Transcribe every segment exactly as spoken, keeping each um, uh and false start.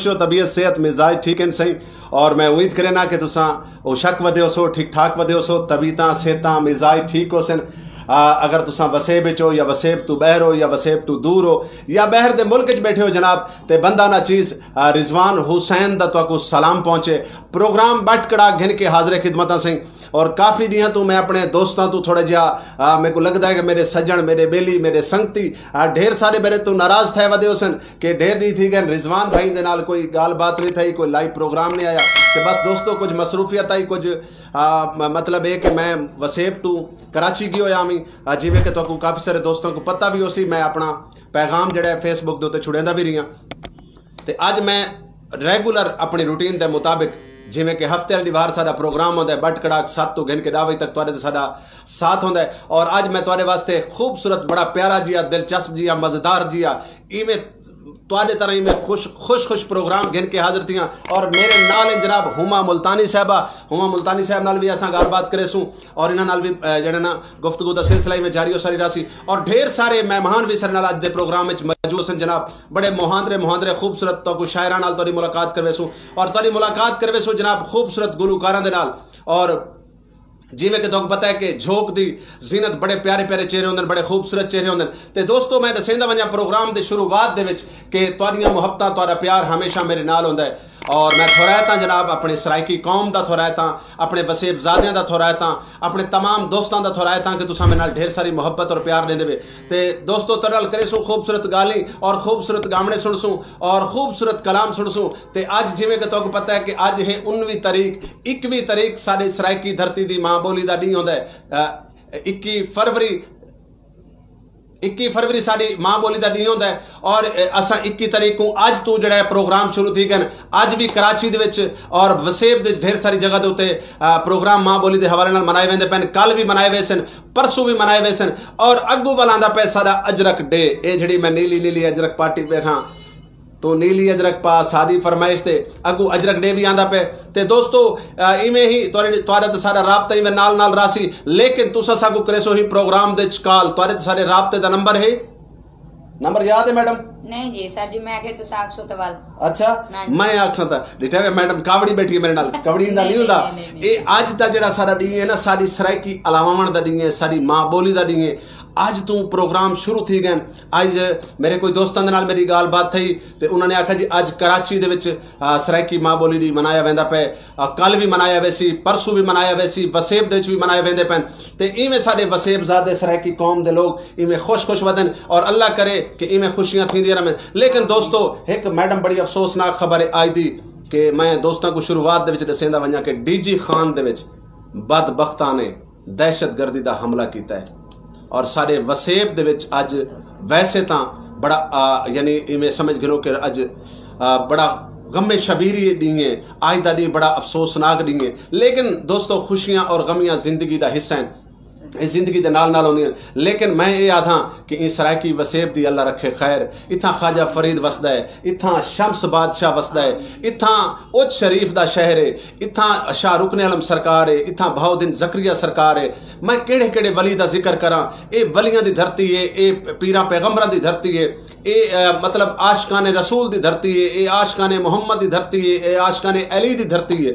جو طبیعت، صحت، مزاج ٹھیک ہن سئیں۔ اور میں امید کرینا کہ تساں او شک ودے ہوسو، ٹھیک ٹھاک ودے ہوسو، طبیعتاں، صحتاں، مزاج ٹھیک ہوسن۔ آ، اگر تساں وسیب اچ ہو یا وسیب تو ٻاہر ہو یا وسیب تو دور ہو یا ٻاہر دے ملک اچ ٻیٹھے ہو جناب، تے بندہ نا چیز، آ، رضوان حسین دا تہاکوں سلام پہنچے۔ پروگرام بٹ کڑاک گھن کے حاضر خدمتاں سئیں۔ اور کافی ݙینہاں توں میں اپݨے دوستاں توں تھوڑا جہا، آ، میکوں لڳدا ہے کہ میݙے سڄݨ، میݙے ٻیلی، میݙے سنگتی، آ، ڈھیر سارے میݙے توں ناراض تھئے ودے ہوسن کہ ڈھیر ݙینہہ تھی ڳئن رضوان بھائی دے نال کوئی ڳالھ بات نہیں تھئی، کوئی لائیو پروگرام نہیں آیا۔ تے بس دوستو، کجھ مصروفیت آئی، کجھ، آ، م-، مطلب اے کہ میں وسیب توں کراچی ڳیو ہویا ہاں، آ، جیویں کہ تہاکوں کافی سارے دوستاں کوں پتہ وی ہوسی، میں اپݨا پیغام جڑا ہے فیس بک دے اتے چھڑیندا وی رہیا۔ تے اڄ میں ریگولر اپݨی روٹین دے مطابق، جیویں کہ ہفتے آلی ݙیوار ساݙا پروگرام ہوندا ہے، بٹ کڑاک ست توں گھن کے ݙاہ وڄے تک تہاݙے تے ساݙا ساتھ ہوندا ہے۔ اور اڄ میں تہاݙے واسطے خوبصورت، بڑا پیارا جیا، دلچسپ جیا، مزیدار جیا، ایویں تہاݙے طرح ایویں خوش، خوش، خوش پروگرام گھن کے حاضر تھیاں۔ اور میرے نال ہیں جناب ہما ملتانی صاحبہ، ہما ملتانی صاحب نال وی اساں ڳالھ بات کریسوں اور انہاں نال وی، اے، جڑے نا گفتگو دا سلسلہ ایویں جاری و ساری رہسی۔ اور ڈھیر سارے مہمان وی ساݙے نال اڄ دے پروگرام وچ موجود ہن جناب۔ بڑے مہاندرے مہاندرے خوبصورت تہاکوں شاعراں نال تہاݙی ملاقات کرویسوں اور تہاݙی ملاقات کرویسوں جناب خوبصورت گلوکاراں دے نال۔ اور جیویں کہ تہاکوں پتہ ہے کہ جھوک دی زینت بڑے پیارے پیارے چہرے ہوندن، بڑے خوبصورت چہرے ہوندن۔ تے دوستو، میں ݙسیندا ونڄاں پروگرام دے شروعات دے وچ کہ تہاݙیاں محبتاں، تہاݙا پیار ہمیشہ میرے نال ہوندا ہے۔ اور میں تھورائتاں جناب، اپݨی سرائیکی قوم دا تھورائتاں، اپݨے وسیب زادیاں دا تھورائتاں، اپݨے تمام دوستاں دا تھورائتاں کہ تساں میرے نال ڈھیر ساری محبت اور پیار ݙیندے وے۔ تے دوستو، تہاݙے نال کریسوں خوبصورت ڳالھیں اور خوبصورت ڳاوݨے سݨسوں اور خوبصورت کلام سݨسوں۔ تے اڄ جیویں کہ تہاکوں پتہ ہے کہ اڄ ہے انوی تاریخ، اکوی تاریخ ساݙے سرائیکی دھرتی دی ماں ٻولی دا ݙینہہ ہوندا ہے۔ اہ، اکوی فروری، اکوی فروری ساݙی ماں ٻولی دا ݙینہہ ہوندا ہے۔ اور، اہ، اساں اکوی تاریخ کوں اڄ توں جڑا ہے پروگرام شروع تھی ڳئن۔ اڄ وی کراچی دے وچ اور وسیب دے ڈھیر ساری جگہ دے اتے، اہ، پروگرام ماں ٻولی دے حوالے نال منائے ویندے پئن، کل وی منائے ویسن، پرسوں وی منائے ویسن۔ اور اڳوں ول آندا پئے ساݙا اجرک ڈے، اے جڑی میں نیلی نیلی اجرک پاٹی ٻیٹھاں، تو نیلی اجرک پا ساݙی فرمائش تے اڳوں اجرک ڈے وی آندا پئے۔ تے دوستو، آ، ایویں ہی تہاݙے، تہاݙا تے ساݙا رابطہ ایویں نال نال راہسی، لیکن تساں ساکوں کریسو ہی پروگرام دے وچ کال، تہاݙے تے ساݙے رابطے دا نمبر ہے؟ نمبر یاد ہے میڈم؟ نہیں جی سر جی، میں کہ تساں آکھسو تے ول۔ اچھا، ہاں جی۔ میں آکھساں تاں ݙٹھا وے میڈم کاوڑی ٻیٹھی ہے میرے نال، کاوڑی ایندا نہیں، نہیں ہوندا۔ نہیں، نہیں، نہیں۔ اے اڄ دا جڑا ساݙا ݙینہہ ہے نا، ساݙی سرائیکی الاواوݨ دا ݙینہہ ہے، ساݙی ماں ٻولی دا ݙینہہ ہے۔ اڄ توں پروگرام شروع تھی ڳئن۔ اڄ میرے کوئی دوستاں دے نال میری ڳالھ بات تھئی تے انہاں نے آکھیا جی اڄ کراچی دے وچ، آ، سرائیکی ماں ٻولی ݙینہہ منایا ویندا پئے، آ، کل وی منایا ویسی، پرسوں وی منایا ویسی، وسیب دے وچ وی منائے ویندے پئن۔ تے ایویں ساݙے وسیب زادے سرائیکی قوم دے لوگ ایویں خوش خوش ودن اور اللہ کرے کہ ایویں خوشیاں تھیندیاں رہون۔ لیکن دوستو، ہک میڈم بڑی افسوسناک خبر ہے آئی دی کہ میں دوستاں کوں شروعات دے وچ ݙسیندا ونڄاں کہ ڈی جی خان دے وچ بدبختاں نے دہشت گردی دا حملہ کیتا ہے اور ساݙے وسیب دے وچ اڄ ویسے تاں بڑا، آ، یعنی ایویں سمجھ گھنو کہ اڄ، آ، بڑا غم شبیری ݙینہہ ہے، اڄ دا ݙینہہ بڑا افسوسناک ݙینہہ ہے، لیکن دوستو خوشیاں اور غمیاں زندگی دا حصہ ہیں، اے زندگی دے نال نال ہوندیاں، لیکن میں اے آدھاں کہ ایں سرائیکی وسیب دی اللہ رکھے خیر۔ اتھاں خواجہ فرید وسدا ہے، اتھاں شمس بادشاہ وسدا ہے، اتھاں اچ شریف دا شہر ہے، اتھاں شاہ رکن عالم سرکار ہے، اتھاں بہاؤالدین زکریا سرکار ہے۔ میں کیڑھے کیڑھے ولی دا ذکر کراں؟ اے ولیاں دی دھرتی ہے، اے پیراں پیغمبراں دی دھرتی ہے، اے، اے، مطلب عاشقان رسول دی دھرتی ہے، اے عاشقان محمد دی دھرتی ہے، اے عاشقان علی دی دھرتی ہے۔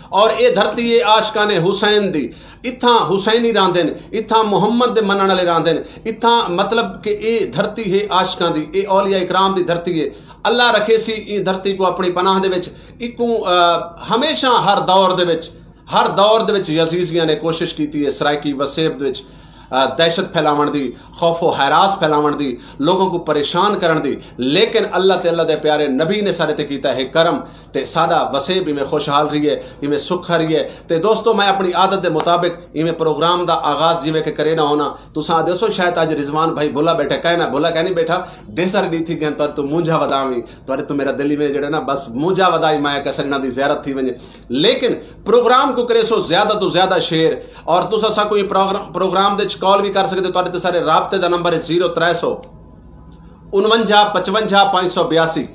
اور اے دھرتی ہے عاشقان حسین دی۔ اتھاں حسینی راہندن، اتھاں محمد دے منݨ والے راہندن، اتھاں مطلب کہ اے دھرتی ہے عاشقاں دی، اے اولیاء اکرام دی دھرتی ہے۔ اللہ رکھے سی ایں دھرتی کو اپنی پناہ دے وچ۔ اکوں، آ، ہمیشہ ہر دور دے وچ، ہر دور دے وچ یزیدیاں نے کوشش کیتی ہے سرائیکی وسیب دے وچ، آ، دہشت پھیلاوݨ دی، خوف و ہراس پھیلاوݨ دی، لوگوں کو پریشان کرݨ دی، لیکن اللہ تے اللہ دے پیارے نبی نے سارے تے کیتا ہے کرم۔ تے ساݙا وسیب ایویں خوشحال رہیے، ایویں سکھا رہیے۔ تے دوستو، میں اپݨی عادت دے مطابق ایویں پروگرام دا آغاز جیویں کہ کرینا ہونا۔ تساں آہدے سو شاید اڄ رضوان بھائی بھلا ٻیٹھا، کائنا بھلا کائنی ٻیٹھا، ڈھیر سارے ݙینہہ تھی ڳئن تہاݙے توں مونجھا ودا وی، تہاݙے توں میرا دل ایویں جڑا نا بس مونجھا ودا وی، میں آکھیا سڄݨاں دی زیارت تھی ونڄے۔ لیکن پروگرام کو کریسو زیادہ توں زیادہ شیئر، اور تساں ساکوں ایں پروگرام، پروگرام دے وچ کال وی کر سڳدے ہو، تہاݙے تے سارے رابطے دا نمبر ہے زیرو ترے سو انونجھا پچونجھا پنج سو بیاسی۔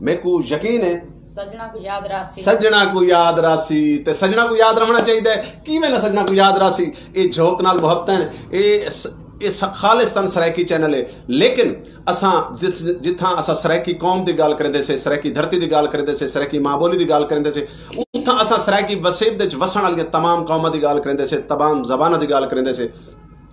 میکوں یقین ہے سڄݨاں کوں یاد رہسی۔ سڄݨاں کوں یاد رہسی تے سڄݨاں کوں یاد رہݨا چاہیدا ہے۔ کیویں نہ سڄݨاں کوں یاد رہسی؟ اے جھوک نال محبتاں ہن، اے س-، یہ خالصتاً سرائیکی چینل ہے، لیکن اساں جتھاں اساں سرائیکی قوم دی گالھ کریندے سے، سرائیکی دھرتی دی گالھ کریندے سے، سرائیکی ماں بولی دی گالھ کریندے سے، اتھاں اساں سرائیکی وسیب دے وچ وسݨ والیاں تمام قوماں دی گالھ کریندے سے، تمام زباناں دی گالھ کریندے سے۔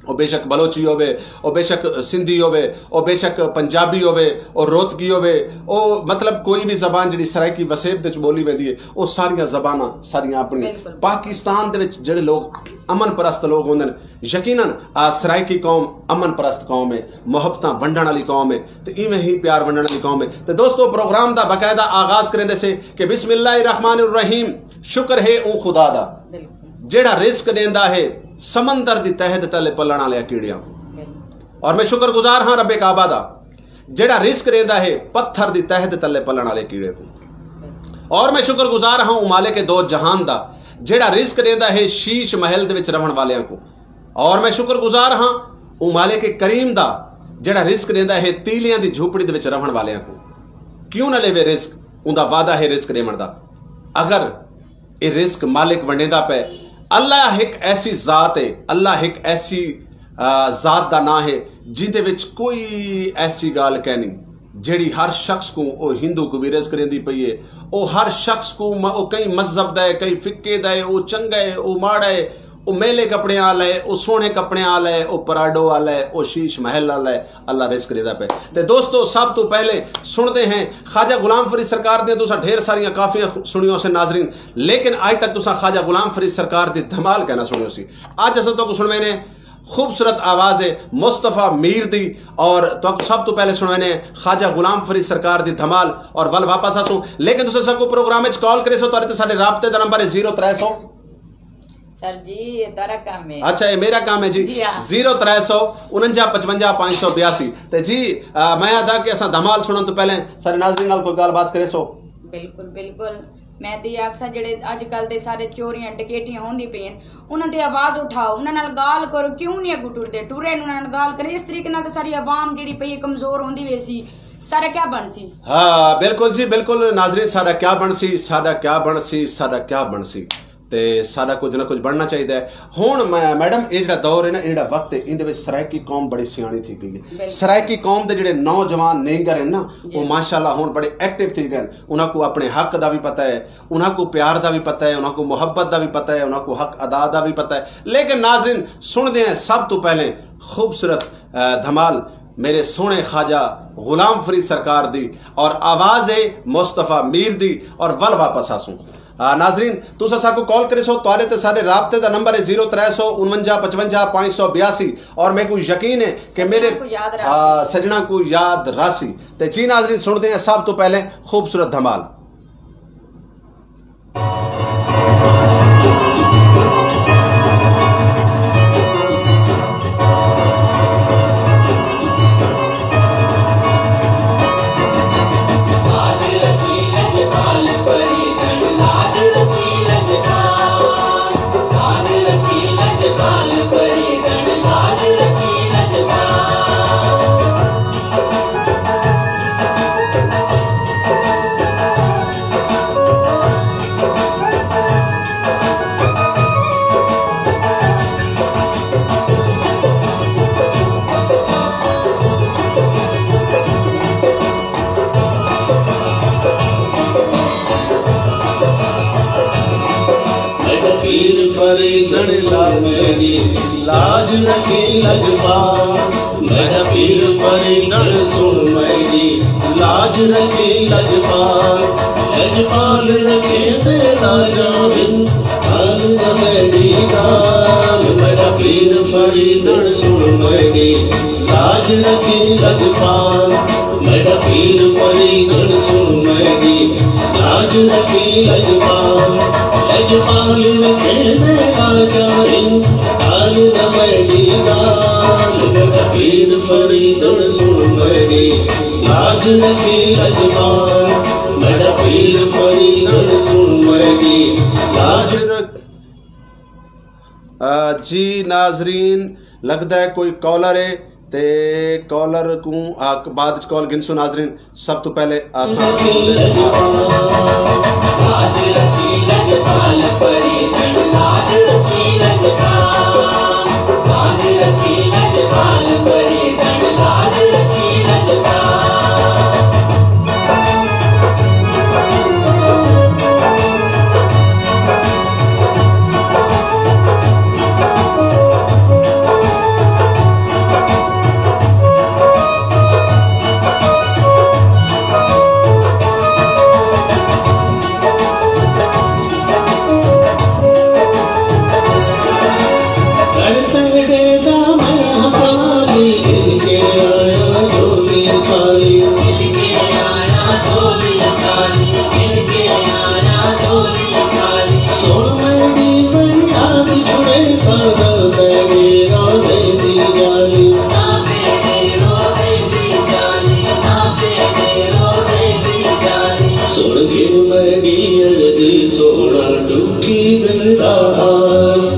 او بے شک بلوچی ہووے، او بے شک سندھی ہووے، او بے شک پنجابی ہووے، او روتکی ہووے، او مطلب کوئی بھی زبان جڑی سرائیکی وسیب دے وچ بولی ویندی ہے، او ساریاں زباناں ساریاں اپنی۔ پاکستان دے وچ جڑے لوگ امن پرست لوگ ہوندے نے، یقیناً آ سرائیکی قوم امن پرست قوم ہے، محبتاں ونڈن والی قوم ہے، تے ایویں ہی پیار ونڈن والی قوم ہے۔ تے دوستو، پروگرام دا باقاعدہ آغاز کریندے سے کہ بسم اللہ الرحمن الرحیم، شکر ہے اوں خدا دا، جیڑھا رزق ݙیندا ہے سمندر دی تہہ دے تلے پلݨ والے کیڑیاں کوں۔ اور میں شکر گزار ہاں رب کعبہ دا، جیڑھا رزق ݙیندا ہے پتھر دی تہہ دے تلے پلݨ والے کیڑے کوں۔ اور میں شکر گزار ہاں اوں مالک دو جہان دا، جیڑھا رزق ݙیندا ہے شیش محل دے وچ رہݨ والیاں کوں۔ اور میں شکر گزار ہاں اوں مالک کریم دا، جیڑھا رزق ݙیندا ہے تیلیاں دی جھوپڑی دے وچ رہݨ والیاں کوں۔ کیوں نہ لیوے رزق؟ اوندا وعدہ ہے رزق ݙیوݨ دا۔ اگر اے رزق مالک ونڈیندا پئے۔ اللہ ہک ایسی ذات ہے، اللہ ہک ایسی، آ، ذات دا ناں ہے جیندے وچ کوئی ایسی ڳالھ کینی جیڑھی ہر شخص کوں، او ہندو کوں وی رزق ݙیندی پئی ہے، او ہر شخص کوں م-، او کہیں مذہب دا ہے، کہیں فقے دا ہے، او چنڳا ہے، او ماڑا ہے، او میلے کپڑیاں آلا ہے، او سوہݨے کپڑیاں آلا ہے، او پراڈو آلا ہے، او شیش محل آلا ہے، اللہ رزق ݙیندا پئے۔ تے دوستو، سب توں پہلے سݨدے ہیں خواجہ غلام فرید سرکار دیاں، تساں ڈھیر ساریاں کافیاں سݨیاں ہوسن ناظرین، لیکن اڄ تک تساں خواجہ غلام فرید سرکار دی دھمال کائناں سݨی ہوسی۔ اڄ اساں تہاکوں سݨویندے ہیں خوبصورت آواز ہے مصطفی میر دی، اور تہاکوں سب توں پہلے سݨویندے ہیں خواجہ غلام فرید سرکار دی دھمال، اور ول واپس آسوں۔ لیکن تساں ساکوں پروگرام وچ کال کریسو، تہاݙے تے ساݙے رابطے دا نمبر ہے زیرو ترے سو۔ سر جی، یہ تہاݙا کم ہے۔ اچھا، یہ میرا کام ہے جی۔ جی ہاں۔ زیرو ترے سو انجا پچونجا پانچ سو بیاسی۔ تے جی، آ، میں آہدا کہ اساں دھمال سݨݨ توں پہلے سارے ناظرین نال کوئی ڳالھ بات کریسو۔ بالکل، بالکل۔ میں تے آکھساں جڑے اڄ کل دے سارے چوریاں ڈکیٹیاں ہوندی پئین، انہاں دی آواز اٹھاؤ، انہاں نال ڳالھ کرو، کیوں نہیں اڳوں ٹردے؟ ٹرے انہاں نال ڳالھ کرے، اس طریقے نال تے ساری عوام جڑی پئی ہے کمزور ہوندی ویسی۔ سارا کیا بݨسی؟ ہاں، بالکل جی، بالکل ناظرین، ساݙا کیا بݨسی، ساݙا کیا بݨسی، ساݙا کیا بݨسی؟ تے ساݙا کجھ نہ کجھ بݨنا چاہیدا ہے۔ ہݨ میں، میڈم، اے جڑا دور ہے نا، اے جڑا وقت ہے، ایندے وچ سرائیکی قوم بڑی سیاݨی تھی ڳئی ہے۔ بالکل۔ سرائیکی قوم دے جڑے نوجوان نینگر ہیں نا، جی۔ وہ ماشاءاللہ ہݨ بڑے ایکٹیو تھی ڳئے ہیں۔ انہاں کوں اپݨے حق دا وی پتہ ہے، انہاں کوں پیار دا وی پتہ ہے، انہاں کوں محبت دا وی پتہ ہے، انہاں کوں حق ادا دا وی پتہ ہے۔ لیکن ناظرین، سݨدے ہیں سب توں پہلے خوبصورت، آ، دھمال میرے سوہݨے خواجہ غلام فرید سرکار دی، اور آواز ہے مصطفی میر دی، اور ول واپس آسوں۔ آ، ناظرین، تساں ساکوں کال کریسو، تہاݙے تے ساݙے رابطے دا نمبر ہے زیرو ترے سو انونجا پچونجا پانچ سو بیاسی، اور میکوں یقین ہے کہ سڄݨاں میرے، کوں یاد رہسی۔ آ، سڄݨاں کوں یاد رہسی۔ تے جی ناظرین، سݨدے ہیں سب توں پہلے خوبصورت دھمال۔ میݙا پیر فریدݨ شاہ میݙی، لاج رکھیں لجپال۔ میݙا پیر فریدݨ سݨ میݙی، لاج رکھیں لجپال۔ لجپال رکھیں تے لاجاں ہن، حال نہ میݙی ڳالھ۔ میݙا پیر فریدݨ سݨ میݙی، لاج رکھیں لجپال۔ میݙا پیر فریدݨ سݨ میݙی، لاج رکھیں لجپال۔ لجپال رکھیں تے لاجاں ہن، حال نہ میݙی ڳالھ۔ میݙا پیر فریدݨ سݨ میݙی، لاج رکھیں لجپال۔ میݙا پیر فریدݨ سݨ میݙی، لاج رکھ-، آ، جی ناظرین، لڳدا ہے کوئی کالر ہے، تے کالر کوں آ، بعد وچ کال گھنسوں ناظرین۔ سب توں پہلے آساں۔ لاج رکھی لجپال، پری ڳن لاج رکھی لجپال۔ لاج رکھی لجپال۔ سن کے میری عرضی سونا ڈکھی دل دا حال۔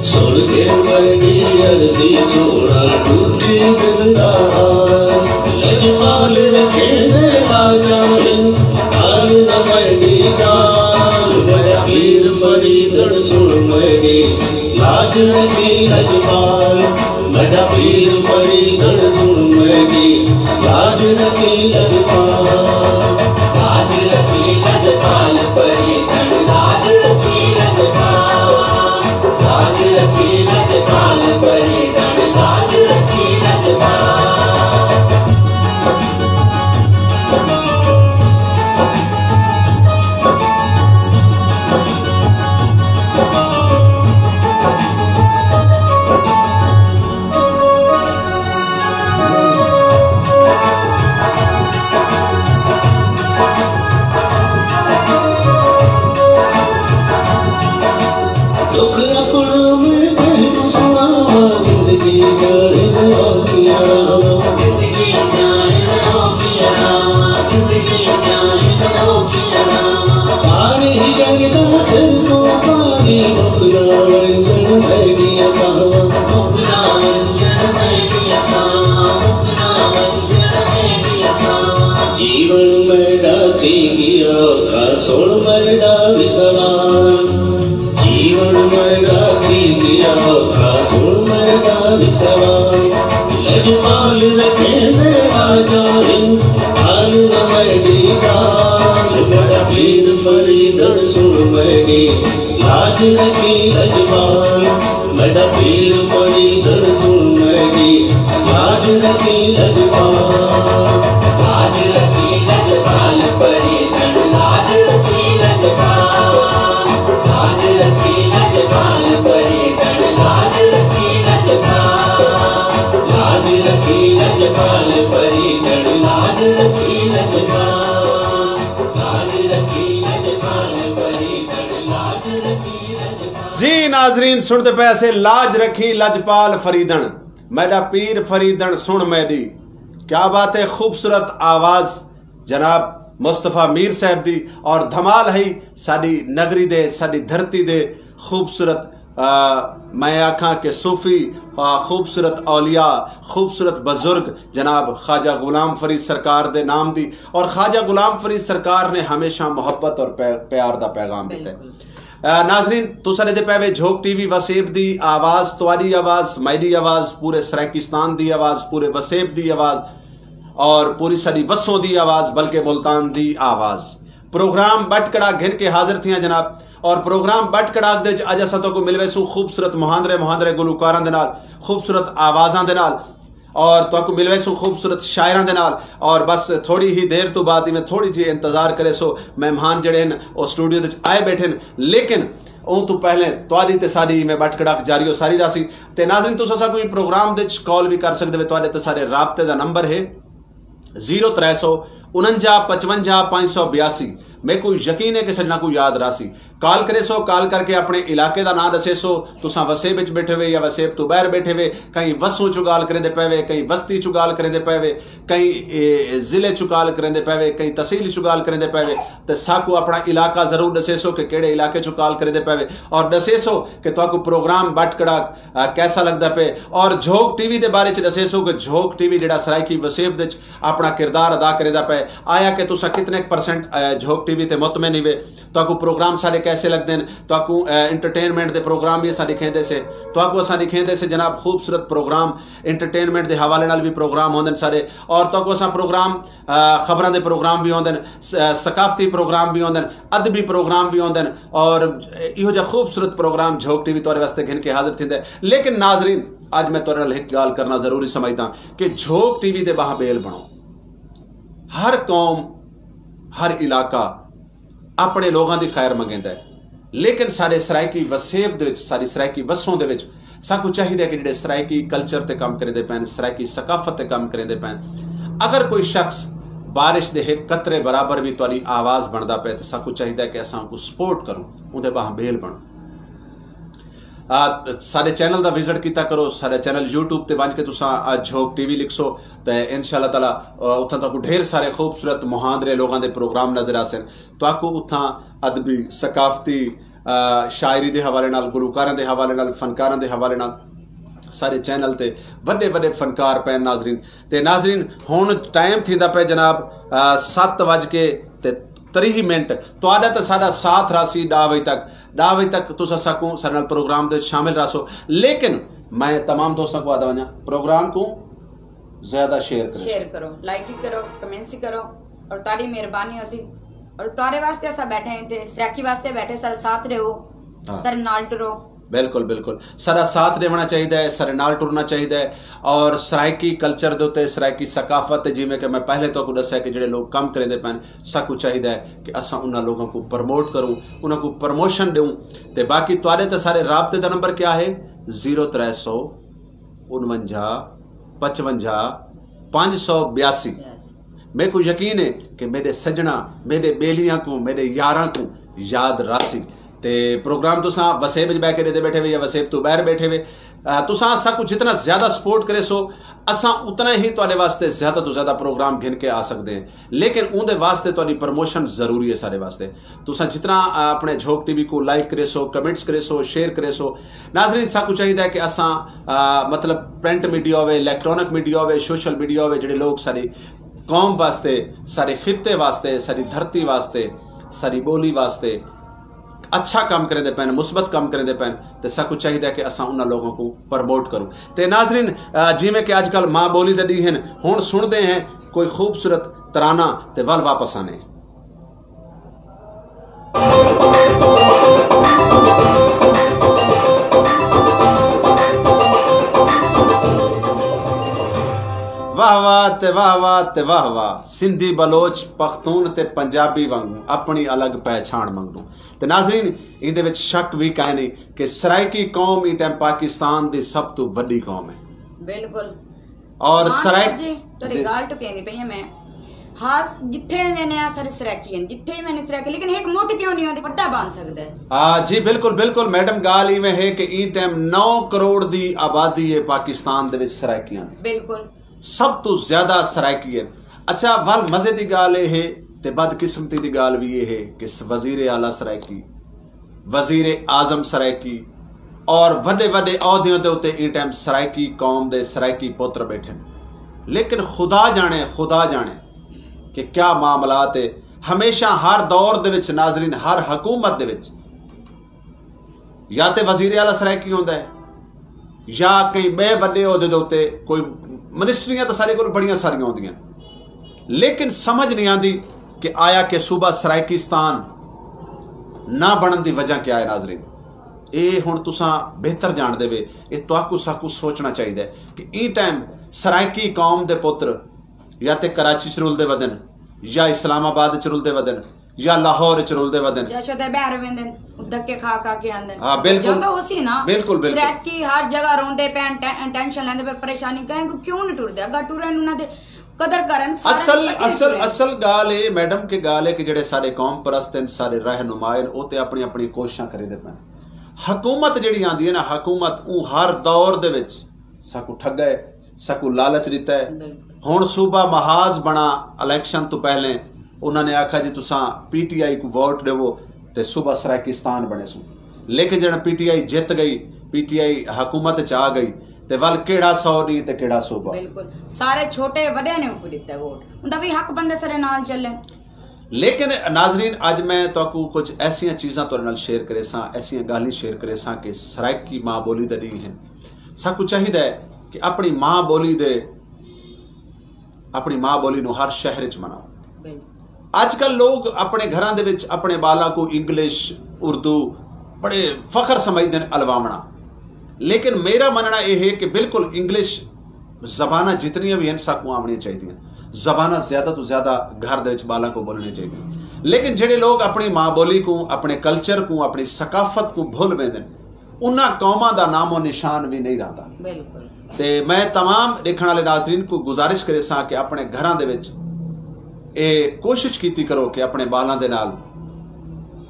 سن کے میری عرضی سونا ڈکھی دل دا حال۔ لجپال رکھے دے آ جائیں، حال نہ میری ڈال۔ میرا پیر فریدن سن میری، لاج رکھی لجپال۔ میݙا پیر فریدݨ سݨ میݙی، لاج رکھی لڄپال۔ لاج رکھی لڄپال فریدݨ، لاج رکھی لڄپال۔ لاج رکھی لڄپال فریدݨ، لاج رکھی لڄپال۔ دکھ اپݨا میں کہیں کوں سݨاواں، زندگی جاہل اوکھیاں راہواں۔ زندگی جاہل اوکھیاں راہواں، زندگی جاہل اوکھیاں راہواں۔ پانی جڳ دا سر توں پانی، مک نہ ونڄن میݙیاں ساہواں۔ مک نہ ونڄن میݙیاں ساہواں، مک نہ ونڄن میݙیاں ساہواں۔ جیوݨ میݙا تھی ڳیا اوکھا، سݨ میݙا وی سوال۔ جیوݨ میݙا تھی ڳیا اوکھا، سݨ میݙا وی سوال۔ لڄپال رکھیندے آ جائیں، حال نہ میݙی ڳالھ۔ میݙا پیر فریدݨ سݨ میݙی، لاج رکھی لڄپال۔ میݙا پیر فریدݨ سݨ میݙی، لاج رکھی لڄپال۔ لاج رکھی لڄپال فریدݨ، لاج رکھی لڄپال۔ لاج رکھی لڄپال فریدݨ، لاج رکھی لڄپال۔ لاج رکھی لڄپال فریدݨ، لاج رکھی لڄپال۔ لاج رکھی لڄپال فریدݨ، لاج رکھی لڄپال۔ جی ناظرین، سݨدے پئے سے لاج رکھی لڄپال فریدݨ، میݙا پیر فریدݨ سݨ میݙی۔ کیا بات ہے، خوبصورت آواز جناب مصطفی میر صاحب دی، اور دھمال ہئی ساݙی نگری دے، ساݙی دھرتی دے خوبصورت، آ، میں آکھاں کہ صوفی، آ، خوبصورت اولیاء، خوبصورت بزرگ جناب خواجہ غلام فرید سرکار دے نام دی، اور خواجہ غلام فرید سرکار نے ہمیشہ محبت اور پے-، پیار دا پیغام ݙتا ہے۔ بالکل۔ آ، ناظرین، تساں ݙیہدے پئے وے جھوک ٹی وی، وسیب دی آواز، تہاݙی آواز، میݙی آواز، پورے سرائیکستان دی آواز، پورے وسیب دی آواز، اور پوری ساݙی وسوں دی آواز، بلکہ ملتان دی آواز۔ پروگرام ٻٹ کڑاک گھن کے حاضر تھیاں جناب، اور پروگرام ٻٹ کڑاک دے وچ اڄ اساں تہاکوں مل ویسوں خوبصورت مہاندرے مہاندرے گلوکاراں دے نال، خوبصورت آوازاں دے نال، اور تہاکوں مل ویسوں خوبصورت شاعراں دے نال۔ اور بس تھوڑی ہی دیر توں بعد، میں تھوڑی جی انتظار کریسو، مہمان جڑے ہن او اسٹوڈیو دے وچ آئے بیٹھے ہن، لیکن اوں توں پہلے تہاݙی تے ساݙی میں ٻٹ کڑاک جاری و ساری راہسی۔ تے ناظرین، تساں ساکوں ایں پروگرام دے وچ کال وی کر سڳدے وے، تہاݙے تے ساݙے رابطے دا نمبر ہے زیرو ترے سو اننجا پچونجا پنج سو بیاسی۔ میکوں یقین ہے کہ سڄݨاں کوں یاد راہسی۔ کال کریسو، کال کر کے اپݨے علاقے دا ناں ݙسیسو، تساں وسیب وچ ٻیٹھے وے یا وسیب توں ٻاہر ٻیٹھے وے، کہیں وسوں چوں ڳالھ کریندے پئے وے، کہیں وستی چوں ڳالھ کریندے پئے وے، کہیں، اے، ضلع چوں ڳالھ کریندے پئے وے، کہیں تحصیل چوں ڳالھ کریندے پئے وے، تے ساکوں اپݨا علاقہ ضرور ݙسیسو کہ کیڑھے علاقے چوں ڳالھ کریندے پئے وے، اور ݙسیسو کہ تہاکوں پروگرام ٻٹ کڑاک، آ، کیسا لڳدا پئے، اور جھوک ٹی وی دے بارے چ ݙسیسو کہ جھوک ٹی وی جیڑھا سرائیکی وسیب دے وچ اپݨا کردار ادا کریندا پئے، آیا کہ تساں کتنے پرسنٹ، آ، جھوک ٹی وی تے مطمئن ہیوے، تہاکوں پروگرام ساݙے کیسے لڳدن؟ تہاکوں انٹرٹینمنٹ دے پروگرام وی اساں ݙکھیندے سے۔ تہاکوں اساں ݙکھیندے سے جناب، خوبصورت پروگرام، انٹرٹینمنٹ دے حوالے نال وی پروگرام ہوندن سارے۔ اور تہاکوں اساں پروگرام، خبراں دے پروگرام وی ہوندن، ثقافتی پروگرام وی ہوندن، ادبی پروگرام وی ہوندن۔ اور ایہو جا خوبصورت پروگرام جھوک ٹی وی تہاݙے واسطے گھن کے حاضر تھیندا ہے۔ لیکن ناظرین، اڄ میں تہاݙے نال ہک ڳالھ کرنا ضروری سمجھداں کہ جھوک ٹی وی دے ٻاہاں ٻیل بݨو۔ ہر قوم، ہر علاقہ اپݨے لوگاں دی خیر منگیندا ہے، لیکن ساݙے سرائیکی وسیب دے وچ، ساݙی سرائیکی وسوں دے وچ ساکوں چاہیدا ہے کہ جیڑھے سرائیکی کلچر تے کم کریندے پئن، سرائیکی ثقافت تے کم کریندے پئن، اگر کوئی شخص بارش دے ہک قطرے برابر وی تہاݙی آواز بݨدا پئے تے ساکوں چاہیدا ہے کہ اساں اونکوں سپورٹ کروں، اوندے ٻاہاں ٻیل بݨوں۔ ساݙے چینل دا وزٹ کیتا کرو۔ ساݙا چینل یوٹیوب تے ونڄ کے تساں جھوک ٹی وی لکھسو تے ان شاء اللہ تعالیٰ اتھاں تہاکوں ڈھیر سارے خوبصورت مہاندرے لوگاں دے پروگرام نظر آسن۔ تہاکوں اتھاں ادبی، ثقافتی، شاعری دے حوالے نال، گلوکاراں دے حوالے نال، فنکاراں دے حوالے نال سارے چینل تے وݙے وݙے فنکار پئن ناظرین۔ تے ناظرین، ہݨ ٹائم تھیندا پئے جناب ست وڄ کے تے تریہہ منٹ۔ تہاݙا تے ساݙا ساتھ رہسی ݙاہ وڄے تک۔ ݙاہ وڄے تک تساں ساکوں ساݙے نال پروگرام دے وچ شامل رہسو۔ لیکن میں تمام دوستاں کوں آہدا ونڄاں، پروگرام کوں زیادہ شیئر کرو۔ شیئر کرو، لائک ہی کرو، کمنٹس ہی کرو، اور تہاݙی مہربانی ہوسی۔ اور تہاݙے واسطے اساں ٻیٹھے ہیں اتھے، سرائیکی واسطے ٻیٹھے، ساݙے ساتھ رہو، ہاں۔ ساݙے نال ٹرو۔ بالکل، بالکل۔ ساݙا ساتھ ݙیوݨا چاہیدا ہے، ساݙے نال ٹرنا چاہیدا ہے۔ اور سرائیکی کلچر دے اتے، سرائیکی ثقافت تے، جیویں کہ میں پہلے تہاکوں ݙسیا کہ جیڑھے لوگ کم کریندے پئن، ساکوں چاہیدا ہے کہ اساں انہاں لوگاں کوں پروموٹ کروں، انہاں کوں پروموشن ݙیوں۔ تے باقی تہاݙے تے سارے رابطے دا نمبر کیا ہے؟ زیرو ترے سو انونجا پچونجا پنج سو بیاسی۔ میکوں یقین ہے کہ میݙے سڄݨاں، میݙے ٻیلیاں کوں، میݙے یاراں کوں یاد رہسی۔ تے پروگرام تساں وسیب وچ ٻہہ کے ݙیہدے ٻیٹھے وے یا وسیب توں ٻاہر ٻیٹھے وے، آ، تساں ساکوں جتنا زیادہ سپورٹ کریسو، اساں اتنا ہی تہاݙے واسطے زیادہ توں زیادہ پروگرام گھن کے آ سڳدے ہیں۔ لیکن اوندے واسطے تہاݙی پروموشن ضروری ہے ساݙے واسطے۔ تساں جتنا، آ، اپݨے جھوک ٹی وی کوں لائک کریسو، کمنٹس کریسو، شیئر کریسو۔ ناظرین، ساکوں چاہیدا ہے کہ اساں، آ، مطلب پرنٹ میڈیا ہووے، الیکٹرانک میڈیا ہووے، سوشل میڈیا ہووے، جیڑھے لوگ ساݙی قوم واسطے، ساݙے خطے واسطے، ساݙی دھرتی واسطے، ساݙی ٻولی واسطے اچھا کم کریندے پئن، مثبت کم کریندے پئن، تے ساکوں چاہیدا ہے کہ اساں انہاں لوگاں کوں پروموٹ کروں۔ تے ناظرین، آ، جیویں کہ اڄ کل ماں ٻولی دے ݙینہہ ہن، ہݨ سݨدے ہیں کوئی خوبصورت ترانہ تے ول واپس آنے۔ واہ واہ تے واہ واہ تے واہ واہ، سندھی بلوچ پختون تے پنجابی وانگوں اپݨی الڳ پہچاݨ منگدوں۔ تے ناظرین، ایندے وچ شک وی کائنی کہ سرائیکی قوم ایں ٹائم پاکستان دی سب توں وݙی قوم ہے۔ بالکل۔ اور ہاں سرائیک-، سر جی، تہاݙی جی۔ ڳالھ ٹکیندی پئی ہاں میں۔ ہاں، جتھے ویندے ہیں سارے سرائیکی ہیں، جتھے ویندے سرائیکی، لیکن ہک مٹھ کیوں نہیں ہوندی، وݙا بݨ سڳدا ہے۔ آ، جی بالکل، بالکل میڈم، ڳالھ ایویں ہے کہ ایں ٹائم نو کروڑ دی آبادی ہے پاکستان دے وچ سرائیکیاں دی۔ بالکل۔ سب توں زیادہ سرائیکی ہے۔ اچھا، ول مزے دی ڳالھ اے ہے تے بدقسمتی دی ڳالھ وی اے ہے کہ س-، وزیر اعلیٰ سرائیکی، وزیر اعظم سرائیکی اور وݙے وݙے عہدیاں دے اتے ایں ٹائم سرائیکی قوم دے سرائیکی پتر ٻیٹھن۔ لیکن خدا ڄاݨے، خدا ڄاݨے کہ کیا معاملات ہے۔ ہمیشہ ہر دور دے وچ ناظرین، ہر حکومت دے وچ یا تے وزیر اعلیٰ سرائیکی ہوندا ہے یا کہیں ٻئے وݙے عہدے دے اتے کوئی، منسٹریاں تاں ساݙے کول بڑیاں ساریاں ہوندیاں، لیکن سمجھ نہیں آندی کہ آیا کہ صوبہ سرائیکستان نہ بݨݨ دی وجہ کیا ہے ناظرین؟ اے ہݨ تساں بہتر ڄاݨدے وے، اے تہاکوں ساکوں سوچݨا چاہیدا ہے کہ ایں ٹائم سرائیکی قوم دے پتر یا تے کراچی چ رلدے ودن یا اسلام آباد چ رلدے ودن یا لاہور اچ رلدے ودن۔ یا شدے ٻاہر ویندن، دھکے کھا کھا کے آندن۔ ہاں، بالکل۔ جاندو ہوسی نا۔ بالکل، بالکل۔ سرائیکی ہر جگہ روندے پئن، ٹے-، ٹینشن لیندے پئے، پریشانی کہیں کوں کیوں نہیں ٹردے؟ اگاں ٹرن انہاں دے قدر کرن، سارے اصل، اکٹھے اصل، ٹرن۔ اصل ڳالھ اے میڈم کہ ڳالھ اے کہ جیڑھے ساݙے قوم پرست ہن، ساݙے رہنما ہن، او تے اپݨی اپݨی کوششاں کریندے پئن۔ حکومت جیڑھی آندی ہے نا، حکومت اوں ہر دور دے وچ ساکوں ٹھڳا ہے، ساکوں لالچ ݙتا ہے۔ بالکل۔ ہݨ صوبہ محاذ بݨا، الیکشن توں پہلے انہاں نے آکھا جی تساں پی ٹی آئی کوں ووٹ ݙیوو تے صوبہ سرائیکستان بݨیسوں۔ لیکن جݙاں پی ٹی آئی جت ڳئی، پی ٹی آئی حکومت اچ آ ڳئی تے ول کیڑھا سو ݙینہہ تے کیڑھا صوبہ۔ بالکل۔ سارے چھوٹے وݙے نے اوکوں ݙتا ہے ووٹ۔ اوندا وی حق بݨدے سارے نال چلن۔ لیکن ناظرین، اڄ میں تہاکوں کجھ ایسیاں چیزاں تہاݙے نال شیئر کریساں، ایسیاں ڳالھیں شیئر کریساں کہ سرائیکی ماں ٻولی دے ݙینہہ ہن۔ ساکوں چاہیدا ہے کہ اپݨی ماں ٻولی دے، اپݨی ماں ٻولی نوں ہر شہر وچ مناؤ۔ اڄ کل لوگ اپݨے گھراں دے وچ اپݨے ٻالاں کوں انگلش، اردو بڑے فخر سمجھدے ہن الواوݨا، لیکن میرا منݨا اے ہے کہ بالکل انگلش زباناں جتنیاں وی ہن، ساکوں آوݨیاں چاہیدیاں۔ زباناں زیادہ توں زیادہ گھر دے وچ ٻالاں کوں ٻولݨیاں چاہیدیاں۔ لیکن جیڑھے لوگ اپݨی ماں ٻولی کوں، اپݨے کلچر کوں، اپݨی ثقافت کوں بھل ویندن، انہاں قوماں دا نام و نشان وی نہیں رہندا۔ تے میں تمام ݙیکھݨ والے ناظرین کوں گزارش کریساں کہ اپݨے گھراں دے وچ اے کوشش کیتی کرو کہ اپݨے ٻالاں دے نال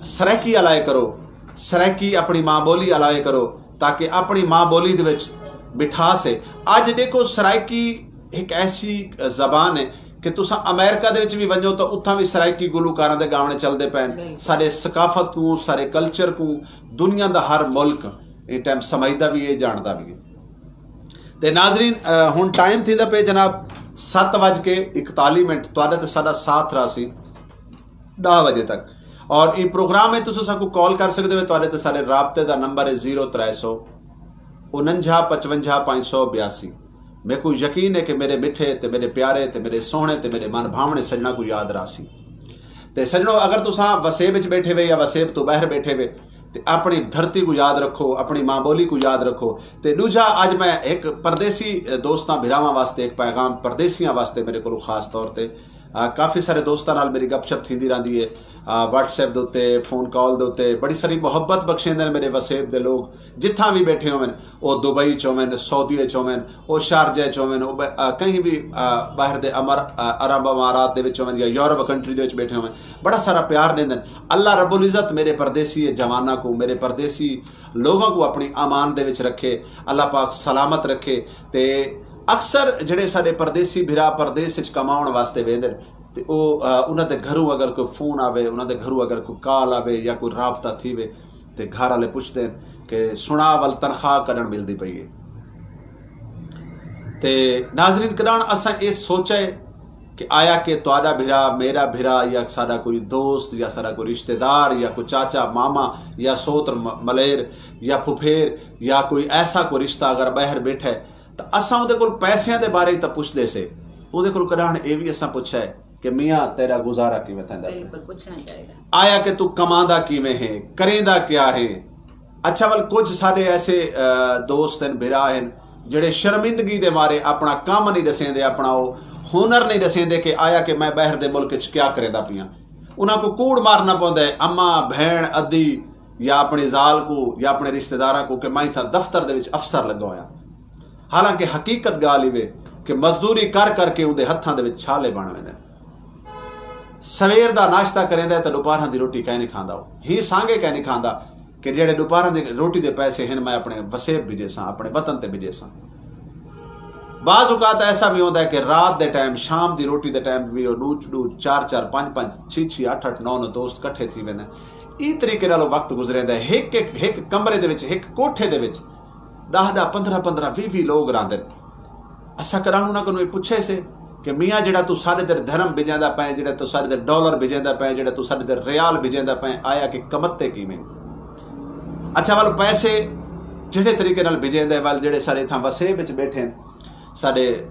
سرائیکی الائے کرو، سرائیکی اپݨی ماں ٻولی الائے کرو، تاکہ اپݨی ماں ٻولی دے وچ مٹھاس ہے۔ اڄ ݙیکھو، سرائیکی ہک ایسی زبان ہے کہ تساں امریکہ دے وچ وی ونڄو تاں اتھاں وی سرائیکی گلوکاراں دے ڳاوݨے چلدے پئن۔ ساݙے ثقافت کوں، ساݙے کلچر کوں دنیا دا ہر ملک ایں ٹائم سمجھدا وی ہے، ڄاݨدا وی ہے۔ تے ناظرین، ہݨ ٹائم تھیندا پئے جناب، ست وڄ کے اکتالیہہ منٹ۔ تہاݙا تے ساݙا ساتھ رہسی ݙاہ وڄے تک۔ اور ایں پروگرام وچ تساں ساکوں کال کر سڳدے ہو۔ تہاݙے تے ساݙے رابطے دا نمبر ہے زیرو ترے سو انجھا پچونجھا پنج سو بیاسی۔ میکوں یقین ہے کہ میݙے مٹھے تے میݙے پیارے تے میݙے سوہݨے تے میݙے من بھاوݨے سڄݨاں کوں یاد رہسی۔ تے سڄݨو، اگر تساں وسیب وچ ٻیٹھے وے یا وسیب توں ٻاہر ٻیٹھے وے، تے اپݨی دھرتی کوں یاد رکھو، اپݨی ماں ٻولی کوں یاد رکھو۔ تے ݙوجھا، اڄ میں ہک پردیسی دوستاں بھراواں واسطے ہک پیغام، پردیسیاں واسطے میݙے کولوں خاص طور تے، آ، کافی سارے دوستاں نال میݙی گپ شپ تھیندی رہندی ہے، آ، واٹس ایپ دے اتے، فون کال دے اتے بڑی ساری محبت بخشیندے نے میݙے وسیب دے لوگ، جتھاں وی ٻیٹھے ہوون، او دبئی چ ہوون، سعودی چ ہوون، او شارجہ چ ہوون، او ب-، آ، کہیں وی، آ، ٻاہر دے امر-، آ، عرب امارات دے وچ ہوون یا یورپ کنٹری دے وچ ٻیٹھے ہوون، بڑا سارا پیار ݙیندن۔ اللہ رب العزت میݙے پردیسی جواناں کوں، میݙے پردیسی لوگاں کوں اپݨی امان دے وچ رکھے، اللہ پاک سلامت رکھے۔ تے اکثر جیڑھے ساݙے پردیسی بھرا پردیس وچ کماوݨ واسطے ویندن، تے او، آ، انہاں دے گھروں اگر کوئی فون آوے، انہاں دے گھروں اگر کوئی کال آوے یا کوئی رابطہ تھیوے، تے گھر والے پچھدے ہن کہ سݨا ول تنخواہ کݙݨ ملدی پئی ہے۔ تے ناظرین کرام، اساں اے سوچے کہ آیا کہ تہاݙا بھرا، میݙا بھرا، یا ساݙا کوئی دوست، یا ساݙا کوئی رشتہ دار، یا کوئی چاچا، ماما، یا سوتر، م-، ملیر، یا پھپھیر، یا کوئی ایسا کوئی رشتہ اگر ٻاہر ٻیٹھا ہے، تاں اساں اوندے کول پیسیاں دے بارے تاں پچھدے سے، اوندے کول کݙاہݨ اے وی اساں پچھا ہے کہ میاں، تیݙا گزارا کیویں تھیندا پئے؟ بالکل پچھݨا چاہیدا۔ آیا کہ توں کماندا کیویں ہے، کریندا کیا ہے؟ اچھا، ول کجھ ساݙے ایسے، آ، دوست ہن، بھرا ہن، جیڑھے شرمندگی دے مارے اپݨا کم نہیں ݙسیندے، اپݨا او ہنر نہیں ݙسیندے کہ آیا کہ میں ٻاہر دے ملک وچ کیا کریندا پیاں۔ انہاں کوں کوڑ مارنا پوندا ہے، اماں، بھیݨ، ادی یا اپݨی ذال کوں یا اپݨے رشتہ داراں کوں کہ میں اتھاں دفتر دے وچ افسر لڳا ہویاں۔ حالانکہ حقیقت ڳالھ ایوے کہ مزدوری کر کر کے اوندے ہتھاں دے وچ چھالے بݨ ویندن۔ سویر دا ناشتہ کریندا ہے تاں ݙوپہراں دی روٹی کائنی کھاندا، او ہی سانگے کائنی کھاندا کہ جیڑھے ݙوپہراں دی روٹی دے پیسے ہن، میں اپݨے وسیب بھیجیساں، اپݨے وطن تے بھیجیساں۔ بعض اوقات ایسا وی ہوندا ہے کہ رات دے ٹائم، شام دی روٹی دے ٹائم وی او ݙو ݙو، چار چار، پنج پنج، چھی چھی، اٹھ اٹھ، نو نو دوست کٹھے تھی ویندن۔ ایں طریقے نال او وقت گزریندا ہے۔ ہک ہک، ہک کمرے دے وچ، ہک کوٹھے دے وچ ݙاہ ݙاہ، پندرہ پندرہ، ویہہ ویہہ لوگ رہندن۔ اساں کݙاہݨ انہاں کنوں اے پچھے سے کہ میاں، جیڑھا توں ساݙے تے درہم بھیجیندا پئیں، جیڑھا توں ساݙے تے ڈالر بھیجیندا پئیں، جیڑھا توں ساݙے تے ریال بھیجیندا پئیں، آیا کہ کمتے کیویں؟ اچھا، ول پیسے جیڑھے طریقے نال بھیجیندے، ول جیڑھے سارے اتھاں وسیب وچ ٻیٹھے ہن، ساݙے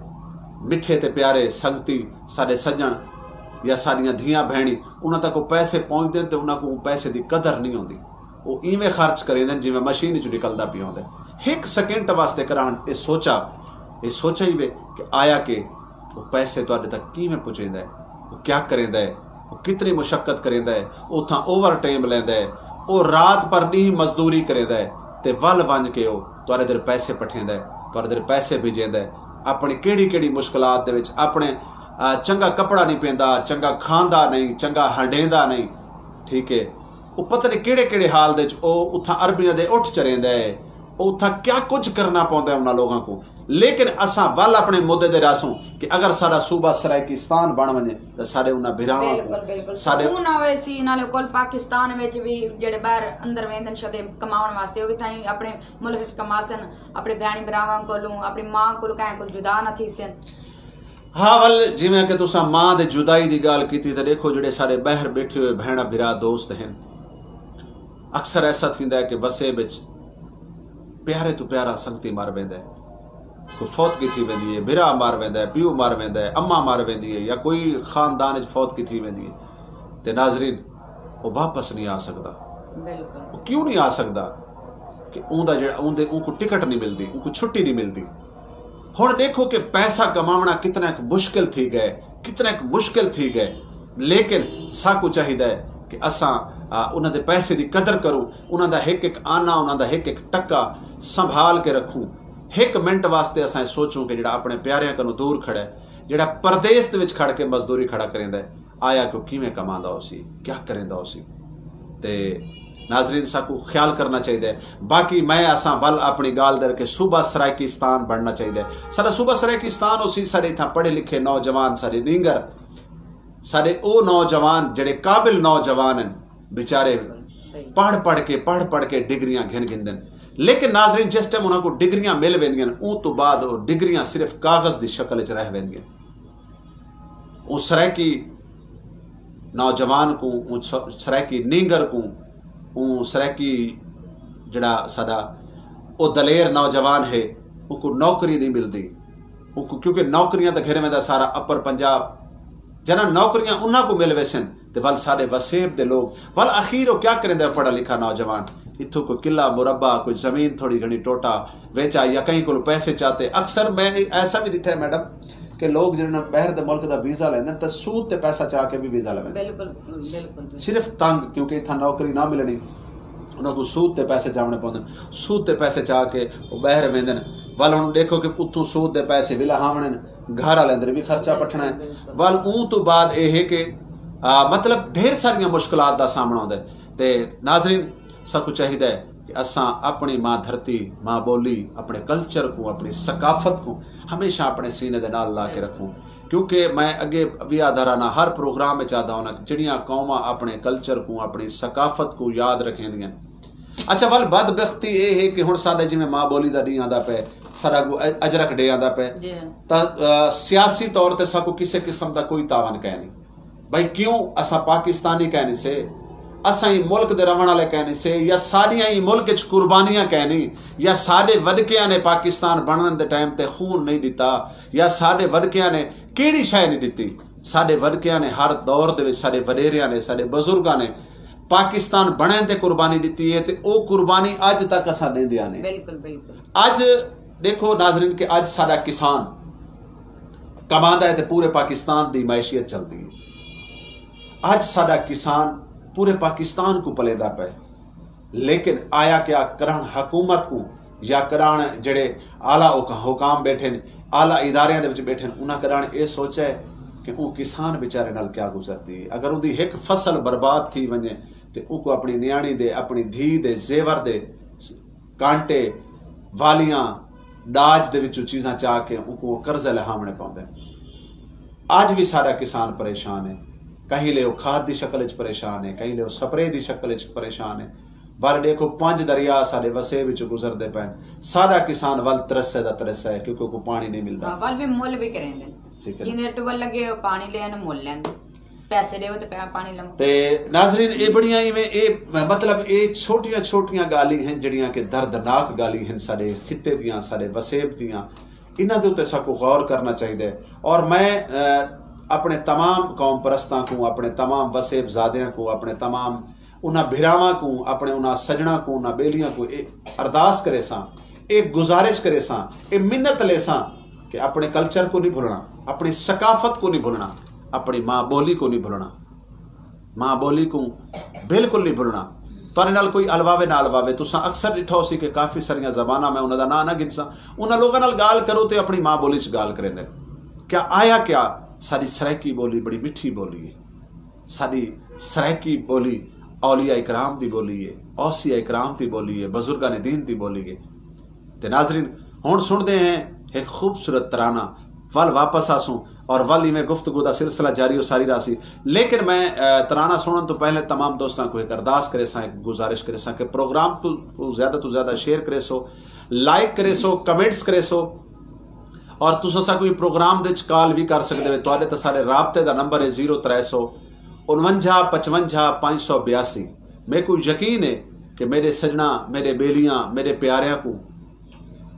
مٹھے تے پیارے سنگتی، ساݙے سڄݨ یا ساݙیاں دھیاں بھیݨیں، انہاں تک او پیسے پہنچدن تے انہاں کوں پیسے دی قدر نہیں ہوندی۔ او ایویں خرچ کریندن جیویں مشین وچوں نکلدا پیا ہوندے۔ ہک سیکنڈ واسطے کݙاہݨ اے سوچا، اے سوچا ہی وے کہ آیا کہ او پیسے تہاݙے تک کیویں پہنچیندا ہے، او کیا کریندا ہے، او کتنی مشقت کریندا ہے، اتھاں اوور ٹائم لیندا ہے، او رات پر ݙینہہ مزدوری کریندا ہے تے ول ونڄ کے او تہاݙے در پیسے پٹھیندا ہے، تہاݙے در پیسے بھیجیندا ہے۔ اپݨی کیڑھی کیڑھی مشکلات دے وچ اپݨے، آ، چنڳا کپڑا نہیں پیندا، چنڳا کھاندا نہیں، چنڳا ہنڈیندا نہیں، ٹھیک ہے۔ او پتہ نہیں کیڑھے کیڑھے حال دے وچ او اتھاں عربیاں دے اٹھ چریندا ہے، او اتھاں کیا کجھ کرنا پوندا ہے انہاں لوگاں کوں۔ لیکن اساں ول اپݨے مدے دے رہسوں کہ اگر ساݙا صوبہ سرائیکستان بݨ ونڄے تاں ساݙے انہاں بھراواں کوں، بالکل، بالکل، ساݙے سکون آوے سی۔ نالے کول پاکستان وچ وی جیڑھے ٻاہر اندر ویندن شدے کماوݨ واسطے، او وی تھائیں اپݨے ملک وچ کماسن، اپݨے بھیݨیں بھراواں کولوں، اپݨی ماں کولوں کہیں کولوں جدا نہ تھیسن۔ ہا ول، جیویں کہ تساں ماں دے جدائی دی ڳالھ کیتی، تے ݙیکھو، جیڑھے ساݙے ٻاہر ٻیٹھے ہوئے بھیݨاں بھرا دوست ہن، اکثر ایسا تھیندا ہے کہ وسیب وچ پیارے توں پیارا سنگتی مر ویندا ہے۔ کوئی فوتگی تھی ویندی ہے، بھرا مر ویندا ہے، پیو مر ویندا ہے، اماں مر ویندی ہے، یا کوئی خاندان وچ فوتگی تھی ویندی ہے، تے ناظرین، او واپس نہیں آ سڳدا۔ بالکل۔ او کیوں نہیں آ سڳدا؟ کہ اوندا جیڑھا، اوندے، اونکوں ٹکٹ نہیں ملدی، اونکوں چھٹی نہیں ملدی۔ ہݨ ݙیکھو کہ پیسہ کماوݨا کتنا ہک مشکل تھی ڳئے، کتنا ہک مشکل تھی ڳئے، لیکن ساکوں چاہیدا ہے کہ اساں، آ، انہاں دے پیسے دی قدر کروں، انہاں دا ہک ہک آنا، انہاں دا ہک ہک ٹکا سنبھال کے رکھوں۔ ہک منٹ واسطے اساں اے سوچوں کہ جیڑھا اپݨے پیاریاں کنوں دور کھڑا ہے، جیڑھا پردیس دے وچ کھڑ کے مزدوری کھڑا کریندا ہے، آیا کہ او کیویں کماندا ہوسی، کیا کریندا ہوسی۔ تے ناظرین، ساکوں خیال کرنا چاہیدا ہے۔ باقی میں، اساں ول اپݨی ڳالھ در کے صوبہ سرائیکستان بݨنا چاہیدا ہے۔ ساݙا صوبہ سرائیکستان ہوسی، ساݙے اتھاں پڑھے لکھے نوجوان، ساݙے نینگر، ساݙے او نوجوان جیڑھے قابل نوجوان ہن، بیچارے صحیح۔ پڑھ پڑھ کے، پڑھ پڑھ کے ڈگریاں گھن گھندن۔ لیکن ناظرین، جس ٹائم انہاں کوں ڈگریاں مل ویندیاں، اوں توں بعد او ڈگریاں صرف کاغذ دی شکل وچ رہ ویندیاں۔ اوں سرائیکی نوجوان کوں، اوں س-، سرائیکی نینگر کوں، اوں سرائیکی جڑا ساڈا او دلیر نوجوان ہے، اونکوں نوکری نہیں ملدی۔ اونکوں، کیونکہ نوکریاں تاں گھن ویندا سارا اپر پنجاب۔ جنہاں نوکریاں انہاں کوں مل ویسن، تے ول ساڈے وسیب دے لوگ، ول اخیر او کیا کریندا ہے پڑھا لکھا نوجوان؟ اتھوں کوئی قلعہ مربع، کوئی زمین تھوڑی گھنی ٹوٹا ویچا یا کہیں کولوں پیسے چاتے۔ اکثر میں ایسا بھی ڈٹھا ہے میڈم، کہ لوگ جنہاں باہر دے ملک دا ویزا لیندے تے سود تے پیسہ چا کے بھی ویزا لیندے۔ بالکل، بالکل۔ صرف تنگ، کیونکہ اتھاں نوکری نہ ملنی، انہاں کوں سود تے پیسے چاونے پوندے، سود تے پیسے چا کے او باہر ویندے۔ ول ہن ڈیکھو کہ اتھوں سود دے پیسے بھی لہاونے، گھر والے اندر بھی خرچہ پٹھنا ہے۔ بالکل۔ ول اوں تو بعد اے ہے کہ، آ، مطلب ڈھیر ساریاں مشکلات دا سامنا ہوندا ہے۔ تے ناظرین، ساکوں چاہیدا ہے کہ اساں اپݨی ماں دھرتی، ماں ٻولی، اپݨے کلچر کوں، اپݨی ثقافت کوں ہمیشہ اپݨے سینے دے نال لا کے رکھوں، کیونکہ میں اڳے وی آہدا رہنا، ہر پروگرام وچ آہدا ہونا کہ جڑیاں قوماں اپݨے کلچر کوں، اپݨی ثقافت کوں یاد رکھیندیاں۔ اچھا، ول بدبختی اے ہے کہ ہݨ ساݙے جیویں ماں ٻولی دا ݙینہہ آندا پئے، ساݙا اڳوں اج-، اجرک ڈے آندا پئے، جی۔ تاں، آ، سیاسی طور تے ساکوں کسے قسم دا کوئی تعاون کائنی۔ بھئی کیوں اساں پاکستانی کائنی سے؟ اساں ایں ملک دے رہوݨ والے کائنی سے؟ یا ساݙیاں ایں ملک اچ قربانیاں کائنی؟ یا ساݙے وݙکیاں نے پاکستان بݨݨ دے ٹائم تے خون نہیں ݙتا؟ یا ساݙے وݙکیاں نے کیڑھی شے نہیں ݙتی؟ ساݙے وݙکیاں نے ہر دور دے وچ، ساݙے وݙیریاں نے، ساݙے بزرگاں نے پاکستان بݨݨ تے قربانی ݙتی ہے، تے او قربانی اج تک اساں ݙیندیاں نے۔ بالکل، بالکل۔ اج ڈیکھو ناظرین کہ اج ساڈا کسان کماندا ہے تے پورے پاکستان دی معیشت چلدی ہے۔ اج ساڈا کسان پورے پاکستان کوں پلیندا پئے، لیکن آیا کیا کرن حکومت کوں یا کرن جڑے اعلی حکام بیٹھے نے، اعلی اداریاں دے وچ بیٹھے نے، انہاں کرن اے سوچے کہ اوں کسان بیچارے نال کیا گزرتی ہے؟ اگر اوندی ہک فصل برباد تھی ونجے تے اونکوں اپنی نیاݨی دے، اپنی دھی دے زیور دے کانٹے، والیاں، ݙاج دے وچوں چیزاں چا کے اونکوں او قرضے لہاوݨے پوندے۔ اڄ وی ساݙا کسان پریشان ہے، کہیں لے او کھاد دی شکل اچ پریشان ہے، کہیں لے او سپرے دی شکل اچ پریشان ہے۔ ول ݙیکھو پنج دریا ساݙے وسیب وچوں گزردے پئن، ساݙا کسان ول ترسے دا ترسا ہے کیونکہ اوکوں پاݨی نہیں ملدا۔ ہاں، ول وی مل وی کریندے۔ ٹھیک ہے۔ جیندے ٹیوبل لگے ہوئے پاݨی لین مل لیندے۔ پیسے ݙیو تے پیا پاݨی لو۔ تے ناظرین، اے بڑیاں ایویں، اے مطلب اے چھوٹیاں چھوٹیاں ڳالھیں ہن جڑیاں کہ دردناک ڳالھیں ہن ساݙے خطے دیاں، ساݙے وسیب دیاں۔ انہاں دے اتے ساکوں غور کرنا چاہیدا ہے۔ اور میں، اے، اپݨے تمام قوم پرستاں کوں، اپݨے تمام وسیب زادیاں کوں، اپݨے تمام انہاں بھراواں کوں، اپݨے انہاں سڄݨاں کوں، انہاں ٻیلیاں کوں اے ارداس کریساں، اے گزارش کریساں، اے منت لیساں کہ اپݨے کلچر کوں نہیں بھلݨا، اپݨی ثقافت کوں نہیں بھلݨا، اپݨی ماں ٻولی کوں نہیں بھلݨا۔ ماں ٻولی کوں بالکل نہیں بھلݨا۔ تہاݙے نال کوئی الواوے نہ الواوے، تساں اکثر ݙٹھا ہوسی کہ کافی ساریاں زباناں، میں انہاں دا ناں نہ گھنساں، انہاں لوکاں نال ڳالھ کرو تے اپݨی ماں ٻولی چ ڳالھ کریندے۔ کیا آیا کیا ساݙی سرائیکی ٻولی بڑی مٹھی ٻولی ہے۔ ساݙی سرائیکی ٻولی اولیاء اکرام دی ٻولی ہے، اوصیاء اکرام دی ٻولی ہے، بزرگان دین دی ٻولی ہے۔ تے ناظرین، ہݨ سݨدے ہیں ہک خوبصورت ترانہ، ول واپس آسوں اور ول ایویں گفتگو دا سلسلہ جاری و ساری رہسی۔ لیکن میں، اے، ترانہ سݨݨ توں پہلے تمام دوستاں کوں ہک ارداس کریساں، ہک گزارش کریساں کہ پروگرام کوں، کوں زیادہ توں زیادہ شیئر کریسو، لائک کریسو، کمنٹس کریسو۔ اور تساں ساکوں ایں پروگرام دے وچ کال وی کر سڳدے وے۔ تہاݙے تے ساݙے رابطے دا نمبر ہے زیرو ترے سو انونجھا پچونجھا پنج سو بیاسی۔ میکوں یقین ہے کہ میݙے سڄݨاں، میݙے ٻیلیاں، میݙے پیاریاں کوں،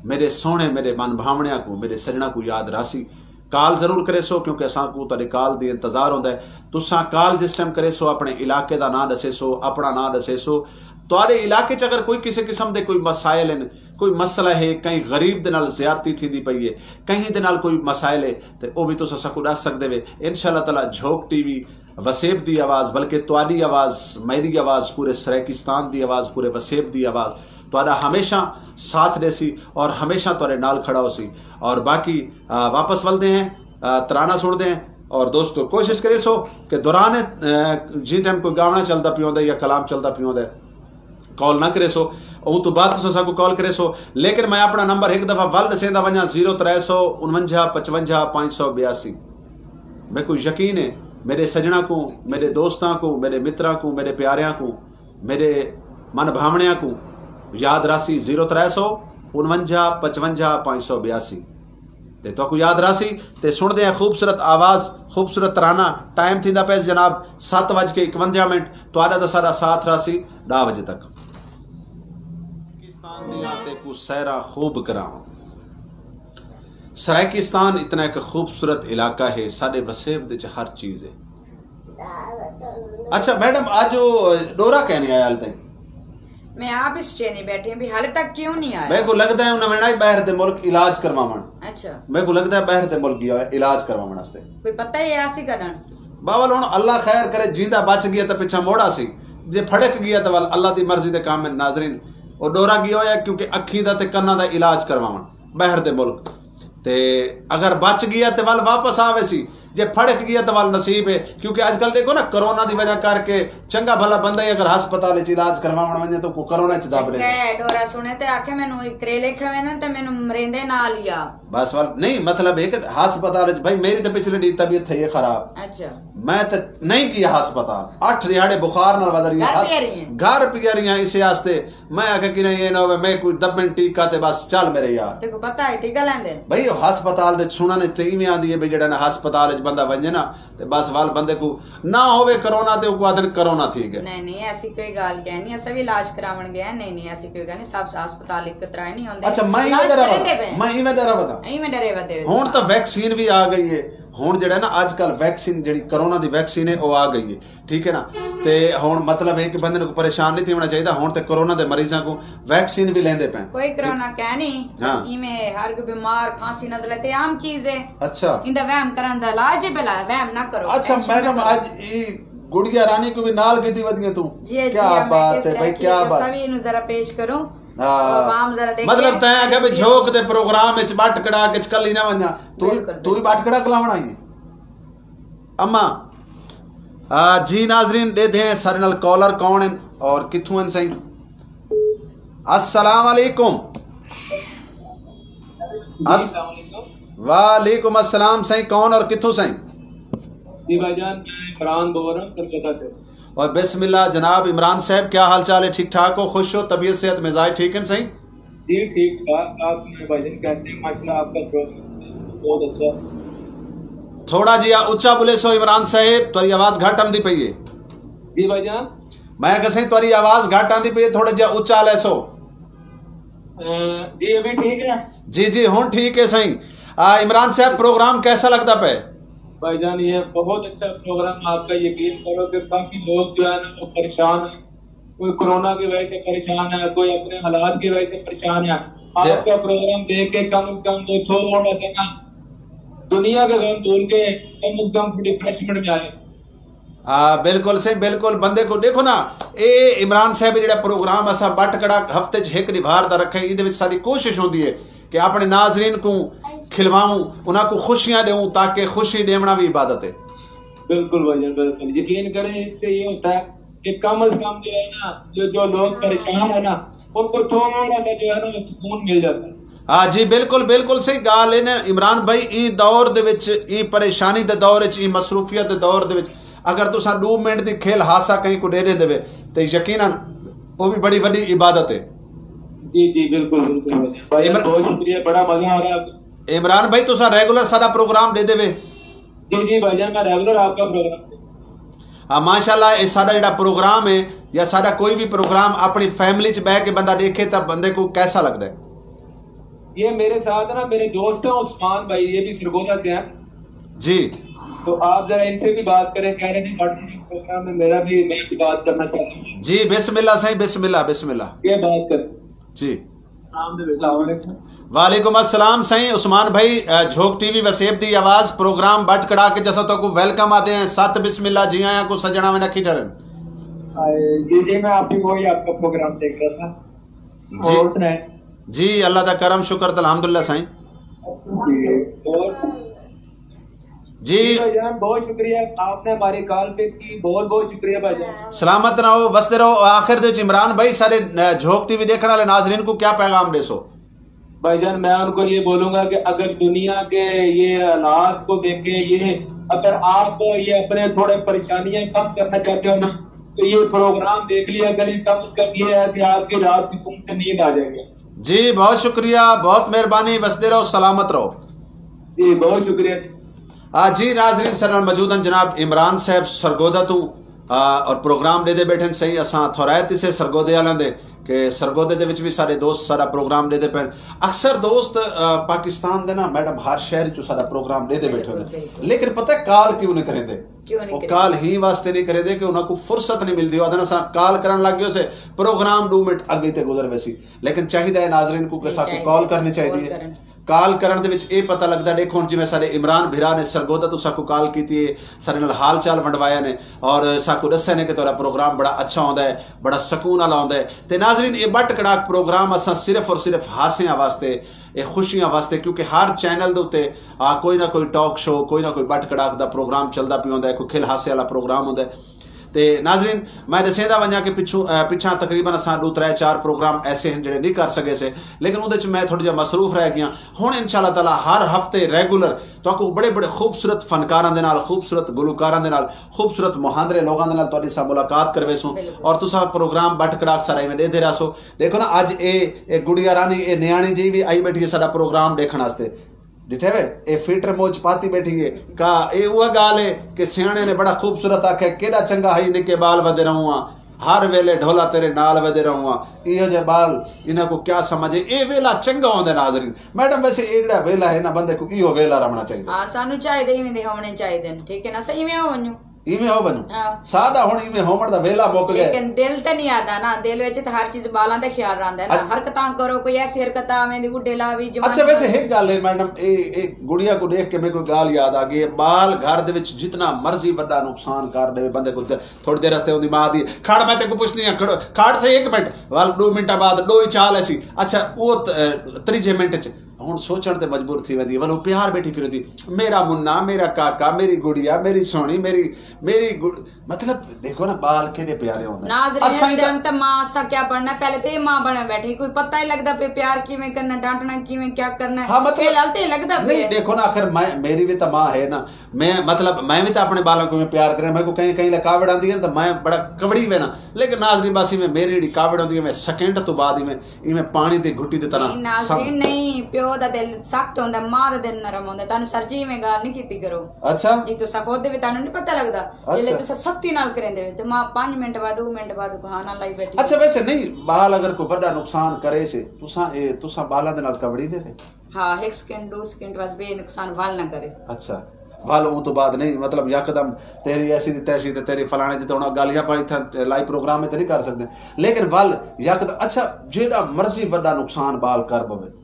میݙے سوہݨے، میݙے من بھاوݨیاں کوں، میݙے سڄݨاں کوں یاد راہسی۔ کال ضرور کریسو، کیونکہ اساں کوں تہاݙی کال دی انتظار ہوندا ہے۔ تساں کال جس ٹائم کریسو، اپݨے علاقے دا ناں ݙسیسو، اپݨا ناں ݙسیسو۔ تہاݙے علاقے چ اگر کوئی کسے قسم دے کوئی مسائل ہن، کوئی مسئلہ ہے، کہیں غریب دے نال زیادتی تھیندی پئی ہے، کہیں دے نال کوئی مسائل ہے، تے او وی تساں ساکوں ݙس سڳدے وے۔ انشاءاللہ تعالیٰ جھوک ٹی وی، وسیب دی آواز، بلکہ تہاݙی آواز، میݙی آواز، پورے سرائیکستان دی آواز، پورے وسیب دی آواز، تہاݙا ہمیشہ ساتھ ݙیسی اور ہمیشہ تہاݙے نال کھڑا ہوسی۔ اور باقی، آ، واپس ولدے ہیں، آ، ترانہ سݨدے ہیں۔ اور دوستو، کوشش کریسو کہ دوران، آ، جیں ٹائم کوئی گاوݨا چلدا پیا ہوندا ہے یا کلام چلدا پیا ہوندا ہے، کال نہ کریسو، اوں توں بعد تساں ساکوں کال کریسو۔ لیکن میں اپݨا نمبر ہک دفعہ ول ݙسیندا ونڄاں، زیرو ترے سو انونجھا پچونجھا پنج سو بیاسی۔ میکوں یقین ہے، میݙے سڄݨاں کوں، میݙے دوستاں کوں، میݙے متراں کوں، میݙے پیاریاں کوں، میݙے من بھاوݨیاں کوں یاد راہسی، زیرو ترے سو انونجھا پچونجھا پنج سو بیاسی۔ تے تہاکوں یاد راہسی۔ تے سݨدے ہیں خوبصورت آواز، خوبصورت ترانہ۔ ٹائم تھیندا پئے جناب، ست وڄ کے اکونجا منٹ۔ تہاݙا تے ساݙا ساتھ راہسی ݙاہ وڄے تک۔ پاکستان دیاں تیکوں سیراں خوب کراواں۔ سرائیکستان اتنا ایک خوبصورت علاقہ ہے، ساݙے وسیب دے وچ ہر چیز ہے۔ اچھا میڈم، اڄ او ݙورا کائنی آیا حال تائیں؟ میں آپ اس چینے بیٹھی ہوں بھی حال تک کیوں نہیں آیا؟ میکوں لڳدا ہے انہاں ویݨا ہی ٻاہر دے ملک علاج کرواوݨ۔ اچھا۔ میکوں لڳدا ہے ٻاہر دے ملک ڳیا ہویا علاج کرواوݨ واسطے۔ کوئی پتہ ہے آسی کݙݨ؟ بابل، ہݨ اللہ خیر کرے، جیندا بچ ڳیا تاں پچھاں مڑ آسی، جے پھڑک ڳیا تاں ول اللہ دی مرضی دے کام ہن ناظرین۔ او ݙورا ڳیا ہویا کیونکہ اکھیں دا تے کناں دا علاج کرواوݨ ٻاہر دے ملک۔ تے اگر بچ ڳیا تے ول واپس آ ویسی، جے پھڑک ڳیا تے ول نصیب ہے۔ کیونکہ اڄ کل ݙیکھو نا، کرونا دی وجہ کر کے چنڳا بھلا بندہ ہی اگر ہسپتال وچ علاج کرواوݨ ونڄے تاں کو کرونا وچ دب ݙے۔ چنڳا ہے، ݙورا سُݨے تے آکھے مینوں اے کریلے کھوے نا تے مینوں مریندے نال ہی آ۔ بس ول نہیں، مطلب ہے کہ ہسپتال وچ، بھائی میری تے پچھلے ݙینھ طبیعت تھئی ہے خراب۔ اچھا۔ میں تے نہیں ڳیا ہسپتال، اٹھ ݙیہاڑے بخار نال ودھا رہی ہاں، گھر پیا رہی ہیں۔ گھر پیا رہی ہاں، اسے واسطے میں آکھیا کہ نہیں، اے نہ ہووے میں کوئی دبن ٹیکا تے بس چل میرے یار۔ تیکوں پتہ ہے ٹیکا لیندے؟ بھئی او ہسپتال دے سُݨݨ تے ایویں آندی ہے بھئی جیڑھا نا ہسپتال وچ بندہ ونڄے نا تے بس ول بندے کوں نہ ہووے کرونا تے اوکوں آہدن کرونا تھی ڳئے۔ نہیں نہیں، ایسی کوئی ڳالھ کائنی، اساں وی علاج کراوݨ ڳئے ہیں۔ نہیں نہیں، ایسی کوئی ڳالھ نہیں، سب ہسپتال ہک طرح نہیں ہوندے۔ اچھا، میں ایویں علاج ݙرا کریندے وداں، پئے ہیں۔ میں ایویں ݙرا وداں۔ ایویں ݙرے ودے ہو۔ ہݨ تاں ویکسین وی آ ڳئی ہے، ہݨ جیڑھا نا اڄ کل ویکسین جیڑھی کرونا دی ویکسین ہے او آ ڳئی ہے۔ ٹھیک ہے نا؟ تے ہݨ مطلب ہے کہ بندے کوں پریشان نہیں تھیوݨا چاہیدا۔ ہݨ تے کرونا دے مریضاں کوں ویکسین وی لیندے پئے۔ کوئی کرونا کائنی، بس ہاں۔ ایویں ہے، ہر کوئی بیمار، کھانسی، نزلہ تے عام چیز ہے۔ اچھا۔ ایندا وہم کرݨ دا علاج ہے، بھلا وہم نہ کرو، اچھا ٹینشن نہ میڈم، کرو۔ اڄ ای گڑیا رانی کوں وی نال گھدی ودی ہیں توں؟ جی، جی، کیا ہاں، میں بات ہے بھائی، کیا بات۔ سوی اینوں ذرا پیش کروں۔ ہاں۔ عوام ذرا ݙیکھے۔ مطلب تیں آکھیا بھئی جی۔ جھوک دے پروگرام وچ ٻٹ کڑا کے کلی نہ ونڄاں۔ توں، بالکل، توں ہی بالکل۔ ٻٹ کڑا کلاوݨ آئی ہے؟ اماں، آ، جی ناظرین، ݙیدھے ہیں سارے نال کالر کون ہیں اور کتھوں ہیں سائیں؟ السلام علیکم۔ جی، الس-، السلام علیکم۔ وعلیکم السلام سائیں، کون اور کتھوں سائیں؟ جی بھائی جان، میں عمران بول رہا ہوں سرگودھا سے۔ اور بسم اللہ جناب عمران صاحب، کیا حال چال ہے؟ ٹھیک ٹھاک ہو، خوش ہو، طبیعت صحت مزاج ٹھیک ہیں سائیں؟ جی ٹھیک ٹھاک، آپ سنائیں بھائی جان، کیسے ہیں؟ ماشاءاللہ آپ کا پروگرام بہت اچھا۔ تھوڑا جیا اچا ٻولیسو عمران صاحب، تہاݙی آواز گھٹ آندی پئی ہے۔ جی بھائی جان۔ میں آکھیا سائیں تہاݙی آواز گھٹ آندی پئی ہے، تھوڑا جیا اچا لیسو۔ اے، جی ابھی ٹھیک ہے؟ جی جی ہݨ ٹھیک ہے سائیں۔ آ، عمران صاحب پروگرام کیسا لڳدا پئے؟ بھائی جان یہ بہت اچھا پروگرام آپ کا، یقین کرو کہ کافی لوگ جو ہے نا وہ پریشان ہیں۔ کوئی کورونا کی وجہ سے پریشان ہے، کوئی اپنے حالات کی وجہ سے پریشان ہے۔ جی۔ آپ کا پروگرام دیکھ کے کم از کم وہ تھوڑا سا نا دنیا کا غم بھول کے کم از کم ریفریشمنٹ میں آئے۔ ہاں، بالکل سائیں، بالکل۔ بندے کوں ݙیکھو نا، اے عمران صاحب جیڑھا پروگرام اساں ٻٹ کڑا ہفتے چ ہک ݙیہاڑ دا رکھیں، ایندے وچ ساݙی کوشش ہوندی ہے کہ اپݨے ناظرین کوں کھلواؤں، انہاں کوں خوشیاں ݙیوں، تاکہ خوشی ݙیوݨا وی عبادت ہے۔ بالکل بھائی جان، بالکل۔ یقین کریں، اس سے یہ ہوتا ہے کہ کم از کم جو ہے نا، جو، جو لوگ پریشان ہیں نا، ان کو تھوڑا سا جو ہے نا، سکون مل جاتا ہے۔ ہاں جی، بالکل، بالکل صحیح ڳالھ ہے نا عمران بھائی، ایں دور دے وچ، ایں پریشانی دے دور وچ، ایں مصروفیت دے دور دے وچ اگر تساں ݙو منٹ دی کھل ہاسا کہیں کوں ݙے ݙیندے وے تے یقیناً او وی بڑی وݙی عبادت ہے۔ جی، جی، بالکل، بالکل۔ بھائی جان، عمر-، بہت شکریہ، بڑا مزہ آ رہا ہے۔ عمران بھائی، تساں ریگولر ساڈا پروگرام ݙیندے وے؟ جی جی بھائی جان، میں ریگولر آپ کا پروگرام دیکھتا ہوں۔ ہاں، ماشاءاللہ، اے ساڈا جڑا پروگرام ہے یا ساڈا کوئی بھی پروگرام اپنی فیملی چ بہ کے بندہ ݙیکھے تاں بندے کو کیسا لگدا ہے؟ یہ میرے ساتھ نا میرے دوست ہیں عثمان بھائی، یہ بھی سرگودھا سے ہیں۔ جی۔ تو آپ ذرا ان سے بھی بات کریں، کہہ رہے تھے پروگرام میں میرا بھی، میں بھی بات کرنا چاہتا ہوں۔ جی، بسم اللہ سائیں، بسم اللہ، بسم اللہ۔ یہ بات کریں۔ جی۔ السلام علیکم۔ وعلیکم السلام سائیں عثمان بھائی، اے، جھوک ٹی وی وسیب دی آواز، پروگرام بٹ کڑا کے جسا تو کو ویلکم آتے ہیں، ست بسم اللہ، جی آیاں کو سجنا میں نکھی ڈرن۔ آئے، جی جی، میں آپ کی وہی آپ کا پروگرام دیکھ رہا تھا۔ جی۔ اور سنائیں؟ جی، اللہ دا کرم شکر تے الحمدللہ سائیں۔ جی۔ اور جی۔ بھائی جان، بہت شکریہ، آپ نے ہماری کال پک کی، بہت بہت شکریہ بھائی جان۔ سلامت رہو، وسدے رہو۔ آخر دے وچ عمران بھائی، سارے، اے، جھوک ٹی وی دیکھن والے ناظرین کو کیا پیغام ݙیسو؟ بھائی جان، میں ان کو یہ بولوں گا کہ اگر دنیا کے یہ حالات کو دیکھ کے یہ، اگر آپ یہ اپنے تھوڑے پریشانیاں کم کرنا چاہتے ہو نا، تو یہ پروگرام دیکھ لیا کریں، کم از کم یہ ہے کہ آپ کی رات کی سکون سے نیند آ جائے گی۔ جی، بہت شکریہ، بہت مہربانی، وسدے رہو، سلامت رہو۔ جی، بہت شکریہ۔ آ، جی ناظرین، سر نال موجود ہیں جناب عمران صاحب سرگودھا تو، آ، اور پروگرام ݙیندے بیٹھے ہیں۔ سائیں، اساں تھورائت سے سرگودھے والوں دے کہ سرگودھے دے وچ بھی سارے دوست سارا پروگرام ݙیندے پئے۔ اکثر دوست، آ، پاکستان دے نا میڈم ہر شہر چوں سارا پروگرام ݙیندے بیٹھے ہوندے، لیکن پتہ ہے کال کیوں نہیں کریندے؟ کیوں نہیں وہ کریندے؟ کال ہی واسطے نہیں کریندے کہ انہاں کو فرصت نہیں ملدی۔ آدھے اساں کال کرن لگ گئے سے، پروگرام ݙو منٹ اڳے تے گزر ویسی۔ لیکن چاہیدا ہے ناظرین کو کہ ساکوں کال کرنی چاہیدی ہے۔ کال کرن دے وچ اے پتہ لگدا، ݙیکھو ہݨ جیویں ساݙے عمران بھرا نے سرگودھا توں ساکوں کال کیتی ہے، ساݙے نال حال چال ونڈوایا نے اور ساکوں ݙسیا نے کہ تہاݙا پروگرام بڑا اچھا ہوندا ہے، بڑا سکون والا ہوندا ہے۔ تے ناظرین، اے بٹ کڑاک پروگرام اساں صرف اور صرف ہاسیاں واسطے، اے خوشیاں واسطے، کیونکہ ہر چینل دے اتے آ کوئی نہ کوئی ٹاک شو، کوئی نہ کوئی بٹ کڑاک دا پروگرام چلدا پیا ہوندا ہے، کوئی کھل ہاسے والا پروگرام ہوندا ہے۔ تے ناظرین، میں ݙسیندا ونڄاں کہ پچھوں، اے، پچھاں تقریباً اساں ݙو ترے چار پروگرام ایسے ہیں جڑے نہیں کر سڳے سے، لیکن اودے وچ میں تھوڑا جہا مصروف رہ ڳیاں۔ ہݨ انشاءاللہ تعالیٰ ہر ہفتے ریگولر تہاکوں بڑے بڑے خوبصورت فنکاراں دے نال، خوبصورت گلوکاراں دے نال، خوبصورت مہاندرے لوگاں دے نال تہاݙی سا ملاقات کرویسوں۔ اور تساں پروگرام بٹ کڑاک سارا ایویں ݙیہدے رہسو۔ ݙیکھو نا، اڄ اے، اے گڑیا رانی، اے نیاݨی جی وی آئی ٻیٹھی ہے ساݙا پروگرام ݙیکھݨ واسطے۔ ݙٹھے وے، اے فلٹر منہ چ پاتی ٻیٹھی ہے۔ کا اے اوہا ڳالھ ہے کہ سیاݨے نے بڑا خوبصورت آکھیا، کیݙا چنڳا ہئی نکے ٻال ودے رہوں ہاں، ہر ویلے ڈھولا تیرے نال ودے رہوں ہاں۔ ایہو جے ٻال، انہاں کوں کیا سمجھ ہے؟ اے ویلا چنڳا ہوندا ہے ناظرین۔ میڈم، ویسے اے جیڑھا ویلا ہے نا، بندے کوں ایہو ویلا رہوݨا چاہیدا۔ ہاں، سانوں چاہیدے ایویں دے ہووݨے چاہیدے نے، ٹھیک ہے نا؟ اساں ایویں ہوونجوں۔ ایویں ہو ونڄوں۔ ساݙا ہݨ ایویں ہووݨ دا ویلا مک ڳئے۔ لیکن دل تے نہیں آندا نا، دل وچ تے ہر چیز ٻالاں دا خیال رہندا ہے نا۔ حرکتاں کرو، کوئی ایسی حرکت آویں دی، بڈھے لا وی، جوان۔ اچھا، ویسے ہک ڳالھ ہے میڈم، اے، اے گڑیا کوں ݙیکھ کے میکوں ڳالھ یاد آ ڳئی ہے۔ ٻال گھر دے وچ جتنا مرضی وݙا نقصان کر ݙیوے، بندے کوں تھوڑی دیر واسطے اوندی ماء دی، کھڑ، میں تیکوں پچھدی ہاں، کھڑ، کھڑ سہی ہک منٹ، ول ݙو منٹاں بعد ݙو ہی چال ایسی۔ اچھا، او ت-، تریجھے منٹ چ ہݨ سوچݨ تے مجبور تھی ویندی ہے، ول او پیار ٻیٹھی کریندی، میرا منا، میرا کاکا، میری گڑیا، میری سوہݨی، میری، میری گڑ-، مطلب، ݙیکھو نا، ٻال کیݙے پیارے ہوندے۔ ناظرین، اس ٹائم تے ماں اساں کیا بݨنا، پہلے تے ماں بݨے ٻیٹھی، کوئی پتہ ہی لڳدا پئے پیار کیویں کرنا، ڈانٹنا کیویں، کیا کرنا ہے۔ ہاں، مطلب، فی الحال تے لڳدا پئے۔ نہیں، ݙیکھو نا، آخر میں، میری وی تاں ماں ہے نا، میں، مطلب، میں وی تاں اپݨے ٻالاں کوں پیار کریاں، میکوں کہیں، کہیں لے کاوڑ آندی ہے تاں میں بڑا کاوڑی وینا، لیکن ناظرین، بس ایویں میری جیڑھی کاوڑ ہوندی ہے، میں سیکنڈ توں بعد ایویں ایویں پاݨی دی گھٹی دی طرح۔ نہیں ناظرین، نہیں، پیو دا دل سخت ہوندا، ماں دا دل نرم ہوندا۔ تانوں سر جی ایویں ڳالھ نہیں کیتی کرو۔ اچھا۔ جی تساں خود وی تانوں نہیں پتہ لڳدا۔ جیلے تساں سختی نال کریندے وے تے ماں پنج منٹ بعد، ݙو منٹ بعد کہانا لائی ٻیٹھی۔ اچھا، ویسے نہیں، ٻال اگر کوئی وݙا نقصان کرے سے، تساں اے، تساں ٻالاں دے نال کاوڑیندے وے؟ ہاں، ہک سیکنڈ، ݙو سیکنڈ بس، ٻئے نقصان ول نہ کرے۔ اچھا۔ ول اوں توں بعد نہیں، مطلب، یکدم تیری ایسی دی تیسی تے تیری فلانے دی تے ہݨ ڳالھیاں پائی تھاں لائیو پروگرام تے نہیں کر سڳدے، لیکن ول یکدم، اچھا، جیڑھا مرضی وݙا نقصان ٻال کر پوے۔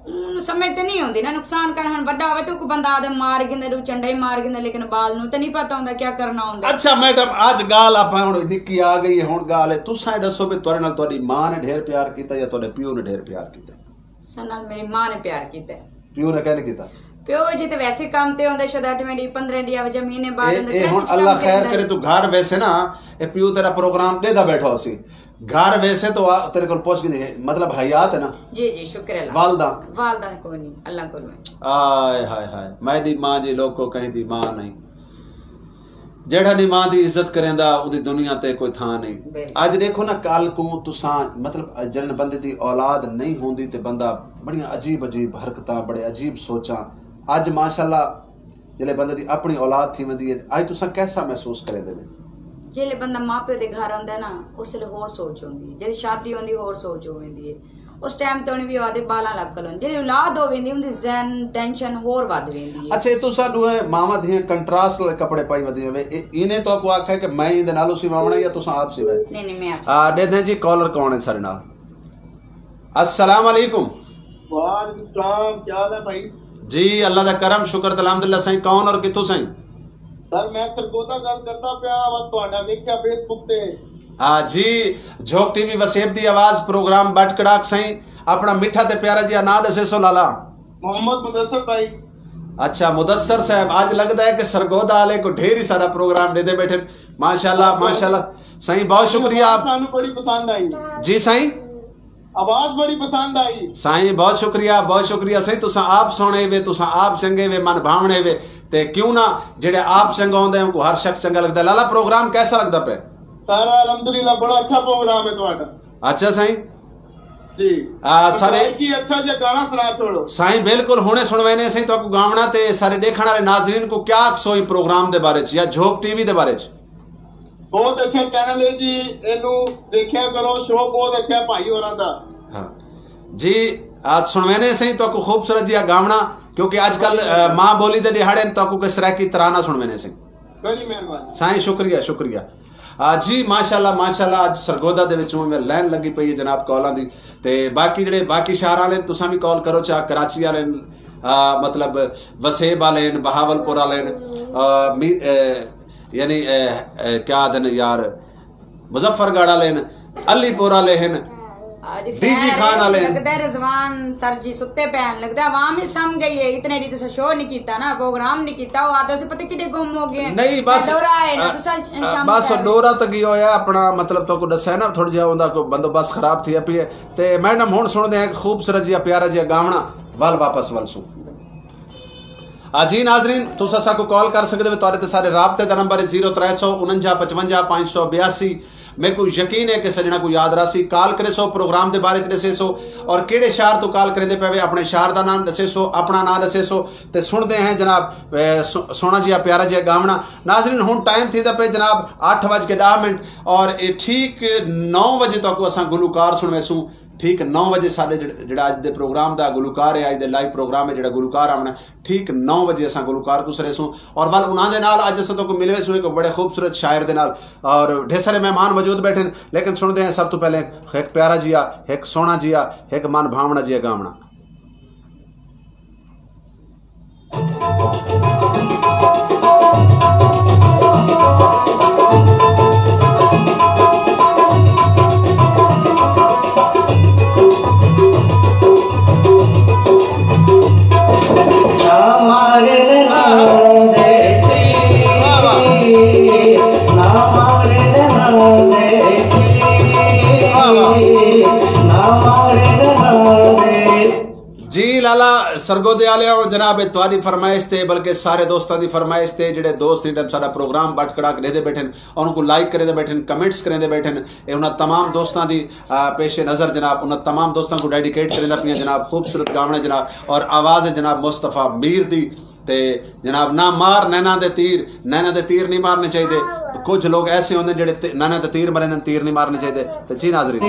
اوں سمجھ تے نہیں ہوندی نا، نقصان کر ہݨ وݙا ہوے تے اوکوں بندہ آدھے مار گھندے، ݙو چنڈا ہی مار گھندے، لیکن ٻال نوں تے نہیں پتہ ہوندا کیا کرنا ہوندا۔ اچھا میڈم، اڄ ڳالھ آپاں ہݨ نکی آ ڳئی ہے، ہݨ ڳالھ ہے، تساں اے ݙسو بھئی تہاݙے نال تہاݙی ماں نے ڈھیر پیار کیتا یا تہاݙے پیو نے ڈھیر پیار کیتا؟ ساݙے نال میری ماں نے پیار کیتا ہے۔ پیو نے کیوں نہیں کیتا؟ پیو جی تے ویسے کم تے ہوندے، شاید اٹھویں ݙینہہ، پندرہیں ݙینہہ، وجہ مہینے بعد اے، ہوندے، اے ہݨ اللہ خیر کرے، توں گھر ویسے نا، اے پیو تیرا پروگرام ݙیہدا ٻیٹھا ہوسی۔ گھر ویسے تاں آ، تیرے کول پچھ گھندی ہے، مطلب حیات ہے نا؟ جی جی، شکر اللہ۔ والدہ؟ والدہ کوئی نہیں، اللہ کولوں ہے۔ آئے ہائے ہائے، میݙی ماں جی لوکو، کہیں دی ماں نہیں۔ جیڑھا نی ماں دی عزت کریندا، اوندی دنیا تے کوئی تھاں نئیں۔ بالکل۔ اڄ ݙیکھو نا، کل کوں تساں، مطلب، جݙݨ بندے دی اولاد نئیں ہوندی تے بندہ بڑیاں عجیب عجیب حرکتاں، بڑے عجیب سوچاں۔ اڄ ماشاءاللہ جیلے بندے دی اپݨی اولاد تھی ویندی ہے، اڄ تساں کیسا محسوس کریندے وے؟ جیلے بندہ ماں پیو دے گھر آندا ہے نا، اس ویلے ہور سوچ ہوندی ہے، جیلے شادی ہوندی ہور سوچ ہو ویندی ہے۔ اس ٹائم تے انہیں وی آدھے بالاں لگ کلن۔ جیلے اولاد ہو ویندی، اوندی ذہن ٹینشن ہور ودھ ویندی ہے۔ اچھا، اے تساں ݙوہیں ماواں دھیاں کنٹراسٹ والے کپڑے پائی ودیاں وے، اے اینے تہاکوں آکھیا کہ میں ایندے نال اسی واوݨا یا تساں آپ سوائے؟ نہیں، نہیں، میں آپ آ، ݙیدھیں جی، کالر کون ہے سارے نال؟ السلام علیکم۔ وعلیکم السلام، کیا حال ہے بھائی؟ جی، اللہ دا کرم، شکر تے الحمدللہ۔ سائیں، کون اور کتھوں سائیں؟ سر، میں سرگودھا گل کردا پیاں، بس تہاڈا ویکھیا فیس بک تے۔ ہاں جی، جھوک ٹی وی وسیب دی آواز، پروگرام بٹ کڑاک۔ سائیں، اپݨا میٹھا تے پیارا جیہا ناں ݙسیسو لالا۔ محمد مدثر بھائی۔ اچھا مدثر صاحب، اڄ لڳدا ہے کہ سرگودھا والے کوں ڈھیر ہی سارا پروگرام ݙیندے ٻیٹھن۔ ماشاءاللہ، ماشاءاللہ۔ سائیں، بہت شکریہ آپ۔ سانوں بڑی پسند آئی۔ جی سائیں۔ آواز بڑی پسند آئی۔ سائیں، بہت شکریہ، بہت شکریہ سائیں۔ تساں آپ سوہݨے وے، تساں آپ چنڳے وے، من بھاوݨے وے۔ تے کیوں نہ، جیڑھے آپ چنڳا ہوندے، اونکوں ہر شخص چنڳا لڳدا ہے۔ لالا، پروگرام کیسا لڳدا پئے؟ سر، الحمدللہ، بڑا اچھا پروگرام ہے تہاڈا۔ اچھا سائیں۔ جی۔ آ، سارے کی اچھا جیہا گانا سݨا چھوڑو۔ سائیں، بالکل، ہݨے سݨوینے سائیں تہاکوں گاوݨا۔ تے سارے ݙیکھݨ والے ناظرین کوں کیا آکھسو ایں پروگرام دے بارے چ یا جھوک ٹی وی دے بارے چ؟ بہت اچھا چینل ہے جی، اینوں دیکھیا کرو، شو بہت اچھا ہے بھائی ہوراں دا۔ ہاں جی، آ، سݨوینے سائیں تہاکوں خوبصورت جیہا گاوݨا، کیونکہ اڄ کل، آ، ماں بولی دے ݙیہاڑے ہن، تہاکوں کوئی سرائیکی ترانہ سݨوینے سائیں۔ بڑی مہربانی۔ سائیں، شکریہ، شکریہ۔ آ، جی، ماشاءاللہ، ماشاءاللہ، اڄ سرگودھا دے وچوں میں لائن لڳی پئی ہے جناب کالاں دی۔ تے باقی جیڑھے باقی شہر والے، تساں وی کال کرو، چا کراچی والے، آ، مطلب، وسیب والے ہن، بہاول پور والے ہن، آ، می-، اے، یعنی، اے، اے، کیا آہدن یار، مظفر گڑھ والے ہن، علی پور والے ہن، اڄ ڈی جی خیر خان والے ہن۔ لڳدا ہے رضوان سر جی ستے پئے ہن، لڳدا ہے عوام ہی سم گئی ہے، اتنے ݙینھ تساں شو نہیں کیتا نا، پروگرام نہیں کیتا، او آہدے سے پتہ کݙے گم ہو گئے۔ نہیں، بس، دورہ آئے نا، آ، تساں آ، شام بس نکالے۔ دورہ تے ڳیا ہویا اپݨا، مطلب، تہاکوں ݙسیا نا، تھوڑا جیہا اوندا کوئی بندوبست خراب تھیا پیا ہے۔ تے میڈم، ہݨ سݨدے ہیں کہ خوبصورت جیہا پیارا جیہا گاوݨا، ول واپس ولسوں۔ آ جی ناظرین، تساں ساکوں کال کر سڳدے وے، تہاݙے تے سارے رابطے دا نمبر ہے زیرو ترے سو انجا پچونجا پنج سو بیاسی۔ میکوں یقین ہے کہ سڄݨاں کوں یاد رہسی، کال کریسو، پروگرام دے بارے چ ݙسیسو اور کیڑھے شہر توں کال کریندے پئے وے، اپݨے شہر دا ناں ݙسیسو، اپݨا ناں ݙسیسو۔ تے سݨدے ہیں جناب، اے، سو-، سوہݨا جیہا پیارا جیہا گاوݨا۔ ناظرین، ہݨ ٹائم تھیندا پئے جناب اٹھ وڄ کے ݙاہ منٹ اور اے ٹھیک نو وڄے تہاکوں اساں گلوکار سݨویسوں۔ ٹھیک نو وڄے ساݙے جڑ-، جڑا اڄ دے پروگرام دا گلوکار ہے، اڄ دے لائیو پروگرام ہے، جڑا گلوکار آوݨا، ٹھیک نو وڄے اساں گلوکار کوں سݨیسوں۔ اور ول انہاں دے نال اڄ اساں تہاکوں ملویسوں ہک بڑے خوبصورت شاعر دے نال، اور ڈھیر سارے مہمان موجود ٻیٹھن، لیکن سݨدے ہیں سب توں پہلے ہک پیارا جیہا، ہک سوہݨا جیہا، ہک من بھاوݨا جیہا گاوݨا۔ جی لالا، سرگودھے آلیاؤ، جناب، اے تہاݙی فرمائش تے، بلکہ سارے دوستاں دی فرمائش تے، جڑے دوست ایں ٹائم ساݙا پروگرام بٹ کڑاک ݙیہدے ٻیٹھن، انہاں کوں لائک کریندے ٻیٹھن، کمنٹس کریندے ٻیٹھن، اے انہاں تمام دوستاں دی، آ، پیش نظر جناب، انہاں تمام دوستاں کوں ڈیڈیکیٹ کریندا پیاں جناب، خوبصورت گاوݨے جناب، اور آواز ہے جناب مصطفی میر دی۔ تے جناب، نہ مار نیناں دے تیر، نیناں دے تیر نہیں مارنے چاہیدے۔ کجھ لوگ ایسے ہوندے جڑے تے-، نیناں دے تیر مریندے، تیر نہیں مارنے چاہیدے۔ تے جی ناظرین۔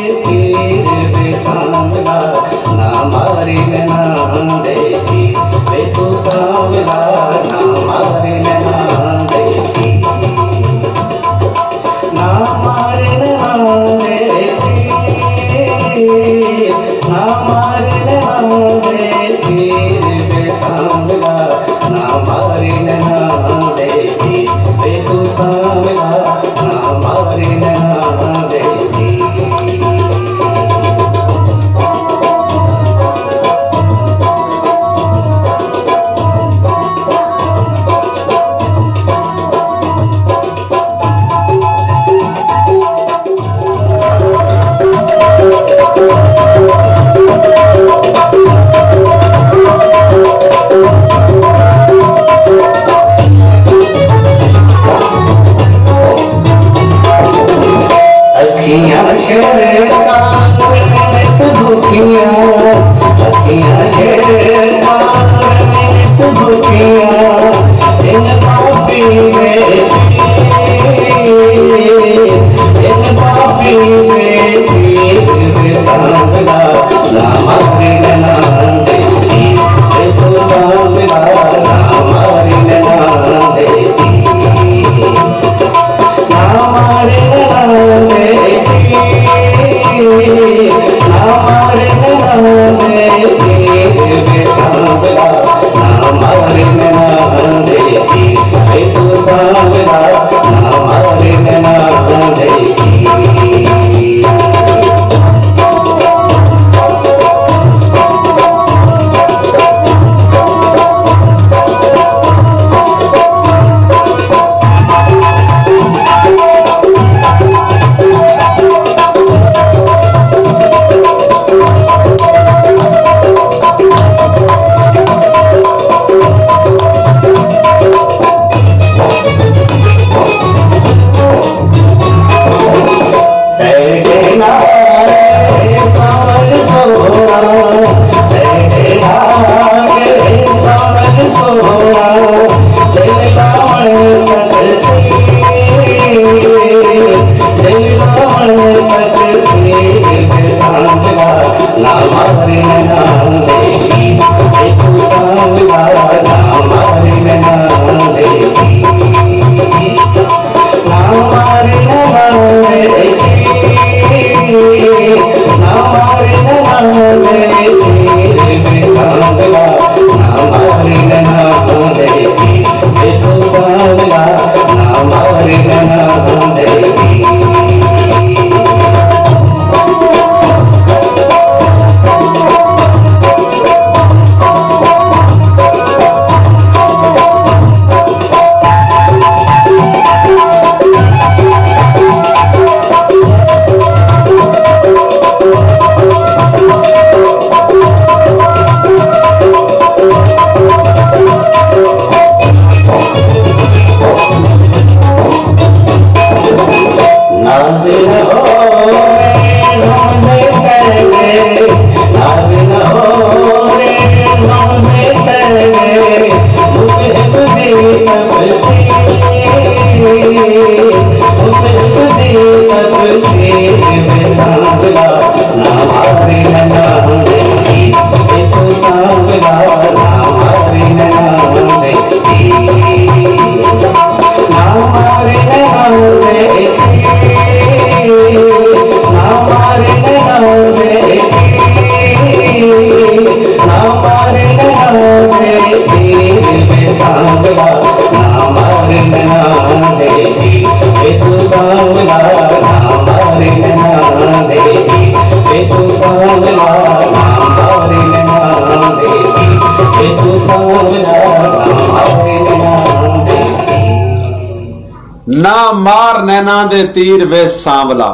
نہ مار نینا دے تیر وے سانولا،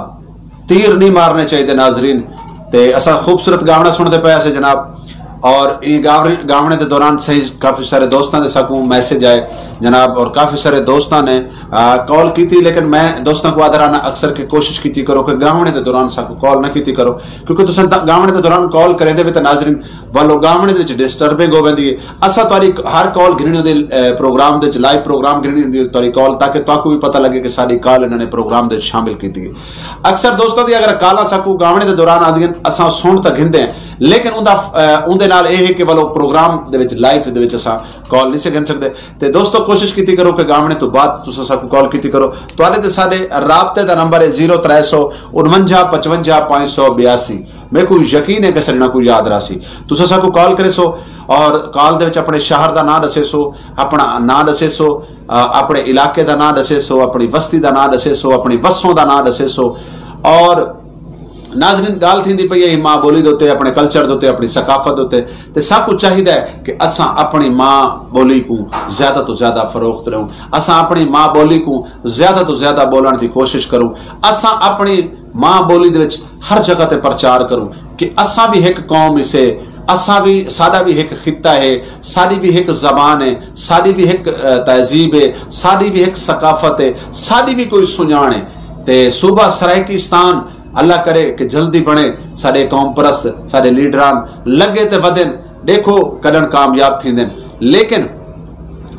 تیر نہیں مارنے چاہیے ناظرین۔ تے اساں خوبصورت گاونا سنتے پے سے جناب، اور یہ گاونے دے دوران صحیح کافی سارے دوستاں دے ساکوں میسج آئے جناب، اور کافی سارے دوستاں نے کال کی تھی، لیکن میں دوستاں کو آدھا رہنا اکثر کہ کوشش کیتی کرو کہ گاونے دے دوران ساکوں کال نہ کیتی کرو، کیونکہ تساں گاونے دے دوران کال کریں دے بھی تو ناظرین والو گاونے دے وچ ڈسٹربنگ ہو ویندی ہے۔ اساں تہاڈی ہر کال گھننی ہوندی، اے، پروگرام دے وچ، لائیو پروگرام گھننی ہوندی ہے، تہاڈی کال، تاکہ تہاکوں بھی پتہ لگے کہ ساڈی کال انہاں نے پروگرام دے وچ شامل کیتی ہے۔ اکثر دوستاں دی اگر کالاں ساکوں گاونے دے دوران آندیاں، اساں سن تاں گھندے ہیں، لیکن اوندا، اے، اوندے نال اے ہے کہ والو پروگرام دے وچ، لائیو دے وچ اساں کال نہیں سے گھن سکدے۔ تے دوستو، کوشش کیتی کرو کہ گاونے تو بعد تساں ساکوں کال کیتی کرو۔ تہاڈے تے ساڈے رابطے دا نمبر ہے زیرو ترے سو انونجا پچونجا پانچ سو بیاسی۔ میکوں یقین ہے کہ ساڈے نال کوئی یاد راہسی۔ تساں ساکوں کال کریسو اور کال دے وچ اپنے شہر دا ناں ڈسیسو، اپنا ناں ڈسیسو، آ، اپنے علاقے دا ناں ڈسیسو، اپنی وستی دا ناں ڈسیسو، اپنی وسوں دا ناں ڈسیسو۔ اور ناظرین، گالھ تھیندی پئی ہے ماں بولی دے اتے، اپنے کلچر دے اتے، اپنی ثقافت دے اتے۔ تے ساکوں چاہیدا ہے کہ اساں اپنی ماں بولی کوں زیادہ توں زیادہ فروغ ݙیوں، اساں اپنی ماں بولی کوں زیادہ توں زیادہ ٻولݨ دی کوشش کروں، اساں اپنی ماں بولی دے وچ ہر جگہ تے پرچار کروں کہ اساں وی ہک قوم ہسے، اساں وی، ساݙا وی ہک خطہ ہے، ساݙی وی ہک زبان ہے، ساݙی وی ہک، اے، تہذیب ہے، ساݙی وی ہک ثقافت ہے، ساݙی وی کوئی سنڄاݨ ہے۔ تے صوبہ سرائیکستان اللہ کرے کہ جلدی بݨے، ساݙے قوم پرست، ساݙے لیڈران لڳے تے ودن، ݙیکھو کݙݨ کامیاب تھیندن۔ لیکن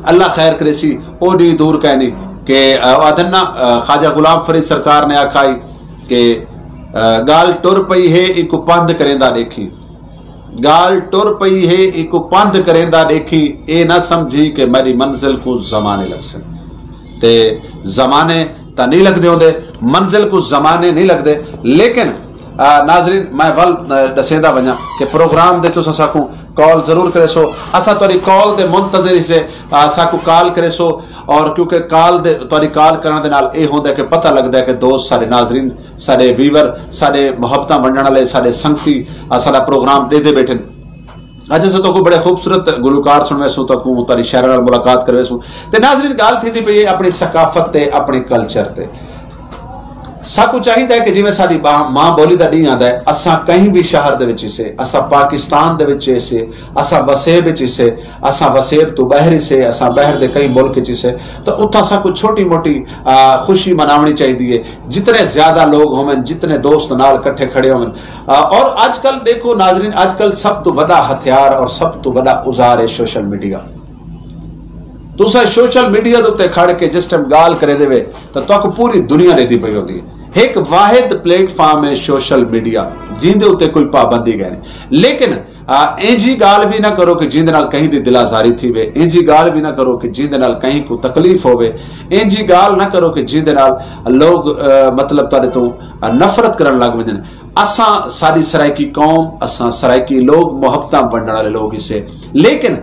اللہ خیر کریسی، او ݙینہہ دور کائنی کہ، آ، آدھن نا، آ، خواجہ غلام فرید سرکار نے آکھائی کہ، آ، ڳالھ ٹر پئی ہے، ایکوں پندھ کریندا ݙیکھیں۔ ڳالھ ٹر پئی ہے، ایکوں پندھ کریندا ݙیکھیں، اے نہ سمجھیں کہ میݙی منزل کوں زمانے لڳسن۔ تے زمانے تاں نہیں لڳدے ہوندے، منزل کوں زمانے نہیں لڳدے، لیکن آ، ناظرین، میں ول، آ، ݙسیندا ونڄاں کہ پروگرام دے تساں ساکوں کال ضرور کریسو۔ اساں تہاݙی کال دے منتظر ہیسے۔ آ، ساکوں کال کریسو، اور کیونکہ کال دے، تہاݙی کال کرݨ دے نال اے ہوندا ہے کہ پتہ لڳدا ہے کہ دوست، ساݙے ناظرین، ساݙے ویور، ساݙے محبتاں ونڈݨ والے، ساݙے سنگتی، آ، ساݙا پروگرام ݙیہدے ٻیٹھن۔ اڄ اساں تہاکوں بڑے خوبصورت گلوکار سݨویسوں، تہاکوں تہاݙی شاعراں نال ملاقات کرویسوں۔ تے ناظرین، ڳالھ تھیندی پئی ہے اپݨی ثقافت تے، اپݨے کلچر تے۔ ساکوں چاہیدا ہے کہ جیویں ساݙی ماں، ماں ٻولی دا ݙینہہ آندا ہے، اساں کہیں وی شہر دے وچ ہیسے، اساں پاکستان دے وچ ہیسے، اساں وسیب وچ ہیسے، اساں وسیب توں ٻاہر ہیسے، اساں ٻاہر دے کہیں ملک وچ ہیسے، تاں اتھاں ساکوں چھوٹی موٹی، آ، خوشی مناوݨی چاہیدی ہے۔ جتنے زیادہ لوگ ہوون، جتنے دوست نال کٹھے کھڑے ہوون، آ، اور اڄ کل ݙیکھو ناظرین، اڄ کل سب توں وݙا ہتھیار اور سب توں وݙا اوزار ہے سوشل میڈیا۔ تساں سوشل میڈیا دے اتے کھڑ کے جس ٹائم ڳالھ کریندے وے، تاں تہاکوں پوری دنیا ݙیہدی پئی ہوندی ہے۔ ہک واحد پلیٹ فارم ہے سوشل میڈیا، جیندے اتے کوئی پابندی کائنی۔ لیکن، آ، اینجھی ڳالھ وی نہ کرو کہ جیندے نال کہیں دی دل آزاری تھیوے، اینجھی ڳالھ وی نہ کرو کہ جیندے نال کہیں کوں تکلیف ہووے، اینجھی ڳالھ نہ کرو کہ جیندے نال لوگ، آ، مطلب تہاݙے توں، آ، نفرت کرݨ لڳ ونڄن۔ اساں، ساݙی سرائیکی قوم، اساں سرائیکی لوگ محبتاں ونڈݨ والے لوگ ہیسے۔ لیکن،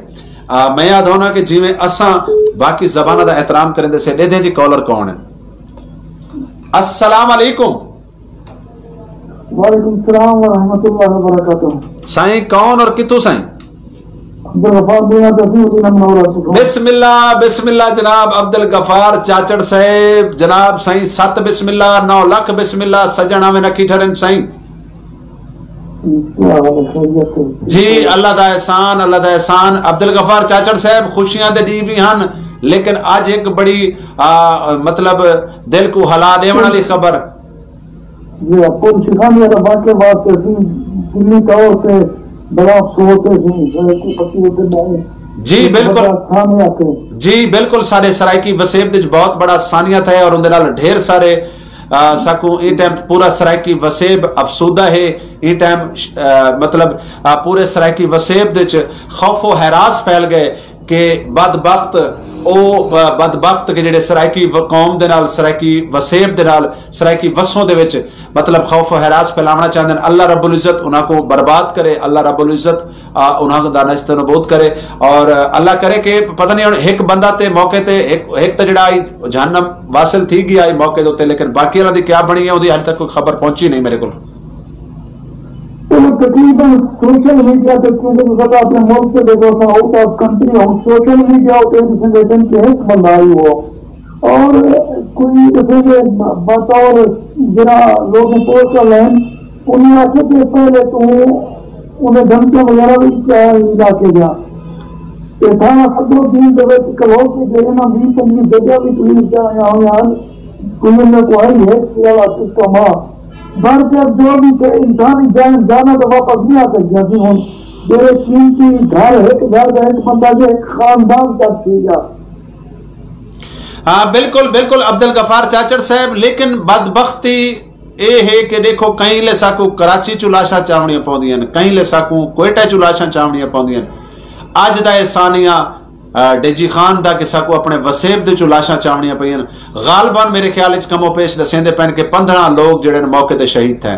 آ، میں آہدا ہونداں کہ جیویں اساں باقی زباناں دا احترام کریندے سے، ݙیہدے جی کالر کون ہے۔ السلام علیکم۔ وعلیکم السلام ورحمۃ اللہ وبرکاتہ۔ سائیں کون اور کتھوں سائیں؟ عبدالغفار بن عبد العزیز بن منور۔ بسم اللہ، بسم اللہ جناب عبدالغفار چاچڑ صاحب، جناب سائیں ست بسم اللہ، نو لکھ بسم اللہ، سڄݨ آویں اکھی ٹھرن سائیں۔ کیا حال ہے؟ خیریت ہے؟ جی، اللہ دا احسان، اللہ دا احسان۔ عبدالغفار چاچڑ صاحب، خوشیاں دے ݙینہہ وی ہن، لیکن اڄ ہک بڑی، آ، مطلب دل کوں ہلا ݙیوݨ والی خبر۔ جی، پل شیخانیہ دا واقعہ واسطے اسی دلی طور تے بڑا افسوس ہے جی، سرائیکی پتی ہوتے میں جی، ایک بالکل۔ بڑا سامنے آتے ہیں۔ جی، بالکل، سارے سرائیکی وسیب دے وچ بہت بڑا سانیہ تھا ہے اور اندے نال ڈھیر سارے، آ، ساکوں ایں ٹائم پورا سرائیکی وسیب افسودہ ہے۔ ایں ٹائم، آ، مطلب، آ، پورے سرائیکی وسیب دے وچ خوف و ہراس پھیل ڳئے کہ بدبخت، او، آ، بدبخت کہ جڑے سرائیکی و-، قوم دے نال، سرائیکی وسیب دے نال، سرائیکی وسوں دے وچ مطلب خوف و ہراس پھیلاوݨا چاہندے ہن۔ اللہ رب العزت انہاں کوں برباد کرے، اللہ رب العزت، آ، انہاں دا نشت و نبود کرے، اور، آ، اللہ کرے کہ پتہ نہیں ہݨ ہک بندہ تے موقع تے ہک، ہک تاں جڑا آئی جہنم واصل تھی ڳیا آئی موقع دے اتے، لیکن باقی والا دی کیا بݨی ہے، اودی حال تک کوئی خبر پہنچی نہیں میرے کول۔ چلو، تقریباً سوشل میڈیا تے، کیونکہ تساں تاں اپݨے ملک تے ݙیکھو، اساں آؤٹ آف کنٹری ہوں، سوشل میڈیا اتے ݙسیندے پن کہ ہک بندہ آئی ہو، اور کوئی ݙسیندے بطور جڑا لوگ پوسٹ کر لین، انہیں آکھیا کہ پہلے توں انہیں دھمکیاں وغیرہ وی کیا علاقے جا۔ تے تھانہ صدر الدین دے وچ کلہو کے جیڑھے نا ویہہ پنجویہہ جگہ وی پولیس جا آیا ہویا ہن، کوئی انہیں کو آئی ہے کہ والا سسٹم آ۔ بھر کے جو بھی کہ انسانی جان جانا تو واپس نہیں آ سکیا سی ہن۔ جیڑھے قیمتی گھر، ہک گھر دا ہک بندہ جو ہک خاندان تک تھی گیا۔ ہاں، بالکل، بالکل عبدالغفار چاچڑ صاحب، لیکن بدبختی اے ہے کہ ݙیکھو، کہیں لے ساکوں کراچی چوں لاشاں چاوݨیاں پوندیاں ہن، کہیں لے ساکوں کوئٹہ چوں لاشاں چاوݨیاں پوندیاں ہن۔ اڄ دا اے سانیہ، آ، ڈیجی خان دا کہ ساکوں اپݨے وسیب دے چوں لاشاں چاوݨیاں پئین۔ غالباً میرے خیال وچ کم و پیش ݙسیندے پئن کہ پندرہ لوگ جڑے ہن موقع تے شہید تھئن۔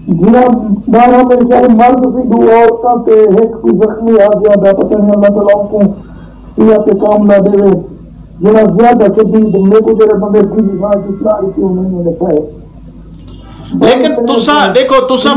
جناب، بارہ میرے خیال مرد سی، ݙو عورتاں تے ہک کوئی زخمی آ ڳیا دا، پتہ نہیں اللہ تعالیٰ اونکوں صحت کاملہ ݙیوے۔ جڑا زیادہ شدید، میکوں جڑے بندے ڈیجی خان دی اطلاع ݙتی، انہاں نے ݙسایا۔ لیکن تساں ݙیکھو، تساں،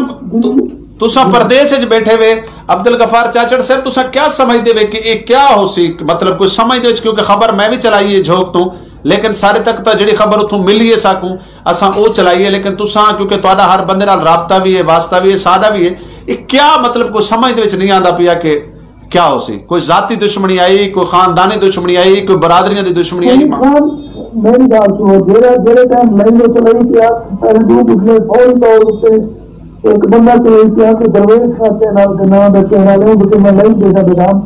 تساں پردیس وچ ٻیٹھے وے، عبدالغفار چاچڑ صاحب، تساں کیا سمجھدے وے کہ اے کیا ہوسی؟ مطلب، کوئی سمجھ دے وچ، کیونکہ خبر میں وی چلائی ہے جھوک توں، لیکن ساݙے تک تاں جڑی خبر اتھوں ملی ہے ساکوں، اساں او چلائی ہے، لیکن تساں، کیونکہ تہاݙا ہر بندے نال رابطہ وی ہے، واسطہ وی ہے، سادہ وی ہے، اے کیا، مطلب، کوئی سمجھ دے وچ نہیں آندا پیا کہ کیا ہوسی؟ کوئی ذاتی دشمنی آئی، کوئی خاندانی دشمنی آئی، کوئی برادریاں دی دشمنی آئی؟ میری خیال، میری ڳالھ سنو، جیڑھا، جیڑھے ٹائم لائیو چلائی پیا، پہلے ݙو پچھلے فوری طور اتے ہک بندہ چلائی پیا کہ درویش خاصے نال دے ناں دا چہرہ لے، اوں تے میں لائیو ݙیکھا تے نام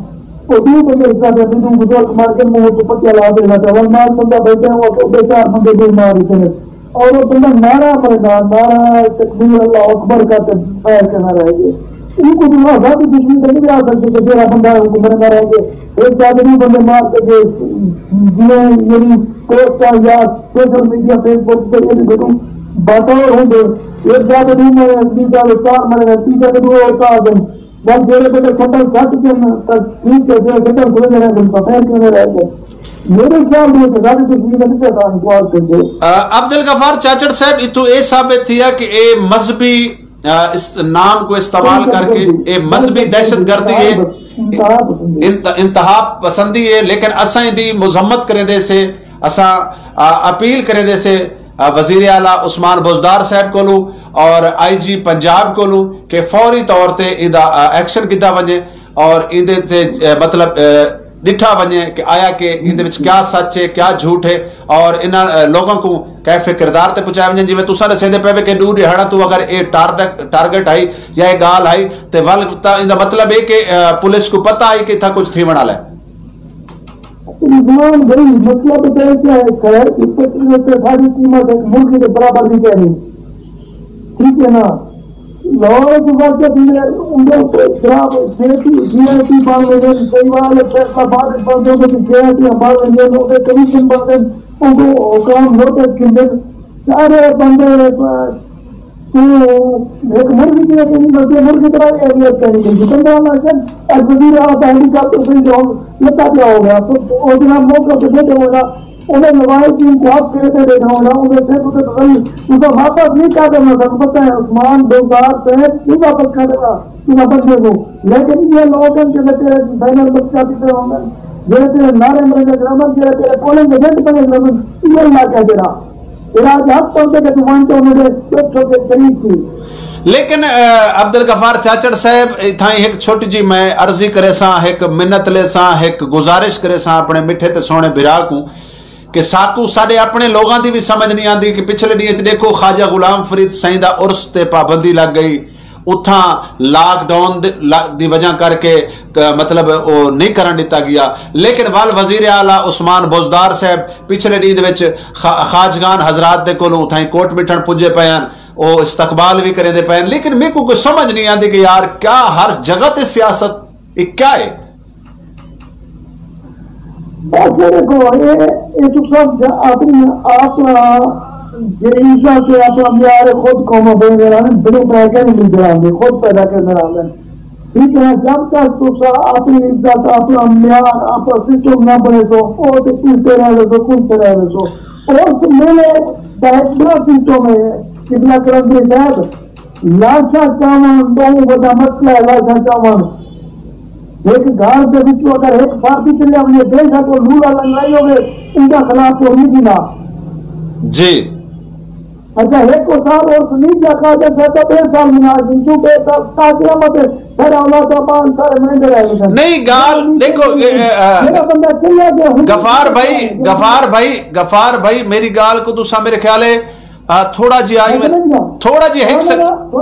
او ݙو بندے حصہ دے، ݙو بزرگ مر ڳئے، منہ تے پٹیاں لا تے ٻیٹھا، ول مال بندہ ٻیٹھا، او اڳے چار بندے ٻئے مار ݙتے نے۔ اور او بندہ نعرہ ماریندا، نعرہ تکبیر اللہ اکبر کر تے پیر کنارے رہ ڳئے۔ اوں کوں تاں آزادی دشمن تے نہیں آ سڳدے کہ جیڑھا بندہ ہے، اوں کوں مریندا رہ ڳئے۔ ہک ساتھ ݙو بندے مار تے ڳئے، جیویں میری پوسٹاں یا سوشل میڈیا، فیس بک تے ایں ݙو باتاں ہوندے، ہک ساتھ ݙو مرے، ٻئی ڳالھ چار مرے، تیجا تے ݙو اور آ ڳئے۔ ول جیڑھے ویلے سٹاں سٹ ڳن تاں ٹھیک ہے، جیڑھے سٹاں کھلے رہ ڳن تاں خیر کیویں رہ ڳئے۔ میرے خیال دے وچ رب تے جی دا نکا تاں انکار کر دے۔ آ، عبدالغفار چاچڑ صاحب، اتھوں اے ثابت تھیا کہ اے مذہبی، آ، اس نام کو استعمال کر کے اے مذہبی دہشت گردی ہے، انتہا پسندی۔ انت-، انتہا پسندی ہے، لیکن اساں ایندی مذمت کریندے سے، اساں، آ، اپیل کریندے سے، آ، وزیر اعلیٰ عثمان بزدار صاحب کولوں اور آئی جی پنجاب کولوں کہ فوری طور تے ایندا، آ، ایکشن گھدا ونڄے اور ایندے تے، آ، مطلب، آ، ݙٹھا ونڄے کہ آیا کہ ایندے وچ کیا سچ ہے، کیا جھوٹ ہے، اور انہاں، آ، لوگاں کوں کیف کردار تے پہنچایا ونڄے۔ جیویں تساں ݙسیندے پئے وے کہ ݙو ݙیہاڑاں توں اگر اے ٹارگٹ، ٹارگٹ ہئی یا اے ڳالھ ہئی، تے ول تاں ایندا مطلب ہے کہ، آ، پولیس کوں پتہ ہئی کہ اتھاں کجھ تھیوݨ والا ہے۔ رضوان بھائی، مسئلہ پتہ ہے کیا ہے؟ خیر، اس وقت میں تو ساری قیمت ایک مرغی کے برابر بھی کہہ رہی، ٹھیک ہے نا؟ لاہور کے بعد جب میں ان کو جناب جے پی، جے آئی ٹی بن ویندے، کئی بار فیصلہ بعد وچ بن ویندے کہ جے آئی ٹی بن ویندے، ان کے کمیشن بن ویندے، ان کو حکام نوٹس گھندے، سارے بندے، آ، تو ہک مرغی تے اپݨی مرضی، مرغی طرح اے اہمیت کرنی چاہیے۔ بندہ اللہ جان، اڄ وزیر اعلیٰ دا ہیلی کاپٹر پئی جو لتا پیا ہو گیا، تو او جناب موقع تے بیٹھے ہوئے نا، انہیں نواز دین کو حق کرے تے بیٹھا ہونا، انہیں سے تو تسلی، تو واپس نہیں کر دینا، سب پتہ ہے عثمان بزدار صاحب نہیں واپس کر دینا، تو بندے کو۔ لیکن یہ لوگ ہیں جو تیرے بین الاقوامی پہ ہوں گے، جو تیرے نعرے مرے گرامن، جو تیرے پولنگ ایجنٹ بنے گرامن، یہ اللہ کہہ دے رہا۔ علاج حق پہنچے کہ توں ونڄ تے انہاں دے ݙکھ تے شریک تھی۔ لیکن، آ، عبدالغفار چاچڑ صاحب، اتھائیں ہک چھوٹی جی میں عرضی کریساں، ہک منت لیساں، ہک گزارش کریساں اپݨے مٹھے تے سوہݨے بھرا کوں کہ ساکوں ساݙے اپݨے لوگاں دی وی سمجھ نہیں آندی کہ پچھلے ݙینھ اچ ݙیکھو خواجہ غلام فرید سئیں دا عرس تے پابندی لڳ ڳئی، اتھاں لاک ڈاؤن دے، لا-، دی وجہ کر کے ک-، مطلب او نہیں کرݨ ݙتا ڳیا۔ لیکن ول وزیر اعلیٰ عثمان بزدار صاحب پچھلے ݙینھ دے وچ خا-، خواجگان حضرات دے کولوں اتھائیں کوٹ مٹھݨ پڄے پئے ہن، او استقبال وی کریندے پئے ہن، لیکن میکوں کوئی سمجھ نہیں آندی کہ یار کیا ہر جگہ تے سیاست، اے کیا ہے؟ بس دیکھو، اے، اے تو سب جا-، اپݨی آپ، آ، جے عزت ہے، اپݨا معیار خود قوم بݨ رہا ہے، بلو پہ کے نہیں مل رہا ہے، خود پیدا کرنا رہا ہے۔ ٹھیک ہے، جب تک تساں اپݨی عزت، اپݨا معیار، اپݨا سسٹم نہ بݨیسو، او تے کلتے رہ ویسو، کلتے رہ ویسو۔ اور میرے دا ایک بڑا سسٹم ہے، قبلہ کرم دے صاحب، لاشاں چاوݨ ٻہوں وݙا مسئلہ ہے، لاشاں چاوݨ۔ ہک گھر دے وچوں اگر ہک فرد چلیا ونڄے، بے شک او لولا لنگڑائی ہووے، اوندا خلاف کوئی نہیں تھیندا۔ جی۔ اچھا، ہک او سال عرس نہیں کیا، قادر صاحب دا ٻئے سال مناظم، کیوں ٻئے سال تا قیامت ہے، سارے اولاد ابان سارے منیندے رہ ویندن۔ نہیں، ڳالھ ݙیکھو، اے، اے، اے، جیڑھا بندہ چلیا ڳیا، ہݨ غفار بھائی، غفار بھائی، غفار بھائی، میری ڳالھ کوں تساں میرے خیال ہے، آ، تھوڑا جیہا آئی میں، سمجھ ڳیا۔ تھوڑا جیہا ہک نہ، نہ، سیکنڈ۔ نہ،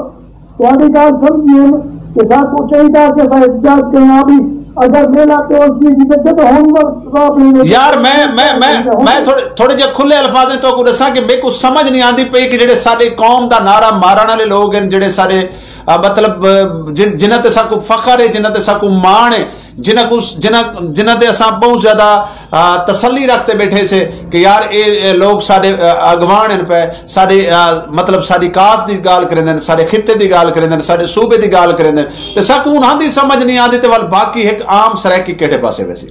تہاݙی ڳالھ سمجھی ہم کہ ساکوں چاہیدا کہ اساں احتجاج کرݨا بھی، اگر میلہ تے اس دی جدت ہن وقت صاف نہیں ہوئی۔ یار، میں، میں، میں، میں تھوڑے، تھوڑے جے کھلے الفاظاں تو کو ݙساں کہ میکوں سمجھ نہیں آندی پئی کہ جڑے ساݙے قوم دا نعرہ مارݨ والے لوگ ہیں، جڑے ساݙے، آ، مطلب، آ، جن-، جنہاں تے ساکوں فخر ہے، جنہاں تے ساکوں ماݨ ہے، جنہاں کوں، جنہاں، جنہاں تے اساں بہت زیادہ، آ، تسلی رکھ تے بیٹھے سے کہ یار اے، اے لوگ ساݙے، آ، اڳواݨ ہن پئے، ساݙے، آ، مطلب ساݙی کاس دی ڳالھ کریندن، ساݙے خطے دی ڳالھ کریندن، ساݙے صوبے دی ڳالھ کریندن، تے ساکوں انہاں دی سمجھ نہیں آندی تے ول باقی ہک عام سرائیکی کیڑھے پاسے ویسی؟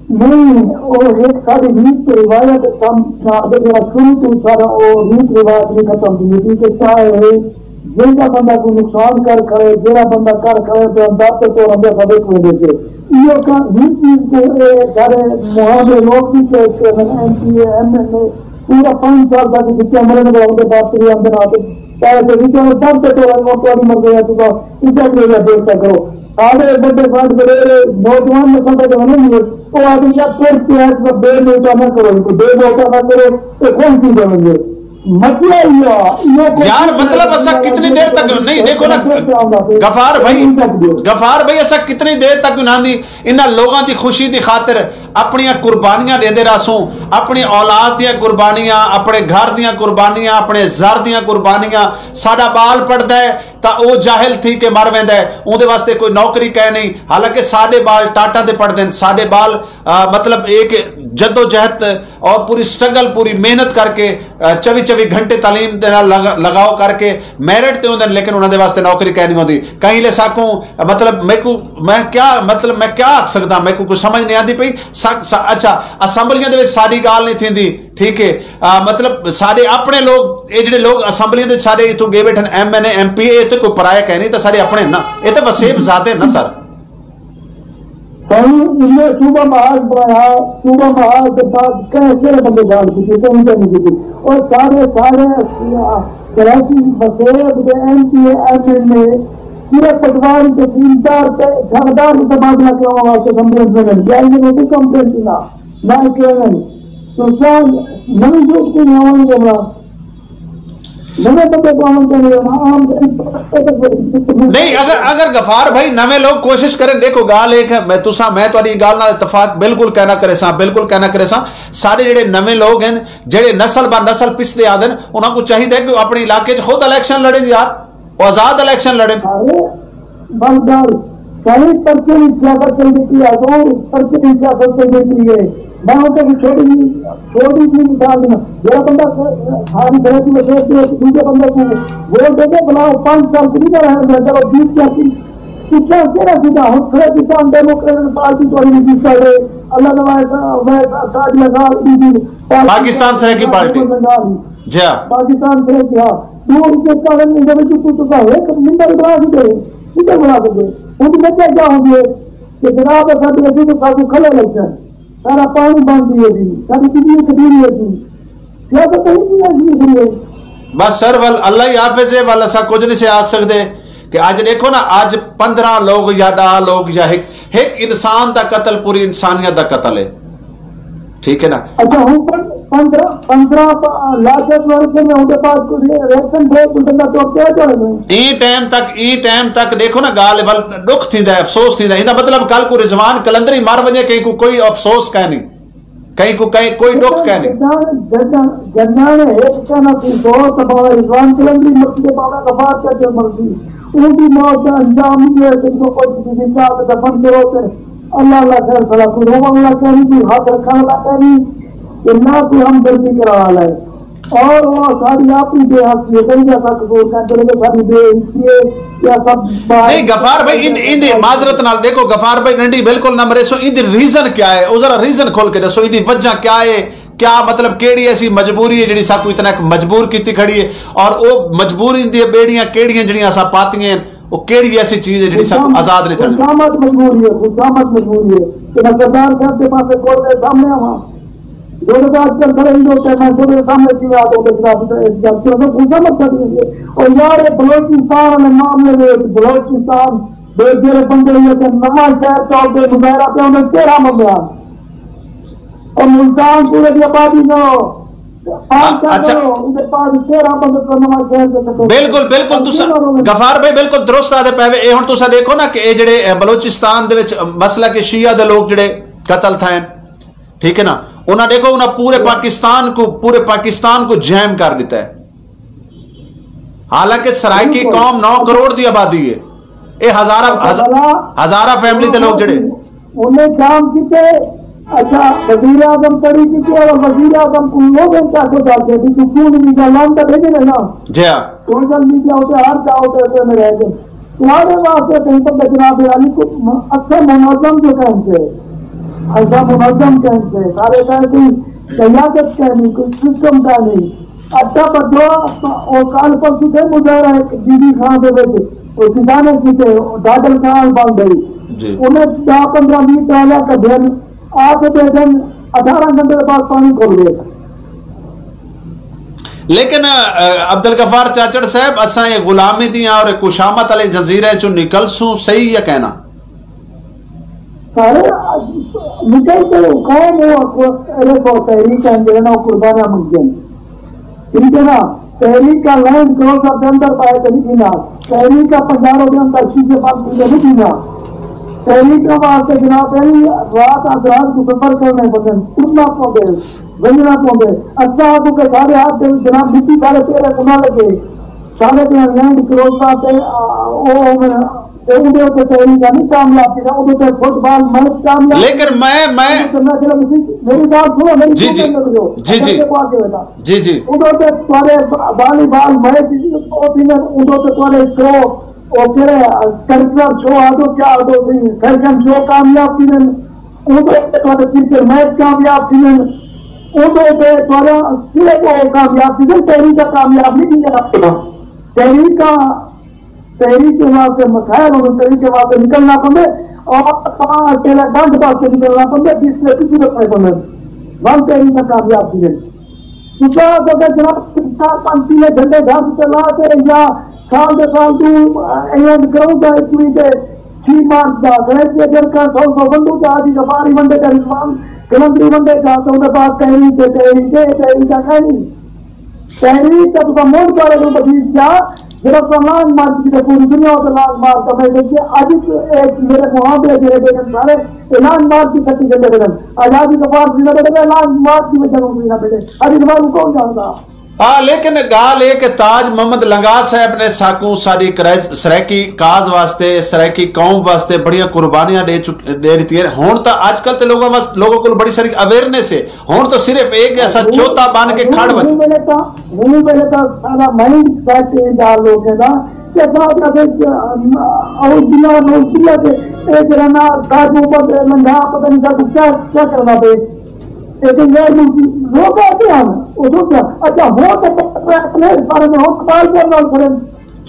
نہیں، او ہک ساݙی ریت تے روایت کم، اگر جیڑھا شروع توں ساݙا او ریت روایت نہیں ختم تھیندی، کیونکہ چاہے جیڑھا بندہ کوئی نقصان کر کھڑے، جیڑھا بندہ کر کھڑے، تے اندر تے تو رنگے سبق ویندے سے۔ ایہو کا-، ہی چیز کو اے سارے معاملے لوگ بھی پیش کرن، ایم پی اے، ایم این اے، پورا پانچ سال تک جتنے مرن گے، ان کے بعد پھر اندر آتے، چاہے تو ریت سب تے تو رنگے، تہاݙی مرضی ہے، تو اتنا بھی ہو جائے، دیر تک کرو۔ سارے بڑے بڑے نوجوان نسل تک نہیں ہے، وہ آدمی یا پھر پیاز کا بے موٹا نہ کرو، ان کو بے موٹا نہ کرو، تو کون سی کریں گے؟ مچیا ہی آ۔ یار، مطلب، اساں کتنی دیر تک، نہیں، دیکھو نا، غفار بھائی، غفار بھائی، اساں کتنی دیر تک انہاں دی، انہاں لوگاں دی خوشی دی خاطر اپنیاں قربانیاں ݙیندے رہسوں، اپݨی اولاد دیاں قربانیاں، اپݨے گھر دیاں قربانیاں، اپݨے زر دیاں قربانیاں۔ ساݙا ٻال پڑھدا ہے تاں او جاہل تھی کے مر ویندا ہے، اوندے واسطے کوئی نوکری کائے نہیں۔ حالانکہ ساݙے ٻال ٹاٹاں تے پڑھدے ہن، ساݙے ٻال، آ، مطلب، ایک جدوجہد اور پوری سٹرگل، پوری محنت کر کے، آ، چوی چوی گھنٹے تعلیم دے نال لگا-، لگاؤ کر کے میرٹ تے ہوندے ہن، لیکن انہاں دے واسطے نوکری کائے نہیں ہوندی۔ کہیں لے ساکوں، مطلب، میکوں، میں کیا، مطلب، میں کیا آکھ سڳداں، میکوں کوئی سمجھ نہیں آندی پئی۔ سا-، سا-، اچھا، اسمبلیاں دے وچ ساݙی ڳالھ نہیں تھیندی، ٹھیک ہے؟ آ، مطلب، ساݙے اپݨے لوگ، اے جڑے لوگ اسمبلیاں دے وچ ساݙے اتھوں ڳئے ٻیٹھن، ایم این اے، ایم پی اے، تے کوئی پرایا کائے نہیں، تاں ساݙے اپݨے ہن نا، اے تاں وسیب ذات ہے نا سر۔ سائیں، انہیں صوبہ محاذ بݨایا، صوبہ محاذ دے بعد کہیں کہڑے بندے ڳالھ کیتی؟ کہیں تے نہیں کیتی۔ اور سارے، سارے کراچی وسیب دے ایم پی اے، ایم این اے، پورے پٹواری تے زمیندار تے جھاڑدار دے تبادلہ کراوݨ واسطے اسمبلی اچ ونڄن، کیا انہیں کوں کوئی کمپلین نہ، نہ کیون؟ تو کیا نویں لوگ کوئی آوݨ دے بڑا؟ نویں بندے کو آوݨ دے بڑا؟ عام نہیں، اگر، اگر غفار بھائی نویں لوگ کوشش کرن، ݙیکھو ڳالھ ایک ہے، میں تساں، میں تہاݙی ڳالھ نال اتفاق بالکل کائنا کریساں، بالکل کائنا کریساں۔ سارے جڑے نویں لوگ ہیں، جڑے نسل با نسل پسدے آندن، انہاں کوں چاہیدا ہے کہ او اپݨے علاقے اچ خود الیکشن لڑن یار، او آزاد الیکشن لڑن۔ ارے، بس ڳالھ، ساری پرچے دی سیاست چلدی پئی ہے، اتوں پرچے دی سیاست چلدی پئی ہے۔ میں اتھے کوئی چھوٹی جی، چھوٹی جی مثال ݙینا، جیڑھا بندہ ساری سرحدی وسیب تے دوجے بندے کوں ووٹ ݙے تے بھلا او پنج سال کوں نہیں رہݨ ݙیندا، چلو بیس سیاسی، اتھاں کیڑھا سیدھا ہݨ سرحدی، ڈیموکریٹک پارٹی تہاݙی رجسٹرڈ ہے، اللہ نواز صاحب، اویس صاحب، سعدیہ صاحب، بی بی پاکستان سرائیکی پارٹی۔ جی ہاں۔ پاکستان سرائیکی، ہاں۔ ݙو روپے کارن ایندے وچ کوئی تساں ہک ممبر بݨا سڳدے، ممبر بݨا سڳدے۔ ہݨ وجہ کیا ہوندی ہے کہ جناب اساں دے اڳوں تاں ساکوں کھلے الیکشن، سارا پاݨی بند تھی ویسی، ساݙی بجلی کٹی ویسی، سیاست تاں ہی نہیں آسی ہے۔ بس سر، ول اللہ ہی حافظ ہے، ول اساں کجھ نہیں سے آکھ سڳدے کہ اڄ ݙیکھو نا، اڄ پندرہ لوگ یا ݙاہ لوگ یا ہک، ہک انسان دا قتل پوری انسانیت دا قتل ہے۔ ٹھیک ہے نا؟ اچھا، ہوں پن-، پندرہ، پندرہ پ-، لاکھ ورکر نے اُنہاں دے پاس کوئی ریشن دے، کوئی بندہ تو کیا جانے؟ ایں ٹائم تک، ایں ٹائم تک ݙیکھو نا، ڳالھ ول ݙکھ تھیندا ہے، افسوس تھیندا ہے۔ ایندا مطلب کل کو رضوان قلندری مر ونڄے، کہیں کو کوئی افسوس کائے نہیں، کہیں کو کہیں کوئی ݙکھ کائے نہیں۔ جݙاں، جݙاں، جݙاں ہک کہنا سی، سو تباہ رضوان قلندری مرسی تے بابا غفار چاچڑ مرسی۔ اوں دی موت دا انجام ایہو ہے کہ جو کچھ بھی زندہ تے دفن کرو تے اللہ اللہ خیر بھلا، کوئی رووݨ والا کائنی، کوئی ہتھ رکھݨ والا کائنی، تے نہ کوئی ہمدردی کرݨ والا ہے۔ اور وہ ساری اپݨی بے حسی ہے، کہیں جیسا قصور کر دے، ساری بے حسی ہے، یا سب باہر نہیں، غفار بھائی، ایندے، ایندے معذرت نال ݙیکھو، غفار بھائی ݙنڈی بالکل نہ مریسو، ایندے ریزن کیا ہے؟ او ذرا ریزن کھول کے ݙسو، ایندی وجہ کیا ہے؟ کیا مطلب، کیڑھی ایسی مجبوری ہے جڑی ساکوں اتنا مجبور کیتی کھڑی ہے؟ اور او مجبوری دی بیڑیاں کیڑھیاں جڑیاں اساں پاتیاں ہیں؟ او کیڑھی ایسی چیز ہے جڑی ساکوں آزاد نہیں تھیندی؟ خشامت مجبوری ہے، خشامت مجبوری ہے کہ میں سردار صاحب دے پاسے کورٹ دے سامنے آواں۔ جوڑے دا اج کل کھڑے ہی لوگ ہیں، میں جوڑے دے سامنے کیویں آ کے اُٹھ کے جناب، اس گل کیوں میں خشامت کر دی ہے۔ اور یار، یہ بلوچستان والے معاملے میں، بلوچستان دے جڑے بندے یہ کہ نواں شہر چوک دے مظاہرہ پہ انہیں تیرہ بندے آ، اور ملتان پورے دی آبادی نہ ہو، پانچ سال اچھا۔ نہ ہو، ان کے پاس تیرہ بندے تو نواں شہر دے کٹے۔ بالکل، بالکل، تساں، غفار بھائی، بالکل درست آدھے پے وے۔ اے ہن تساں ݙیکھو نا کہ اے جڑے، اے، بلوچستان دے وچ مسئلہ کہ شیعہ دے لوگ جڑے قتل تھئن، ٹھیک ہے نا، انہاں ݙیکھو، انہاں پورے پاکستان کو، پورے پاکستان کو جیم کر ݙتا ہے۔ حالانکہ سرائیکی قوم نو کروڑ دی آبادی ہے۔ اے ہزاراں، ہز-، ہزاراں فیملی دے لوگ جڑے۔ انہیں جام کیتے، اچھا، وزیر اعظم پڑھی کیتے اور وزیر اعظم کو لوگوں کا کو جاتے بھی تو کیوں نہیں جا لان کا بھیجے نا؟ جی ہاں۔ سوشل میڈیا ہوتے ہر جاؤ تے تے میں رہ گئے۔ تمہارے واسطے کہیں پر جناب عالی کو م-، اچھا منظم جو کہیں سے، ایسا منظم کہیں سے، سارے کہیں کوئی قیادت کہیں نہیں، کوئی سسٹم کہیں نہیں۔ اچھا، بدوا، او کل پرسوں تھے مظاہرہ ایک بی بی خان دے وچ، او کسانے کیتے، او ڈاڈر خان بن گئی۔ جی۔ انہیں دہ پندرہ ویہہ ٹرالیاں کڈھیاں، آ کے دے دن اٹھارہ گھنٹے دے بعد پانی کھل گئے۔ لیکن، آ، عبدالغفار چاچڑ صاحب، اساں اے غلامی دیاں اور اے کشامت والے جزیرے چوں نکلسوں، صحیح یا کہنا؟ سارے نکل کے قوم ہو، اے سو تحریک ہیں، جنہاں قربانیاں منگیاں۔ ٹھیک ہے نا؟ تحریک کا لینڈ کروزر دے اندر پائے تے نہیں پینا، تحریک کا پنجاروں دے اندر شیشے بند پیندے نہیں پینا۔ تحریک کے واسطے جناب علی رات از رات کو سفر کرنے پوندے، ٹرنا پوندے، ونجنا پوندے۔ اچھا کو کہ سارے ہاتھ دے جناب مٹی سارے پیرے کو نہ لگے، سارے دے لینڈ کروزر تے آ، او، او، تے اوندے اتے تحریک نہیں کامیاب تھی، اوندے تے فٹ بال میچ کامیاب۔ لیکن میں میں تے میں چلو میری گال سنو، میری جی جی جی جی جی جی۔ ادھر تے تھوڑے والی بال میچ، ادھر تے تھوڑے شو، او کہڑے کلچرل شو آدھو کیا آدھو سی، فیشن شو کامیاب تھی وین، ادھر تے تھوڑے کرکٹ میچ کامیاب تھی وین، ادھر تے تھوڑا صرف وہ کامیاب تھی وین، تحریک کا کامیاب نہیں تھی۔ تحریک کا تحریک کے واسطے مسائل ہوں، تحریک کے واسطے نکلنا پوندے، اور تاں اکیلا ڈنڈ واسطے نکلنا پوندے، جس سے کسی رکھنے پوندے۔ ون تحریک میں کامیاب تھی ہے۔ کیونکہ اگر جناب چار پانچ کلے جھنڈے گھر سے لا کے یا سال دے سال تو ایونٹ کروں گا، ایک وی تے چھ مارچ دا گلیشیئر جرکا سو سو بندو تے آدھی سفاری ونڈے کا رضوان کلندری ونڈے کا، تو انہیں پاس تحریک ہے، تحریک ہے، تحریک کا کہیں نہیں۔ تحریک تے تساں ملک والے کوں تکلیف ݙیا، جیڑھا تساں لانگ مارچ کیتے، پوری دنیا تے لانگ مارچ دا میسج ݙے۔ اڄ اے میرے محاورے جیڑھے ݙیکھن سارے، اے لانگ مارچ دی سٹی گھندے پئے ہن۔ آزادی دے بعد وی نہ ٻیٹھے، لانگ مارچ دی وجہ نال وی نہ ٻیٹھے۔ اڄ دے بعد کون ڄاݨدا؟ ہاں، لیکن ڳالھ اے کہ تاج محمد لنگاہ صاحب نے ساکوں ساݙی کرائس-، سرائیکی کاز واسطے، سرائیکی قوم واسطے بڑیاں قربانیاں ݙے چک-، ݙے ݙتیاں۔ ہݨ تاں اڄ کل تے لوگاں واس-، لوگاں کول بڑی ساری اویئرنیس ہے۔ ہݨ تاں صرف ایک ایسا چوتا بݨ کے کھڑ ونڄ۔ ہوں ویلے تاں، ہوں ویلے تاں سارا مائنڈ سیٹ ایں ڳالھ لوکیں دا کہ اساں آکھیا کہ، اعوذ باللہ، نعوذ باللہ، کہ اے جیڑھا نا ساکوں پتہ لنگھا، پتہ نہیں ساکوں کیا، کیا کرنا پئے۔ اے تے غیر ملکی لوک آندے ہن، او سوچیا، اچھا، ہو تے پتہ ہے، سارے میں ہو کمال کر نال کھڑے۔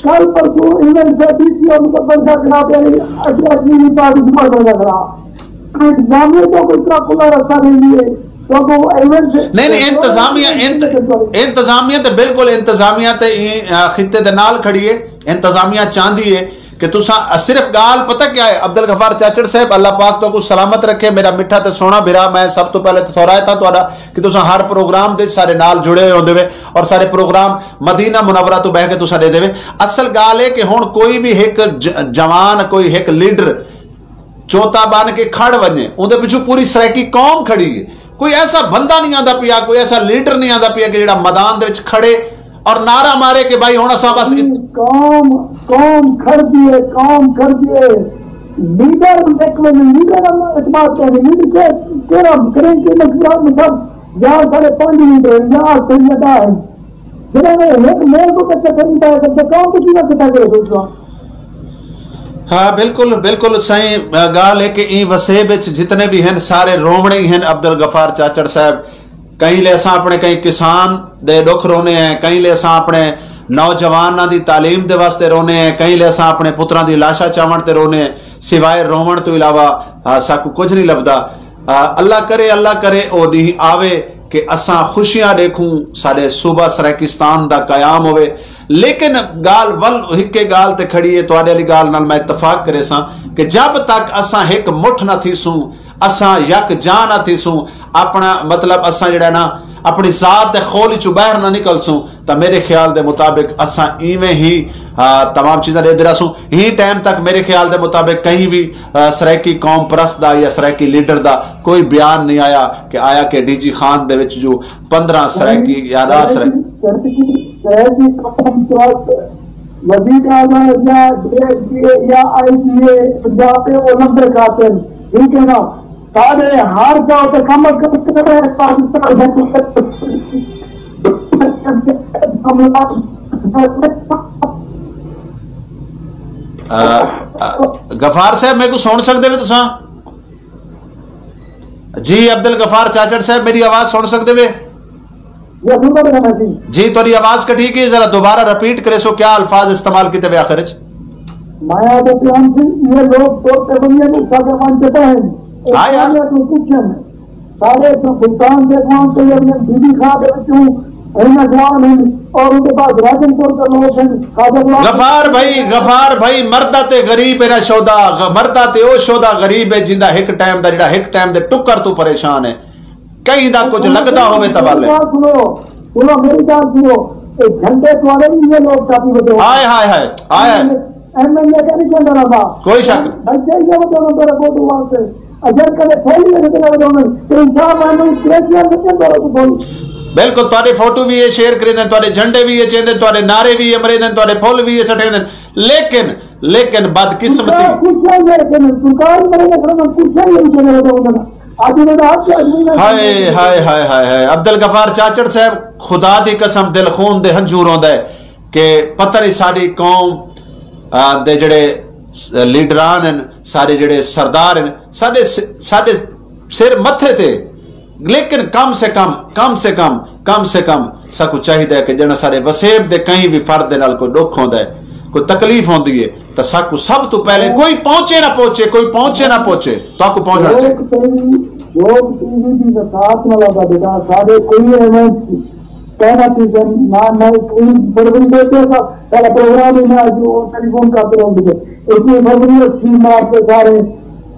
کل پرسوں ایونٹ سے ڈی سی اور مظفر شاہ جناب علی اشرف جی بھی پارٹی سپورٹ ہونا کھڑا۔ انتظامیہ تو کوئی اتنا کھلا رستہ نہیں ہے، تو وہ ایونٹ سے نہیں، نہیں، انتظامیہ، انت-، انتظامیہ تے بالکل انتظامیہ تے ایں، آ، خطے دے نال کھڑی ہے۔ انتظامیہ چاہندی ہے کہ تساں صرف ڳالھ پتہ کیا ہے؟ عبدالغفار چاچڑ صاحب، اللہ پاک تہاکوں سلامت رکھے، میرا مٹھا تے سوہݨا بھرا۔ میں سب توں پہلے تے تھورایا تھا تہاݙا کہ تساں ہر پروگرام دے سارے نال جڑے ہوئے ہوندے وے اور سارے پروگرام مدینہ منورہ توں بہہ کے تساں ݙیندے وے۔ اصل ڳالھ ہے کہ ہݨ کوئی بھی ہک ج-، جوان، کوئی ہک لیڈر چوتا بݨ کے کھڑ ونڄے، اوندے پچھوں پوری سرائیکی قوم کھڑی ہے۔ کوئی ایسا بندہ نہیں آندا پیا، کوئی ایسا لیڈر نہیں آندا پیا کہ جڑا میدان دے وچ کھڑے اور نعرہ مارے کہ بھائی ہݨ اساں بس ات-، قوم، قوم کھڑدی ہے، قوم کھڑدی ہے۔ لیڈر ہک ویلے لیڈر اللہ اعتماد کرے، لیڈر کے، کیڑھا کریں کہ مشورہ میں سب یا ساڑھے پنج لیڈر ہیں، یا سید ادا ہیں۔ جنہاں نے ہک موضوع تے چکر نہیں پایا کرتے، قوم کو کیوں نہ کٹھا کرے سوچو؟ ہاں، بالکل، بالکل سائیں۔ ڳالھ ہے کہ ایں وسیب وچ جتنے بھی ہن، سارے رووݨے ہی ہن۔ عبدالغفار چاچڑ صاحب، کہیں لے اساں اپݨے کہیں کسان دے ݙکھ رونے ہیں، کہیں لے اساں اپݨے نوجواناں دی تعلیم دے واسطے رونے ہیں، کہیں لے اساں اپݨے پتراں دی لاشاں چاوݨ تے رونے ہیں۔ سوائے رووݨ توں علاوہ، آ، ساکوں کجھ نہیں لبھدا۔ آ، اللہ کرے، اللہ کرے او ݙینہہ آوے کہ اساں خوشیاں ݙیکھوں، ساݙے صوبہ سرائیکستان دا قیام ہووے۔ لیکن ڳالھ ول ہکے ڳالھ تے کھڑی ہے، تہاݙے والی ڳالھ نال میں اتفاق کریساں کہ جب تک اساں ہک مٹھ نہ تھیسوں، اساں یکجا نہ تھیسوں، اپݨا مطلب اساں جڑا نا اپݨی ذات دے خول وچوں ٻاہر نہ نکلسوں، تاں میرے خیال دے مطابق اساں ایویں ہی، آ، تمام چیزاں ݙیہدے رہسوں۔ ایں ٹائم تک میرے خیال دے مطابق کہیں بھی، آ، سرائیکی قوم پرست دا یا سرائیکی لیڈر دا کوئی بیان نہیں آیا کہ آیا کہ ڈی جی خان دے وچ جو پندرہ سرائیکی یا ݙاہ سرائیکی۔ سرائیکی قوم پرست وزیر اعظم یا ڈی ایس پی اے یا آئی جی اے پنجاب دے، او لمبے قاتل، ٹھیک ہے نا؟ سارے ہر جا تے کم از کم پاکستان آ، آ، غفار صاحب، میکوں سݨ سڳدے وے تساں؟ جی، عبدالغفار چاچڑ صاحب، میری آواز سݨ سڳدے وے؟ یہ سنتا پہ میں جی۔ جی، تہاݙی آواز کٹی گئی، ذرا دوبارہ ریپیٹ کریسو، کیا الفاظ استعمال کیتے وے آخر وچ؟ میں آدھے پیام سی، یہ لوگ تو تبنیہ کو ساکے مان چکا ہے۔ ہاں یار۔ سارے سلطان دے قوم تے اپݨے بی بی خان دے وچوں ہن اجوان ہن اور ان کے پاس راجن پور دے لوگ ہن، خواجہ غلام غفار بھائی، غفار بھائی، مردہ تے غریب ہے نا شودا، غ-، مردہ تے او شودا غریب ہے جیندا ہک ٹائم دا، جڑا ہک ٹائم دے ٹکر تو پریشان ہے، کہیں دا کجھ لڳدا ہووے تاں ول۔ سنو، سنو میری ڳالھ سنو، اے جھنڈے تہاݙے وی اے لوک چاتی وڄاؤن۔ ہائے ہائے ہائے ہائے ہائے۔ ایم این اے کائنی چاہندا رہندا۔ کوئی شک نہیں۔ بلکہ اے وڄاؤن تہاݙے ووٹ واسطے۔ اگر کدے پھول وی کدے وڄاؤن تے انصاف آئے نہیں، کریسیاں تے کیا کرو تو پھول۔ بالکل، تہاݙے فوٹو وی اے شیئر کریندن، تہاݙے جھنڈے وی اے چیندن، تہاݙے نعرے وی اے مریندن، تہاݙے پھل وی اے سٹیندن، لیکن لیکن بدقسمتی۔ سرکار خوش ہے، لیکن سرکار مرے نہ کرنا، خوش ہے، یہ کرے تو ہونا۔ آج میں تو آپ سے آدمی نہ ہائے ہائے ہائے ہائے ہائے، عبد الغفار چاچڑ صاحب، خدا دی قسم، دل خون دے ہنجھو روندا ہے کہ پتہ نہیں ساݙی قوم، آ، دے جڑے لیڈران ہیں، ساݙے جڑے سردار ہیں، ساݙے س-، ساݙے سر متھے تے، لیکن کم سے کم، کم سے کم، کم سے کم ساکوں چاہیدا ہے کہ جݙاں ساݙے وسیب دے کہیں وی فرد دے نال کوئی ݙکھ ہوندا ہے، کوئی تکلیف ہوندی ہے، تاں ساکوں سب توں پہلے کوئی پہنچے نہ پہنچے، کوئی پہنچے نہ پہنچے، تہاکوں پہنچݨا چاہیدا۔ لوک ٹی وی، لوک ٹی وی دی وساعت نال آہدا بیٹا، ساݙے کوئی ایونٹ کہنا چاہیے نہ، نہ کوئی بڑبڑی بیٹھے سا، ساݙا پروگرام ہی نہ جو ٹیلی فون کرتے رہندے۔ اتنی بڑبڑی اچھی مار کے سارے،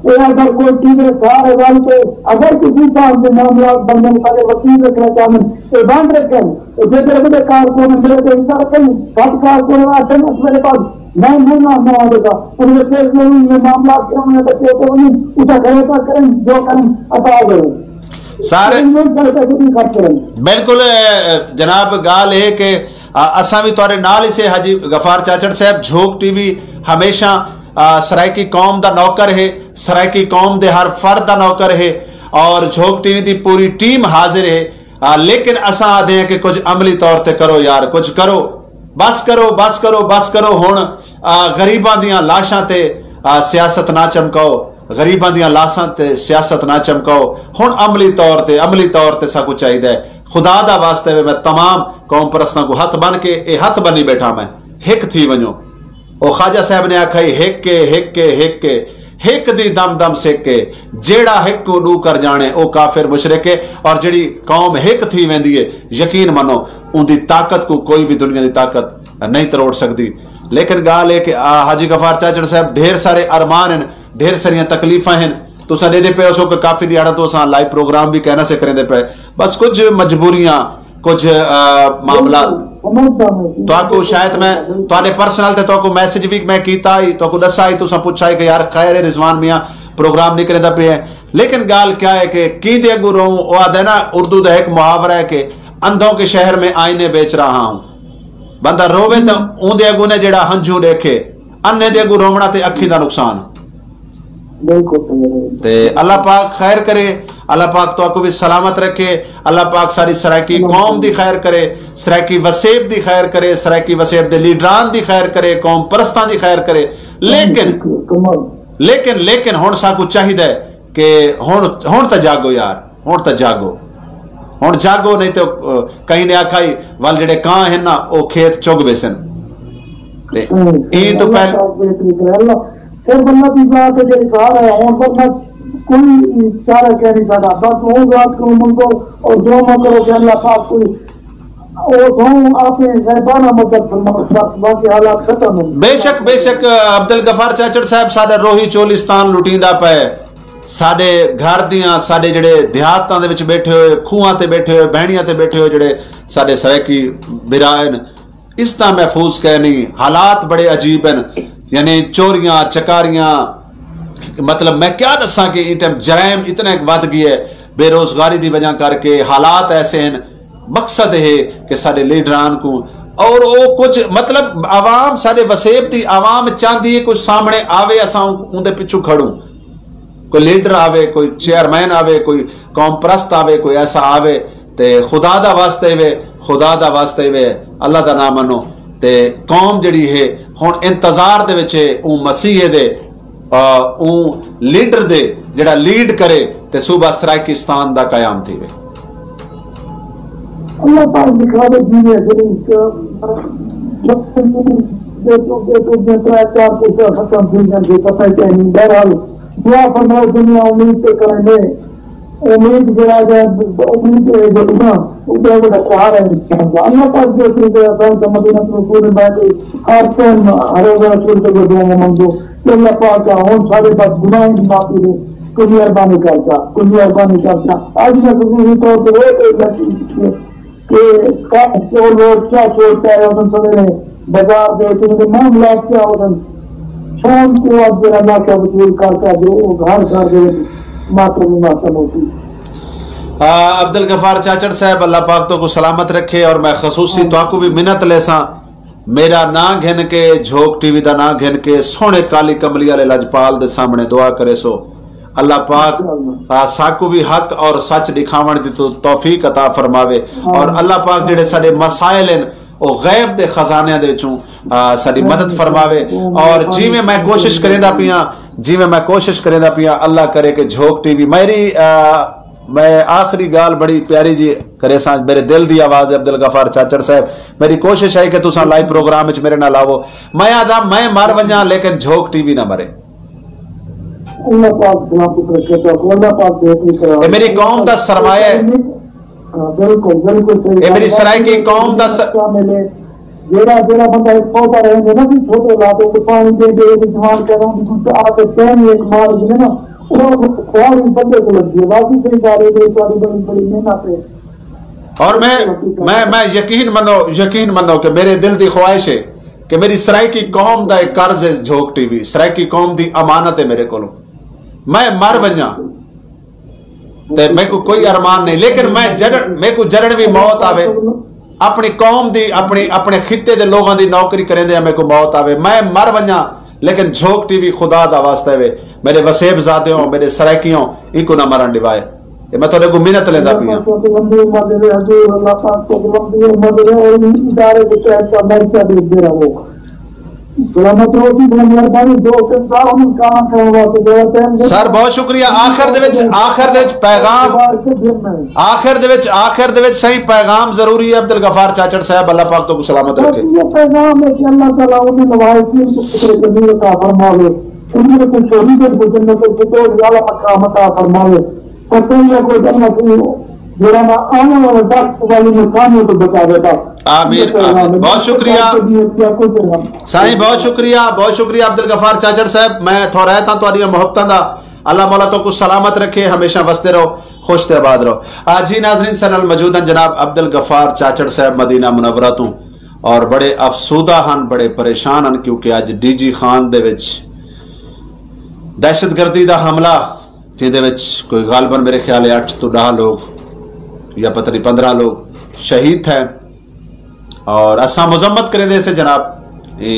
اے اگر کوئی ٹی وی سارے ول تے اگر کسی صاحب دے معاملات بندے سارے وکیل رکھنا چاہندے، اے بند رکھن۔ اے جے تیرے کول کارکن میرے تے انکار کرن، سب کارکن آکھن اس میرے پاس میں، میں نہ، نہ آوے گا۔ ان میں کیس میں، میں معاملات کروں میں تو کیس میں، اسے گھر پر کریں، جو کریں، عطا ہو جائے۔ سارے انہوں نے گھر پر بھی خرچ کریں۔ بالکل، اے، جناب، ڳالھ ہے کہ، آ، اساں بھی تہاݙے نال ہی سے۔ حاجی غفار چاچڑ صاحب، جھوک ٹی وی ہمیشہ، آ، سرائیکی قوم دا نوکر ہے، سرائیکی قوم دے ہر فرد دا نوکر ہے، اور جھوک ٹی وی دی پوری ٹیم حاضر ہے۔ آ، لیکن اساں آہدے ہیں کہ کچھ عملی طور تے کرو یار، کچھ کرو، بس کرو، بس کرو، بس کرو۔ ہݨ، آ، غریباں دیاں لاشاں تے، آ، سیاست نہ چمکاؤ، غریباں دیاں لاشاں تے سیاست نہ چمکاؤ۔ ہݨ عملی طور تے، عملی طور تے ساکوں چاہیدا ہے۔ خدا دا واسطہ ہے، میں تمام قوم پرستاں کوں ہتھ بن کے، اے ہتھ بنی بیٹھا میں، ہک تھی ونڄو۔ او خواجہ صاحب نے آکھیا ہی، ہک ہے، ہک ہے، ہک ہے، ہک دی دم دم سک ہے، جیڑھا ہک کوں ݙو کر ڄاݨے، او کافر مشرک ہے۔ اور جیڑھی قوم ہک تھی ویندی ہے، یقین منو، اوندی طاقت کوں کوئی وی دنیا دی طاقت نہیں تروڑ سڳدی۔ لیکن ڳالھ ہے کہ، آ، حاجی غفار چاچڑ صاحب، ڈھیر سارے ارمان ہیں، ڈھیر ساریاں تکلیفاں ہیں۔ تساں ݙیہدے پئے ہوسو کہ کافی ݙیہاڑاں توں اساں لائیو پروگرام وی کائنا سے کریندے پئے، بس کجھ مجبوریاں، کجھ، آ، معاملات۔ سمجھدا میں۔ تہاکوں شاید میں تہاݙے پرسنل تے تہاکوں میسج وی میں کیتا ہی، تہاکوں ݙسا ہی، تساں پچھا ہی کہ یار خیر ہے رضوان میاں پروگرام نہیں کریندا پئے ہے۔ لیکن ڳالھ کیا ہے کہ کیندے اڳوں روؤں، او آہدے نا، اردو دا ہک محاورہ ہے کہ اندھوں کے شہر میں آئینے بیچ رہا ہوں۔ بندہ رووے تاں اوندے اڳوں نے جیڑھا ہنجھوں ݙیکھے، انھے دے اڳوں رووݨا تے اکھیں دا نقصان۔ بالکل صحیح ہے۔ تے اللہ پاک خیر کرے، اللہ پاک تہاکوں بھی سلامت رکھے، اللہ پاک ساری سرائیکی قوم دی خیر کرے، سرائیکی وسیب دی خیر کرے، سرائیکی وسیب دے لیڈران دی خیر کرے، قوم پرستاں دی خیر کرے۔ لیکن، کمال۔ لیکن، لیکن ہݨ ساکوں چاہیدا ہے کہ ہݨ، ہݨ تاں جاڳو یار، ہݨ تاں جاڳو، ہݨ جاڳو، نہیں تے، آ، کہیں نے آکھیا ہی، ول جیڑھے کاں ہن نا، او کھیت چگ ویسن۔ تے ہوں۔ ایں توں اللہ پہلے پاک بہتری کرے۔ اللہ، پھر بندہ دی ذات ہے جیڑھی گھر ہے، ہݨ بندہ کوئی چارہ کہہ نہیں سڳدا۔ بس اوں ذات کوں منگو اور دعا کرو کہ اللہ پاک کوئی، او سوں آپ غیبانہ مدد فرماؤ، بس باقی حالات ختم ہیں۔ بے شک، بے شک، عبد الغفار چاچڑ صاحب ساݙا روہی چولستان لٹیندا پئے۔ ساݙے گھر دیاں، ساݙے جیڑھے دیہاتاں دے وچ ٻیٹھے ہوئے، کھوہاں تے ٻیٹھے ہوئے، بہݨیاں تے ٻیٹھے ہوئے جیڑھے ساݙے سرائیکی بھرا ہن، اس طرح محفوظ کائے نہیں۔ حالات بڑے عجیب ہن، یعنی چوریاں، چکاریاں، مطلب میں کیا ݙساں کہ ایں ٹائم جرائم اتنے ودھ ڳئے، بے روزگاری دی وجہ کر کے حالات ایسے ہن۔ مقصد ہے کہ ساݙے لیڈران کوں اور او کجھ مطلب عوام، ساݙے وسیب دی عوام چاہندی ہے کجھ سامݨے آوے، اساں اوندے پچھوں کھڑوں۔ کوئی لیڈر آوے، کوئی چیئرمین آوے، کوئی قوم پرست آوے، کوئی ایسا آوے، تے خدا دا واسطہ وے، خدا دا واسطہ وے، اللہ دا نام منو۔ تے قوم جڑی ہے ہن انتظار دے وچ ہے اوں مسیح دے، آ، اوں لیڈر دے جڑا لیڈ کرے تے صوبہ سرائیکستان دا قیام تھیوے۔ اللہ پاک دکھاوے جیوے، جیڑھی، اے، بے تو، بے تو، بے ترے چار کچھ ختم تھی جاندے، پتہ ہی کہیں نہیں۔ بہرحال، دعا فرماؤ، دنیا امید تے کریں گے۔ امید جڑا ہے، امید ہے جو نا، وہ بہت بڑا سہارا ہے انسان کا۔ اللہ پاک جو چیز ہے، اللہ کا مدینہ رسول میں کوئی ہر ٹائم ہر روز رسول کے جو دعا مانگو کہ اللہ پاک کا ہن سارے بد گناہ کی معافی دے۔ کلی مہربانی کرتا، کلی مہربانی کرتا۔ آج میں خصوصی طور پر ایک، ایک لڑکی کہ کیا چور لوگ کیا چور پہ رہے ہوندن سویرے بازار دے وچ، انہاں دے معاملات کیا ہوندن۔ شام کو اب جڑا ناکہ وصول کر کے جو گھر گھر دے وچ ماتم ہی ماتم ہوسی۔ عبدالغفار چاچڑ صاحب، اللہ پاک تو کو سلامت رکھے، اور میں خصوصی تو کو بھی منت لیساں، میرا ناں گھن کے، جھوک ٹی وی دا ناں گھن کے سوہنے کالی کملی والے لجپال دے سامنے دعا کریسو۔ اللہ پاک ساکوں وی حق اور سچ ݙکھاوݨ دی توفیق عطا فرماوے، اور اللہ پاک جیڑھے ساݙے مسائل ہن او غیب دے خزانیاں دے وچوں ساݙی مدد فرماوے۔ اور جیویں میں کوشش کریندا پیاں، جیویں میں کوشش کریندا پیاں، اللہ کرے کہ جھوک ٹی وی میری میں آخری ڳالھ بڑی پیاری جی کریساں، میرے دل دی آواز ہے عبدالغفار چاچڑ صاحب، میری کوشش ہے کہ تساں لائیو پروگرام وچ میرے نال آوو۔ میں آہدا میں مر ونجاں لیکن جھوک ٹی وی نہ مرے۔ اللہ پاک سلامت رکھے تو اللہ پاک بہتری کرا۔ اے میری قوم دا سرمایہ ہے۔ بالکل بالکل صحیح۔ اے میری سرائیکی قوم دا س... جیڑا جیڑا بندہ ایک پودا رہندے نا، بھی چھوٹے لاتے تو پانی دے دے، جوان کروں بھی کچھ آ کے پہنی ایک مار دے نا، اور خواب بندے کو لگتی ہے۔ باقی صحیح بات ہے، بڑی بڑی محنت ہے۔ اور میں میں میں یقین منو، یقین منو کہ میرے دل دی خواہش ہے کہ میری سرائیکی قوم دا ایک قرض ہے جھوک ٹی وی، سرائیکی قوم دی امانت ہے میرے کولوں۔ میں مر ونجاں تے میکوں کوئی ارمان نہیں، لیکن میں جڑن میکوں جڑن وی موت آوے، اپنی قوم دی، اپنی اپنے خطے دے لوگاں دی نوکری کریندے میکوں موت آوے، میں مر ونجاں، لیکن جھوک ٹی وی خدا دا واسطہ وے، میرے وسیب زادیوں، میرے سرائیکیوں، اینکوں نہ مرن ڈیوائے۔ اے میں تہاڈے کوں منت لیندا پیاں۔ سر بہت شکریہ۔ آخر دے وچ آخر دے وچ پیغام، آخر دے وچ آخر دے وچ سائیں پیغام ضروری ہے۔ عبدالغفار چاچڑ صاحب، اللہ پاک تو کو سلامت رکھے۔ پیغام ہے کہ اللہ تعالیٰ انہیں نوائے کو فرماوے، انہیں کو شہیدوں کو جنت الفردوس والا مقام عطا فرماوے۔ آمین، آمین۔ بہت شکریہ سائیں، بہت شکریہ، بہت شکریہ عبدالغفار چاچڑ صاحب۔ میں تھورائتاں تہاڈیاں محبتاں دا۔ اللہ مولا تو کو سلامت رکھے، ہمیشہ وسدے رہو، خوش تے آباد رہو۔ آ جی ناظرین، سنل موجود ہیں جناب عبدالغفار چاچڑ صاحب مدینہ منورہ تو، اور بڑے افسودہ ہن، بڑے پریشان ہن، کیونکہ اج ڈی جی خان دے وچ دہشت گردی دا حملہ جیندے وچ کوئی غالباً میرے خیال ہے اٹھ تو ݙاہ لوگ یا پتہ نہیں پندرہ لوگ شہید تھے، اور اساں مذمت کریندے سے جناب اے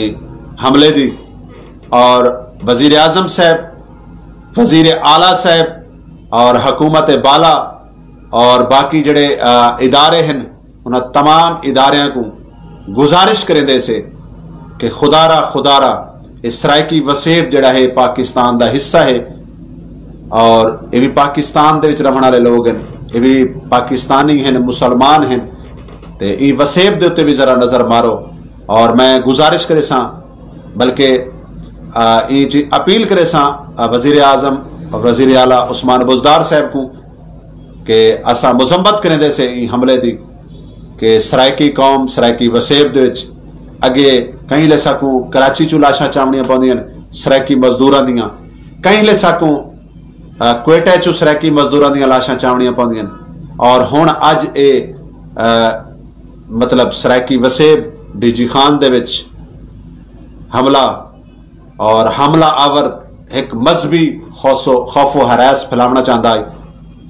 حملے دی، اور وزیر اعظم صاحب، وزیر اعلیٰ صاحب اور حکومت بالا اور باقی جڑے ادارے ہیں، انہاں تمام اداریاں کوں گزارش کریندے سے کہ خدا را خدا را اے سرائیکی وسیب جڑا ہے پاکستان دا حصہ ہے، اور اے بھی پاکستان دے وچ رہن والے لوگ ہیں، اے بھی پاکستانی ہیں، مسلمان ہیں، تے اے وسیب دے اتے بھی ذرا نظر مارو۔ اور میں گزارش کرے ساں، بلکہ ایں جی اپیل کرے ساں وزیر اعظم اور وزیر اعلیٰ عثمان بزدار صاحب کو کہ اساں مذمت کریندے سے ایں حملے دی کہ سرائیکی قوم، سرائیکی وسیب دے وچ اگے کہیں لے ساکوں کراچی چوں لاشاں چاونیاں پوندیاں، سرائیکی مزدوراں دیاں، کہیں لے ساکوں کوئٹہ چوں سرائیکی مزدوراں دیاں لاشاں چاونیاں پوندیاں، اور ہن اج اے مطلب سرائیکی وسیب ڈی جی خان دے وچ حملہ اور حملہ آور ہک مذہبی خوف و ہراس پھیلاونا چاہندا ہے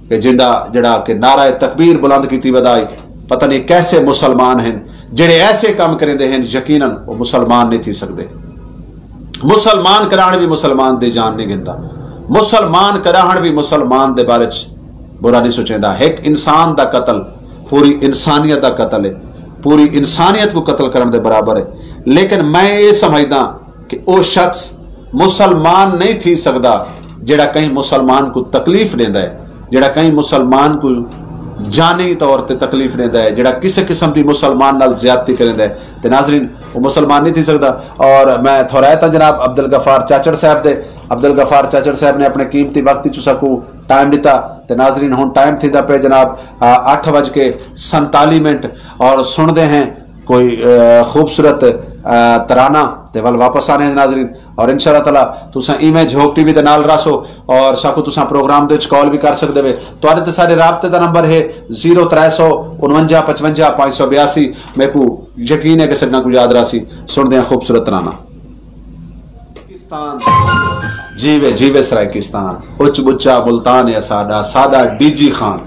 کہ جیندا جڑا کہ نعرہ تکبیر بلند کیتی ودا ہے، پتہ نہیں کیسے مسلمان ہیں جڑے ایسے کم کریندے ہیں، یقیناً وہ مسلمان نہیں تھی سکدے۔ مسلمان کراہن بھی مسلمان دی جان نہیں گھندا، مسلمان کراہن بھی مسلمان دے بارے چ برا نہیں سوچیندا۔ ہک انسان دا قتل پوری انسانیت دا قتل ہے، پوری انسانیت کو قتل کرن دے برابر ہے۔ لیکن میں یہ سمجھدا کہ او شخص مسلمان نہیں تھی سکدا جڑا کہیں مسلمان کو تکلیف دیندا ہے، جڑا کہیں مسلمان کو جانی طور تے تکلیف دیندا ہے، جڑا کسے قسم دی مسلمان نال زیادتی کریندا ہے، تے ناظرین، وہ مسلمان نہیں تھی سکدا۔ اور میں تھورائتاں جناب عبدالغفار چاچڑ صاحب دے، عبدالغفار چاچڑ صاحب نے اپنے قیمتی وقت وچ ساکو ٹائم ڈتا، تے ناظرین، ہن ٹائم تھیندا پے جناب اٹھ بج کے سنتالی منٹ، اور سنتے ہیں کوئی خوبصورت ترانہ تے ول واپس آنے ناظرین۔ اور انشاءاللہ تعالی تساں ایویں جھوک ٹی وی دے نال راسو، اور ساکو تساں پروگرام دے وچ کال بھی کر سکدے وے۔ تواڈے تے ساڈے رابطے دا نمبر ہے زیرو ترے سو انونجا پچونجا پانچ سو بیاسی۔ میکو یقین ہے کہ سجنا کو یاد راسی۔ سن دیاں خوبصورت ترانہ۔ پاکستان۔ جیوے جیوے سرائیکستان، اچ بچا ملتان ہے ساڈا، ساڈا ڈی جی خان۔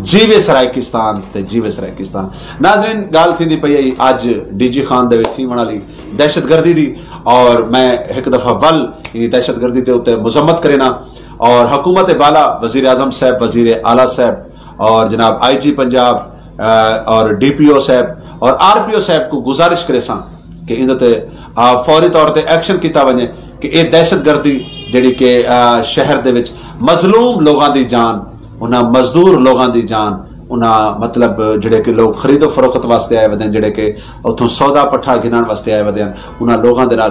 جیوے سرائیکستان تے جیوے سرائیکستان۔ ناظرین، گال تھیندی پئی ہے اج ڈی جی خان دے وچ تھیوݨ والی دہشت گردی دی، اور میں ہک دفعہ ول ایں دہشت گردی دے اتے مذمت کرینا، اور حکومت بالا، وزیر اعظم صاحب، وزیر اعلیٰ صاحب، اور جناب آئی جی پنجاب، اور ڈی پی او صاحب اور آر پی او صاحب کو گزارش کریساں کہ ایندے تے فوری طور تے ایکشن کیتا ونجے کہ اے دہشت گردی جڑی کہ شہر دے وچ مظلوم لوگاں دی جان، انہاں مزدور لوگاں دی جان، انہاں مطلب جڑے کہ لوگ خرید و فروخت واسطے آئے ودے ہیں، جڑے کہ اتھوں سودا پٹھا گھنن واسطے آئے ودے ہیں، انہاں لوگاں دے نال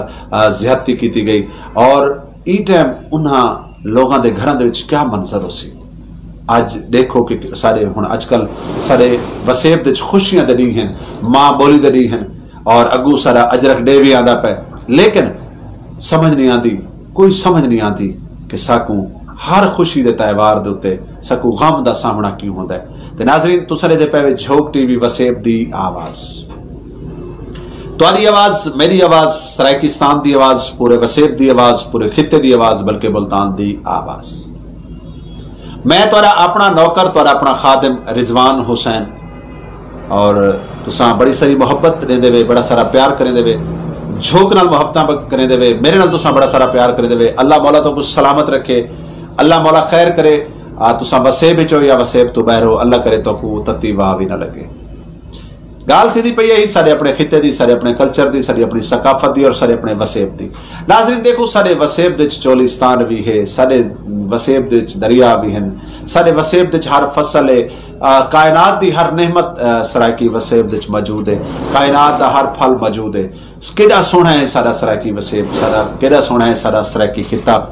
زیادتی کیتی گئی۔ اور ای ٹائم انہاں لوگاں دے گھراں دے وچ کیا منظر ہو سی؟ اج دیکھو کہ سارے ہن اج کل سارے وسیب دے وچ خوشیاں دے ڈی ہیں، ماں بولی دے ڈی ہیں، اور اگو سارا اجرک ڈے بھی آندا پے، لیکن سمجھ نہیں آندی، کوئی سمجھ نہیں آندی کہ ساکوں ہر خوشی دے تہوار دے اتے ساکوں غم دا سامنا کیوں ہوندا ہے۔ تے ناظرین، تساں دے پے وے جھوک ٹی وی وسیب دی آواز۔ تہاݙی آواز، میݙی آواز، سرائیکستان دی آواز، پورے وسیب دی آواز، پورے خطے دی آواز، بلکہ ملتان دی آواز۔ میں تہاݙا اپݨا نوکر، تہاݙا اپݨا خادم رضوان حسین، اور تساں بڑی ساری محبت ݙیندے وے، بڑا سارا پیار کریندے وے، جھوک نال محبتاں ب-، کریندے وے، میرے نال تساں بڑا سارا پیار کریندے وے۔ اللہ مولا تہاکوں سلامت رکھے، اللہ مولا خیر کرے۔ آ، تساں وسیب وچ ہو یا وسیب توں ٻاہر ہو، اللہ کرے تہاکوں تتی واہ وی نہ لڳے۔ ڳالھ تھیندی پئی ہے ساݙے اپݨے خطے دی، ساݙے اپݨے کلچر دی، ساݙی اپݨی ثقافت دی اور ساݙے اپݨے وسیب دی۔ ناظرین ݙیکھو، ساݙے وسیب دے وچ چولستان وی ہے، ساݙے وسیب دے وچ دریا وی ہن، ساݙے وسیب دے وچ ہر فصل ہے، آ، کائنات دی ہر نعمت، آ، سرائیکی وسیب دے وچ موجود ہے، کائنات دا ہر پھل موجود ہے۔ کیݙا سوہݨا ہے ساݙا سرائیکی وسیب، ساݙا کیݙا سوہݨا ہے ساݙا سرائیکی خطہ۔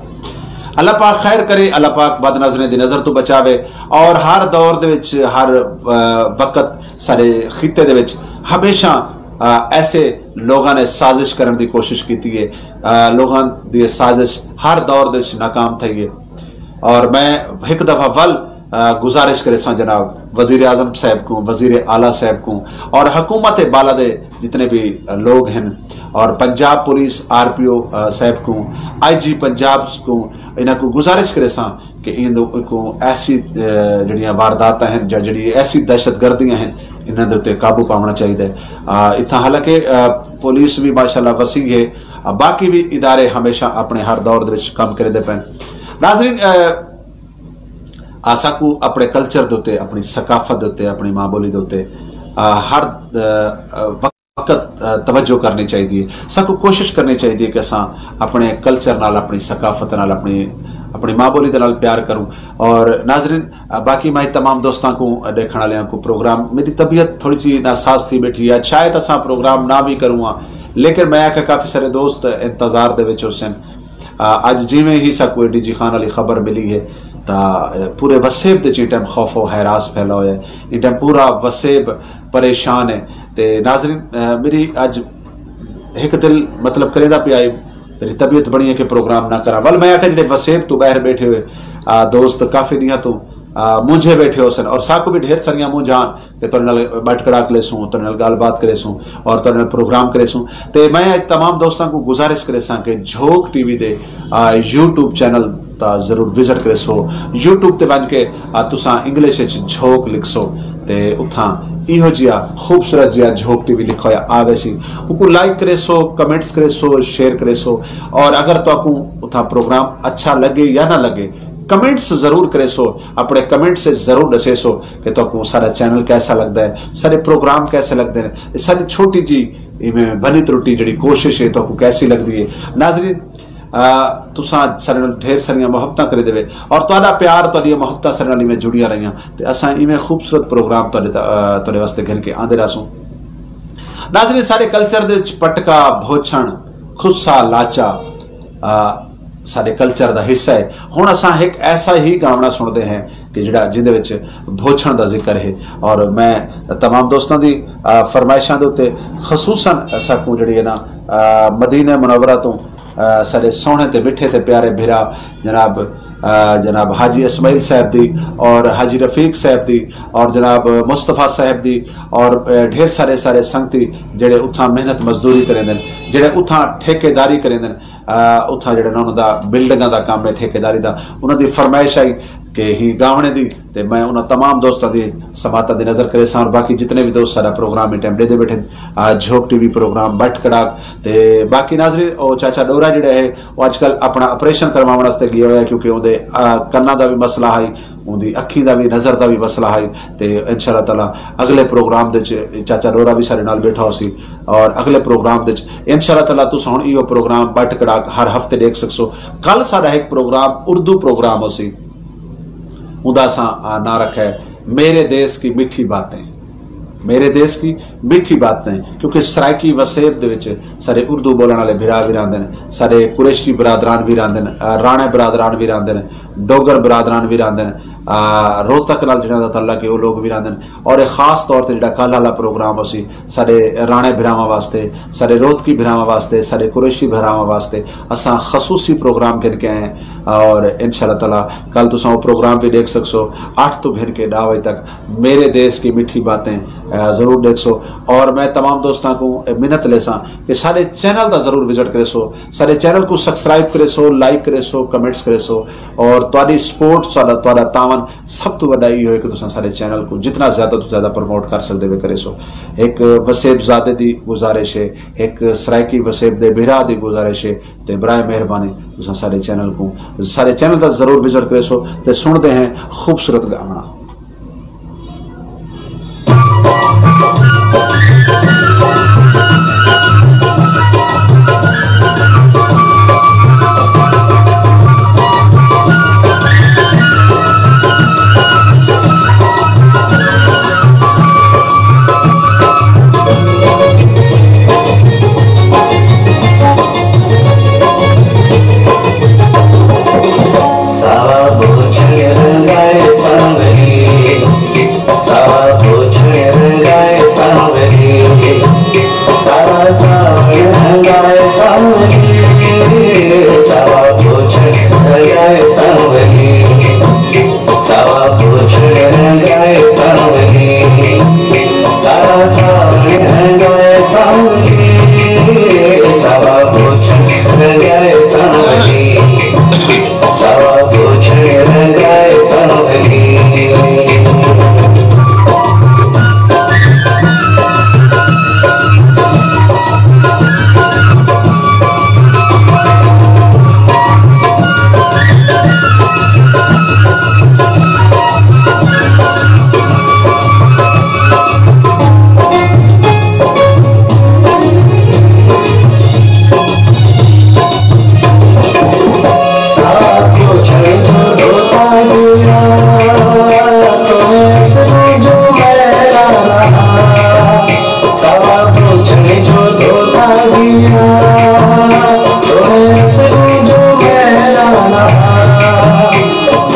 اللہ پاک خیر کرے، اللہ پاک بد نظریں دی نظر توں بچاوے، اور ہر دور دے وچ، ہر، آ، وقت سارے خطے دے وچ ہمیشہ، آ، ایسے لوگاں نے سازش کرݨ دی کوشش کیتی ہے۔ آ، لوگاں دی سازش ہر دور دے وچ ناکام تھئی ہے۔ اور میں ہک دفعہ ول، آ، گزارش کریساں جناب وزیر اعظم صاحب کوں، وزیر اعلیٰ صاحب کوں اور حکومت بالا دے جتنے بھی لوگ ہیں اور پنجاب پولیس، آر پی او، آ، صاحب کوں، آئی جی پنجاب کوں، انہاں کوں گزارش کریساں کہ ایندے کوں ایسی، آ، جڑیاں وارداتاں ہیں یا جڑی ایسی دہشت گردیاں ہیں، انہاں دے اُتے قابو پاوݨا چاہیدا ہے۔ آ، اتھاں حالانکہ، آ، پولیس بھی ماشاءاللہ وسیع ہے، آ، باقی بھی ادارے ہمیشہ اپݨے ہر دور دے وچ کم کریندے پئن۔ ناظرین، آ، آ، ساکوں اپݨے کلچر دے اُتے، اپݨی ثقافت دے اُتے، اپݨی ماں بولی دے اُتے، آ، ہر، آ، آ، وقت وقت، آ، توجہ کرنی چاہیدی ہے۔ ساکوں کوشش کرنی چاہیدی ہے کہ اساں اپݨے کلچر نال، اپݨی ثقافت نال، اپݨی، اپݨی ماں بولی دے نال پیار کروں۔ اور ناظرین، آ، باقی میں تمام دوستاں کوں، آ، ݙیکھݨ والیاں کوں پروگرام، میری طبیعت تھوڑی جی ناساز تھی بیٹھی ہے، شاید اساں پروگرام نہ بھی کروں ہاں، لیکن میں آکھیا کافی سارے دوست انتظار دے وچ ہوسن۔ آ، اڄ جیویں ہی ساکوں اے ڈی جی خان والی خبر ملی ہے تاں، آ، پورے وسیب دے وچ ایں ٹائم خوف و ہراس پھیلا ہویا ہے، ایں ٹائم پورا وسیب پریشان ہے۔ تے ناظرین، آ، میری اڄ ہک دل مطلب کریندا پیا ہے، میری طبیعت بݨی ہے کہ پروگرام نہ کراں، ول میں آکھیا جڑے وسیب توں ٻاہر ٻیٹھے ہوئے، آ، دوست کافی ݙینہاں توں، آ، مونجھے ٻیٹھے ہوسن اور ساکوں بھی ڈھیر ساریاں مونجھاں ہن کہ تہاݙے نال ٻٹھ کڑاک لیسوں، تہاݙے نال ڳالھ بات کریسوں اور تہاݙے نال پروگرام کریسوں۔ تے میں اڄ تمام دوستاں کوں گزارش کریساں کہ جھوک ٹی وی دے، آ، یوٹیوب چینل تاں ضرور وزٹ کریسو۔ یوٹیوب تے ونڄ کے، آ، تساں انگلش وچ جھوک لکھسو تے اتھاں ایہو جیا خوبصورت جیا جھوک ٹی وی لکھا ہویا آ ویسی۔ اوکوں لائک کریسو، کمنٹس کریسو، شیئر کریسو۔ اور اگر تہاکوں اتھاں پروگرام اچھا لڳے یا نہ لڳے، کمنٹس ضرور کریسو، اپݨے کمنٹس وچ ضرور ݙسیسو کہ تہاکوں ساݙا چینل کیسا لڳدا ہے، ساݙے پروگرام کیسے لڳدے نے۔ ساݙی چھوٹی جی ایویں بھلی ترٹی جڑی کوشش ہے تہاکوں کیسی لڳدی ہے۔ ناظرین، آ، تساں ساݙے نال ڈھیر ساریاں محبتاں کریندے وے اور تہاݙا پیار، تہاݙیاں محبتاں ساݙے نال ایویں جڑیاں رہیاں تے اساں ایویں خوبصورت پروگرام تہاݙے تا-، آ، تہاݙے واسطے گھن کے آندے رہسوں۔ ناظرین، ساݙے کلچر دے وچ پٹکا، بھوچھݨ، کھسا، لاچا، آ، ساݙے کلچر دا حصہ ہے۔ ہݨ اساں ہک ایسا ہی گاوݨا سݨدے ہیں کہ جڑا، جیندے وچ بھوچݨ دا ذکر ہے۔ اور میں تمام دوستاں دی، آ، فرمائشاں دے اُتے خصوصاً ساکوں جڑی ہے نا، آ، مدینہ منورہ توں، آ، ساݙے سوہݨے تے مٹھے تے پیارے بھرا جناب، آ، جناب حاجی اسماعیل صاحب دی اور حاجی رفیق صاحب دی اور جناب مصطفیٰ صاحب دی اور، آ، ڈھیر سارے سارے سنگتی جڑے اتھاں محنت مزدوری کریندن، جڑے اتھاں ٹھیکیداری کریندن، آ، اتھاں جڑے نا انہاں دا بلڈنگاں دا کم ہے، ٹھیکیداری دا، انہاں دی فرمائش آئی کہ ہی گاوݨے دی، تے میں انہاں تمام دوستاں دی سماعتاں دی نظر کریساں، اور باقی جتنے بھی دوست ساݙا پروگرام ایں ٹائم ݙیہدے ٻیٹھن، آ، جھوک ٹی وی پروگرام بٹ کڑاک، تے باقی ناظرین، او چاچا ݙورا جڑا ہے، او اڄ کل اپݨا آپریشن کرواوݨ واسطے ڳیا ہویا ہے، کیونکہ اوندے، آ، کناں دا بھی مسئلہ ہئی، اوندی اکھیں دا بھی، نظر دا بھی مسئلہ ہئی۔ تے انشاءاللہ تعالیٰ اڳلے پروگرام دے وچ چاچا ݙورا بھی ساݙے نال ٻیٹھا ہوسی، اور اڳلے پروگرام دے وچ انشاءاللہ تعالیٰ تساں ہݨ ایہو پروگرام بٹ کڑاک ہر ہفتے ݙیکھ سڳسو۔ کل ساݙا ہک پروگرام، اردو پروگرام ہوسی، اوندا اساں، آ، ناں رکھا ہے میرے دیس کی میٹھی باتیں۔ میرے دیس کی میٹھی باتیں، کیونکہ سرائیکی وسیب دے وچ ساݙے اردو ٻولݨ والے بھرا بھی رہندے نے، ساݙے قریشی برادران بھی رہندے نے، آ، راݨے برادران بھی رہندے نے، ڈوگر برادران بھی رہندے نے، آ، روہتک نال جنہاں دا تعلق ہے، او لوگ بھی رہندے نے۔ اور اے خاص طور تے جڑا کل والا پروگرام ہوسی، ساݙے راݨے بھراواں واسطے، ساݙے روہتکی بھراواں واسطے، ساݙے قریشی بھراواں واسطے اساں خصوصی پروگرام گھن کے آئے ہیں۔ اور انشاءاللہ تعالیٰ کل تساں او پروگرام بھی ݙیکھ سڳسو، اٹھ توں گھن کے ݙاہ وڄے تک میرے دیس کی میٹھی باتیں، آ، ضرور ݙیکھسو۔ اور میں تمام دوستاں کوں اے منت لیساں کہ ساݙے چینل دا ضرور وزٹ کریسو، ساݙے چینل کوں سبسکرائب کریسو، لائک کریسو، کمنٹس کریسو، اور تہاݙی سپورٹ، ساݙا، تہاݙا تعاون سب توں وݙا ایہو ہے کہ تساں ساݙے چینل کوں جتنا زیادہ توں زیادہ پروموٹ کر سڳدے وے کریسو۔ ہک وسیب زادے دی گزارش ہے، ہک سرائیکی وسیب دے بھرا دی گزارش ہے، تے برائے مہربانی تساں ساݙے چینل کوں، ساݙے چینل دا ضرور وزٹ کریسو تے سݨدے ہیں خوبصورت گاوݨا۔ ساوا پوچھݨ رنگائے سانوری، ساوا پوچھݨ رنگائے سانوری، ساوا ساوݨ رنگائے سانوری، ساوا پوچھݨ رنگائے سانوری، ساوا پوچھݨ رنگائے سانوری، ساوا ساوݨ رنگائے سانوری، ساوا پوچھݨ رنگائے سانوری۔ سوا پوچھݨ رنگائے سانوری۔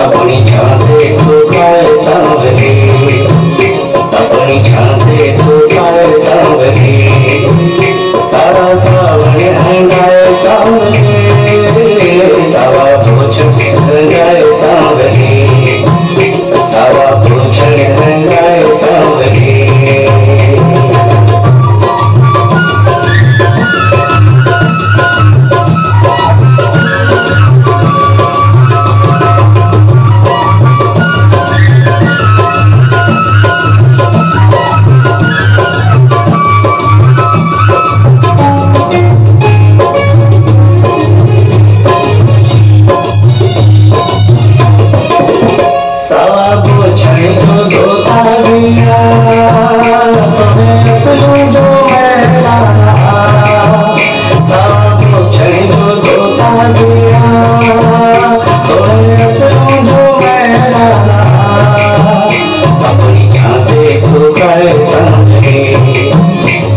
اپݨی چھاں تے سکائے سانوری، اپݨی چھاں تے سکائے سانوری، سارا ساوݨ ہنگائے سانوری، سارا پوچھݨ ہنگائے سانوری، سارا پوچھݨ ہنگائے سانوری۔ سوا پوچھݨ جو دھوتا ڳیا، تیݙے اصلوں جو میݙا ناں۔ سوا پوچھݨ جو دھوتا ڳیا، تیݙے اصلوں جو میݙا ناں۔ اپݨی چھاں تے سکائے سانوری،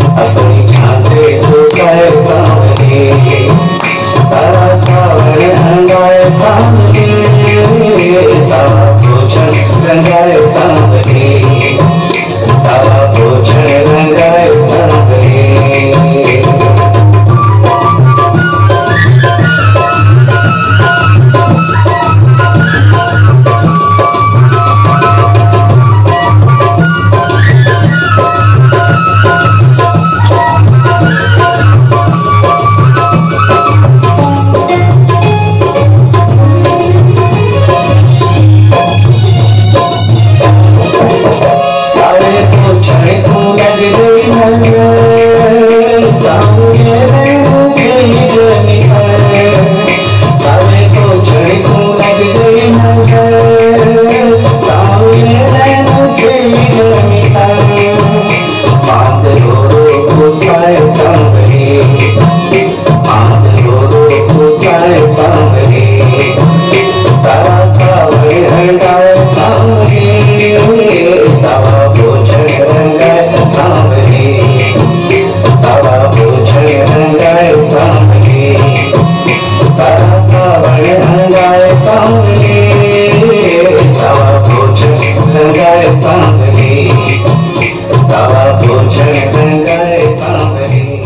اپݨی چھاں تے سکائے سانوری۔ سارا ساوݨ سانولی، ساوا پوچھݨ رنگائے سانولی، ساوا پوچھݨ رنگائے سانولی۔ ساوے پوچھݨ کوں لڳ ڳئی نظر، سانولی رینوں کئی ڳئی نظر۔ ساوے پوچھݨ کوں لڳ ڳئی نظر، سانولی رینوں کئی ڳئی نظر۔ پاند رو رو پسائے سانولی، پاند رو رو پسائے سانولی، ساوا ساوݨ رنگائے سانولی، ساوا پوچھݨ رنگائے سانولی، ساوا پوچھݨ رنگائے سانولی، ساوا ساوݨ رنگائے سانولی، ساوا پوچھݨ رنگائے سانولی، ساوا پوچھݨ رنگائے سانولی۔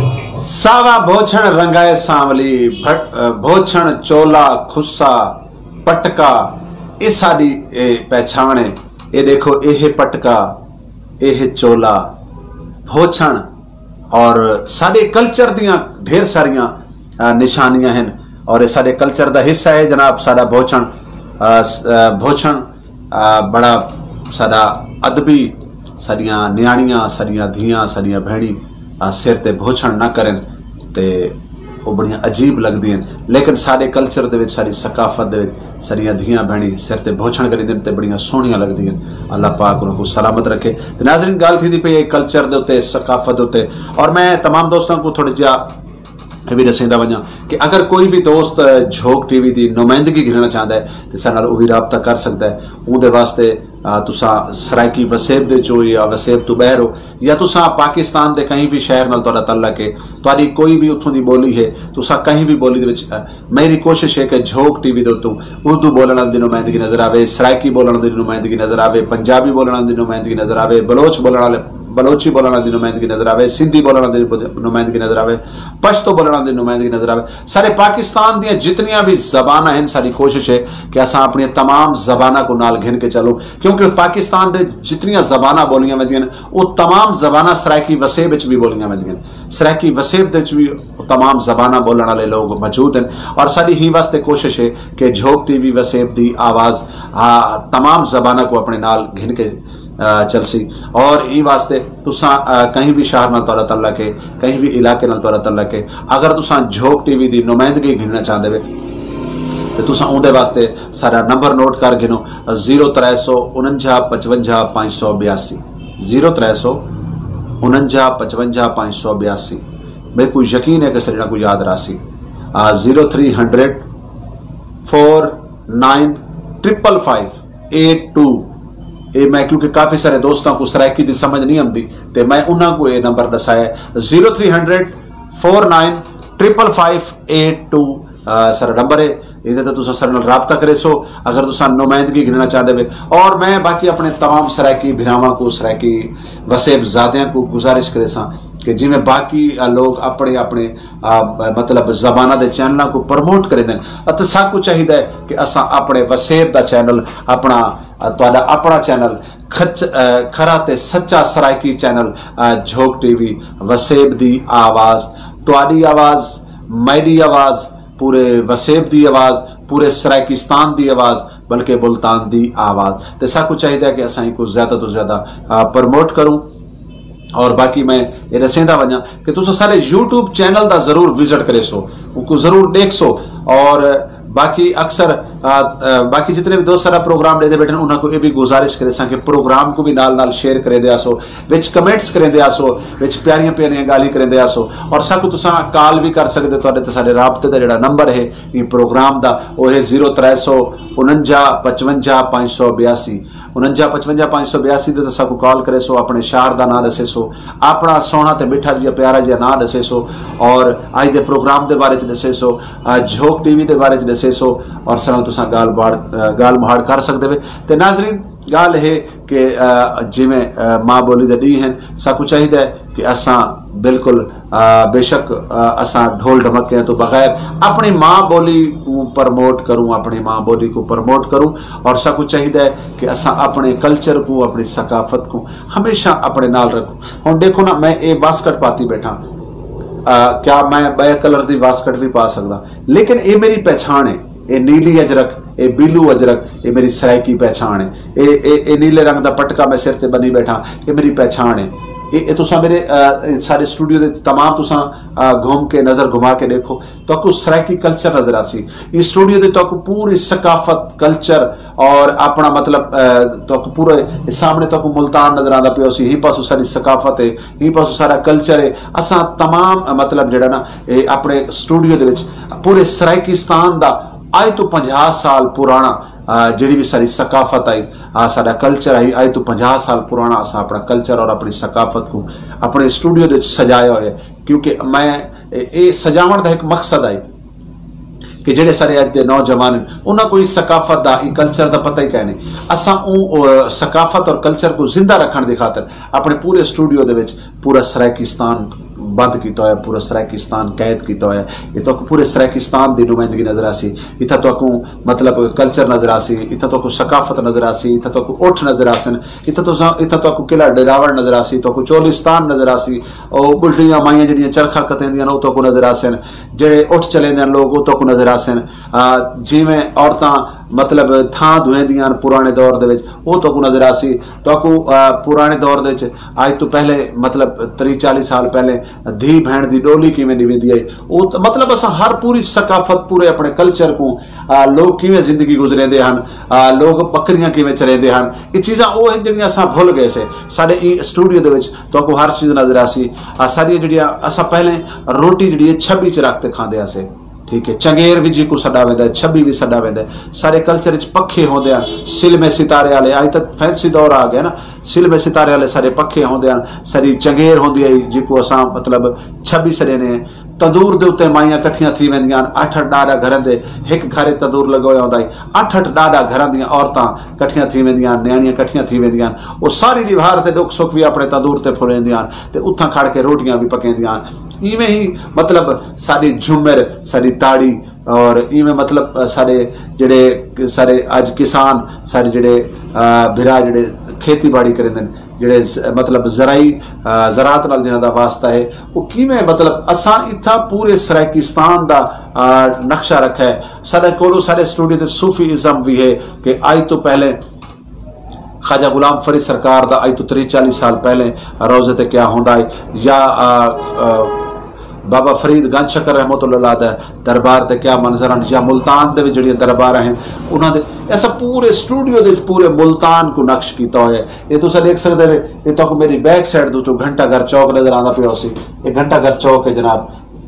ساوا بھوچھݨ رنگائے سانولی، بھٹ-، بھوچھݨ، چولا، کھسا، پٹکا، اے ساݙی، اے، پہچاݨ ہے۔ اے ݙیکھو، اے ہے پٹکا، اے ہے چولا، بھوچھݨ، اور ساݙے کلچر دیاں ڈھیر ساریاں، آ، نشانیاں ہن، اور اے ساݙے کلچر دا حصہ ہے جناب، ساݙا بھوچھݨ، آ، س-، آ، بھوچھݨ، آ، بڑا ساݙا ادبی، ساݙیاں نیاݨیاں، ساݙیاں دھیاں، ساݙیاں بھیݨیں، آ، سر تے بھوچھݨ نہ کرن تے او بڑیاں عجیب لڳدیاں ہن۔ لیکن ساݙے کلچر دے وچ، ساݙی ثقافت دے وچ ساݙیاں دھیاں بھیݨیں سر تے بھوچھݨ کریندین تے بڑیاں سوہݨیاں لڳدیاں ہن۔ اللہ پاک انہاں کوں سلامت رکھے۔ تے ناظرین، ڳالھ تھیندی پئی ہے کلچر دے اتے، ثقافت دے اتے، اور میں تمام دوستاں کوں تھوڑا جہا اے وی ݙسیندا ونڄاں کہ اگر کوئی وی دوست جھوک ٹی وی دی نمائندگی گھنݨا چاہندا ہے تے ساݙے نال او وی رابطہ کر سڳدا ہے۔ اوندے واسطے، آ، تساں سرائیکی وسیب دے وچ ہو یا وسیب توں ٻاہر ہو، یا تساں پاکستان دے کہیں وی شہر نال تہاݙا تعلق ہے، تہاݙی کوئی وی اتھوں دی ٻولی ہے، تساں کہیں وی ٻولی دے وچ، آ، میری کوشش ہے کہ جھوک ٹی وی دے اتوں اردو ٻولݨ آلے دی نمائندگی نظر آوے، سرائیکی ٻولݨ آلے دی نمائندگی نظر آوے، پنجابی ٻولݨ آلے دی نمائندگی نظر آوے، بلوچ ٻولݨ آلے، بلوچی ٻولݨ آلے دی نمائندگی نظر آوے، سندھی ٻولݨ آلے دی نمائندگی نظر آوے، پشتو ٻولݨ آلے دی نمائندگی نظر آوے۔ سارے پاکستان دیاں جتنیاں وی زباناں ہن، ساݙی کوشش ہے کہ اساں اپݨیاں تمام زباناں کوں نال گھن کے چلوں، کیونکہ پاکستان دے جتنیاں زباناں ٻولیاں ویندیاں ہن، او تمام زباناں سرائیکی وسیب وچ وی ٻولیاں ویندیاں ہن۔ سرائیکی وسیب دے وچ وی تمام زباناں ٻولݨ آلے لوگ موجود ہن، اور ساݙی ہیں واسطے کوشش ہے کہ جھوک ٹی وی وسیب دی آواز، آ، تمام زباناں کوں اپݨے نال گھن کے، آ، چلسی۔ اور ہیں واسطے تساں، آ، کہیں وی شہر نال تہاݙا تعلق ہے، کہیں وی علاقے نال تہاݙا تعلق ہے، اگر تساں جھوک ٹی وی دی نمائندگی گھنݨا چاہندے وے تے تساں اوندے واسطے ساݙا نمبر نوٹ کر گھنو، زیرو ترے سو انجا پچونجا پنج سو ٻیاسی، زیرو ترے سو انجا پچونجا پنج سو ٻیاسی۔ میکوں یقین ہے کہ ساݙے نال کوئی یاد رہسی۔ آ، zero three hundred four nine triple five eight two. اے میں، کیونکہ کافی سارے دوستاں کوں سرائیکی دی سمجھ نہیں آندی، تے میں انہاں کوں اے نمبر ݙسایا ہے، zero three hundred four nine triple five eight two, آ، سارا نمبر ہے۔ ایندے تے تساں ساݙے نال رابطہ کریسو اگر تساں نمائندگی گھنݨا چاہندے وے۔ اور میں باقی اپݨے تمام سرائیکی بھراواں کوں، سرائیکی وسیب زادیاں کوں گزارش کریساں کہ جیویں باقی، آ، لوگ اپݨے اپݨے، آ، مطلب زباناں دے چینلاں کوں پروموٹ کریندن، اتے ساکوں چاہیدا ہے کہ اساں اپݨے وسیب دا چینل، اپݨا، آ، تہاݙا اپݨا چینل، کھچ-، آ، کھرا تے سچا سرائیکی چینل، آ، جھوک ٹی وی، وسیب دی آواز، تہاݙی آواز، میݙی آواز، پورے وسیب دی آواز، پورے سرائیکستان دی آواز، بلکہ ملتان دی آواز۔ تے ساکوں چاہیدا ہے کہ اساں اینکوں زیادہ توں زیادہ، آ، پروموٹ کروں۔ اور باقی میں اے ݙسیندا ونڄاں کہ تساں سارے یوٹیوب چینل دا ضرور وزٹ کریسو، اونکوں ضرور ݙیکھسو۔ اور باقی اکثر، آ، آ، باقی جتنے وی دوست سارا پروگرام ݙیہدے ٻیٹھن، انہاں کوں اے وی گزارش کریساں کہ پروگرام کوں وی نال نال شیئر کریندے آسو، وچ کمنٹس کریندے آسو، وچ پیاریاں پیاریاں ڳالھیں کریندے آسو۔ اور ساکوں تساں کال وی کر سڳدے، تہاݙے تے ساݙے رابطے دا جیڑھا نمبر ہے ایں پروگرام دا، او ہے زیرو ترے سو انجا پچونجا پنج سو ٻیاسی۔ انجا پچونجا پانچ سو بیاسی دے تساں کو کال کرے سو، اپنے شہر دا نام دسے سو، اپنا سونا تے میٹھا جیا پیارا جیا نام دسے سو، اور آج دے پروگرام دے بارے چ دسے سو، جھوک ٹی وی دے بارے چ دسے سو، اور سنال تساں گال بار گال مہاڑ کر سکتے وے۔ تے ناظرین، گال ہے کہ جویں ماں بولی دے ڈی ہیں، ساکو چاہیے کہ اساں بالکل بے شک اساں ڈھول ڈھمکیاں تو بغیر اپنی ماں بولی کو پرموٹ کروں، اپنی ماں بولی کو پرموٹ کروں، اور ساکو چاہیے کہ اساں اپنے کلچر کو، اپنی ثقافت کو ہمیشہ اپنے نال رکھوں۔ ہن دیکھو نا، میں اے واسکٹ پاتی بیٹھا، کیا میں بے کلر دی واسکٹ بھی پا سکدا؟ لیکن اے میری پہچان ہے، اے نیلی اجرک، اے بیلو اجرک، اے میری سرائیکی پہچان ہے۔ اے اے اے نیلے رنگ دا پٹکا میں سر تے بنی بیٹھا، اے میری پہچان ہے۔ اے اے تساں میرے سارے اسٹوڈیو دے تمام تساں گھوم کے نظر گھما کے دیکھو، تہاکوں سرائیکی کلچر نظر آسی۔ ایں اسٹوڈیو دے تہاکوں پوری ثقافت، کلچر اور اپنا مطلب تہاکوں پورے سامنے تہاکوں ملتان نظر آندا پیا سی۔ ہی پاسوں ساری ثقافت ہے، ہی پاسوں سارا کلچر ہے۔ اساں تمام مطلب جڑا نا اے اپنے اسٹوڈیو دے وچ پورے سرائیکستان دا اج تو پنجاہ سال پرانا جڑی بھی ساری ثقافت آئی، سارا کلچر آئی، اج تو پنجاہ سال پرانا اساں اپنا کلچر اور اپنی ثقافت کو اپنے اسٹوڈیو دے وچ سجایا ہوئے۔ کیونکہ میں اے سجاون دا ایک مقصد آئی کہ جڑے سارے اج دے نوجوان ہیں، انہاں کو اس ثقافت دا، اس کلچر دا پتہ ہی کائے نہیں۔ اساں اوں ثقافت اور کلچر کو زندہ رکھن دی خاطر اپنے پورے اسٹوڈیو دے وچ پورا سرائیکستان بند کیتا ہویا، پورا سرائیکستان قید کیتا ہویا۔ اتھاں کو پورے سرائیکستان دی نمائندگی نظر آسی۔ اتھاں تو کو مطلب کلچر نظر آسی، اتھاں تو کو ثقافت نظر آسی، اتھاں تو کو اٹھ نظر آسن، اتھاں تو اتھاں تو کو قلعہ ڈیراوڑ نظر آسی، تو کو چولستان نظر آسی، او بلڈیاں مائیاں جڑیاں چرخا کتیندیاں نے، او تو کو نظر آسن۔ جڑے اٹھ چلیندے ہن لوگ، او تہاکوں نظر آسن۔ جیویں عورتاں مطلب تھاں دھویندیاں ہن پرانے دور دے وچ، او تہاکوں نظر آسی۔ تہاکوں پرانے دور دے وچ، اج توں پہلے مطلب تریہہ چالیہہ سال پہلے دھی بھیݨ دی ݙولی کیویں ݙیویندی ہئی، او مطلب اساں ہر پوری ثقافت، پورے اپݨے کلچر کوں، لوگ کیویں زندگی گزریندے ہن، لوگ ٻکریاں کیویں چریندے ہن، اے چیزاں او ہن جیڑھیاں اساں بھل ڳئے سے۔ ساݙے ایں اسٹوڈیو دے وچ تہاکوں ہر چیز نظر آسی۔ آ ساݙیاں جیڑھیاں اساں پہلے روٹی جیڑھی ہے چھٻی چ رکھ تے کھاندے ہاسے، ٹھیک ہے، چنگیر وی جیکوں سݙا ویندا ہے، چھٻی وی سݙا ویندا ہے۔ سارے کلچر وچ پکھے ہوندے ہن، سلمے ستارے والے، اڄ تاں فینسی دور آ ڳیا نا، سلمے ستارے والے سارے پکھے ہوندے ہن، ساری چنگیر ہوندی ہے جیکوں اساں مطلب چھٻی سݙیندے ہیں۔ تندور دے اتے مائیاں کٹھیاں تھی ویندیاں ہن، اٹھ اٹھ ݙاہ ݙاہ گھراں دے ہک گھر اچ تندور لڳا ہویا ہوندا ہئی، اٹھ اٹھ ݙاہ ݙاہ گھراں دیاں عورتاں کٹھیاں تھی ویندیاں ہن، نیاݨیاں کٹھیاں تھی ویندیاں ہن، او ساری ݙیہاڑ تے ݙکھ سکھ وی اپݨے تندور تے پھلیندیاں ہن تے اتھاں کھڑ کے روٹیاں وی پکیندیاں ہن۔ ایویں ہی مطلب ساݙی جھمر، ساݙی تاڑی اور ایویں مطلب ساݙے جیڑھے سارے اڄ کسان، سارے جیڑھے بھرا جیڑھے کھیتی باڑی کریندن، جیڑھے مطلب زرعی زراعت نال جنہاں دا واسطہ ہے، او کیویں مطلب اساں اتھاں پورے سرائیکستان دا نقشہ رکھا ہے۔ ساݙے کولوں ساݙے اسٹوڈیو تے صوفی ازم وی ہے کہ اڄ توں پہلے خواجہ غلام فرید سرکار دا اڄ توں تریہہ چالیہہ سال پہلے روضے تے کیا ہوندا ہے، یا بابا فرید گنج شکر رحمۃ اللہ علیہ دا دربار تے کیا منظر ہن، یا ملتان دے وچ جیڑھیاں درباراں ہن انہاں دے، ایسا پورے اسٹوڈیو دے وچ پورے ملتان کو نقش کیتا ہویا ہے۔ اے تساں ݙیکھ سڳدے وے، اے تہاکوں میݙی بیک سائیڈ دے اتوں گھنٹہ گھر چوک نظر آندا پیا ہوسی۔ اے گھنٹہ گھر چوک ہے جناب،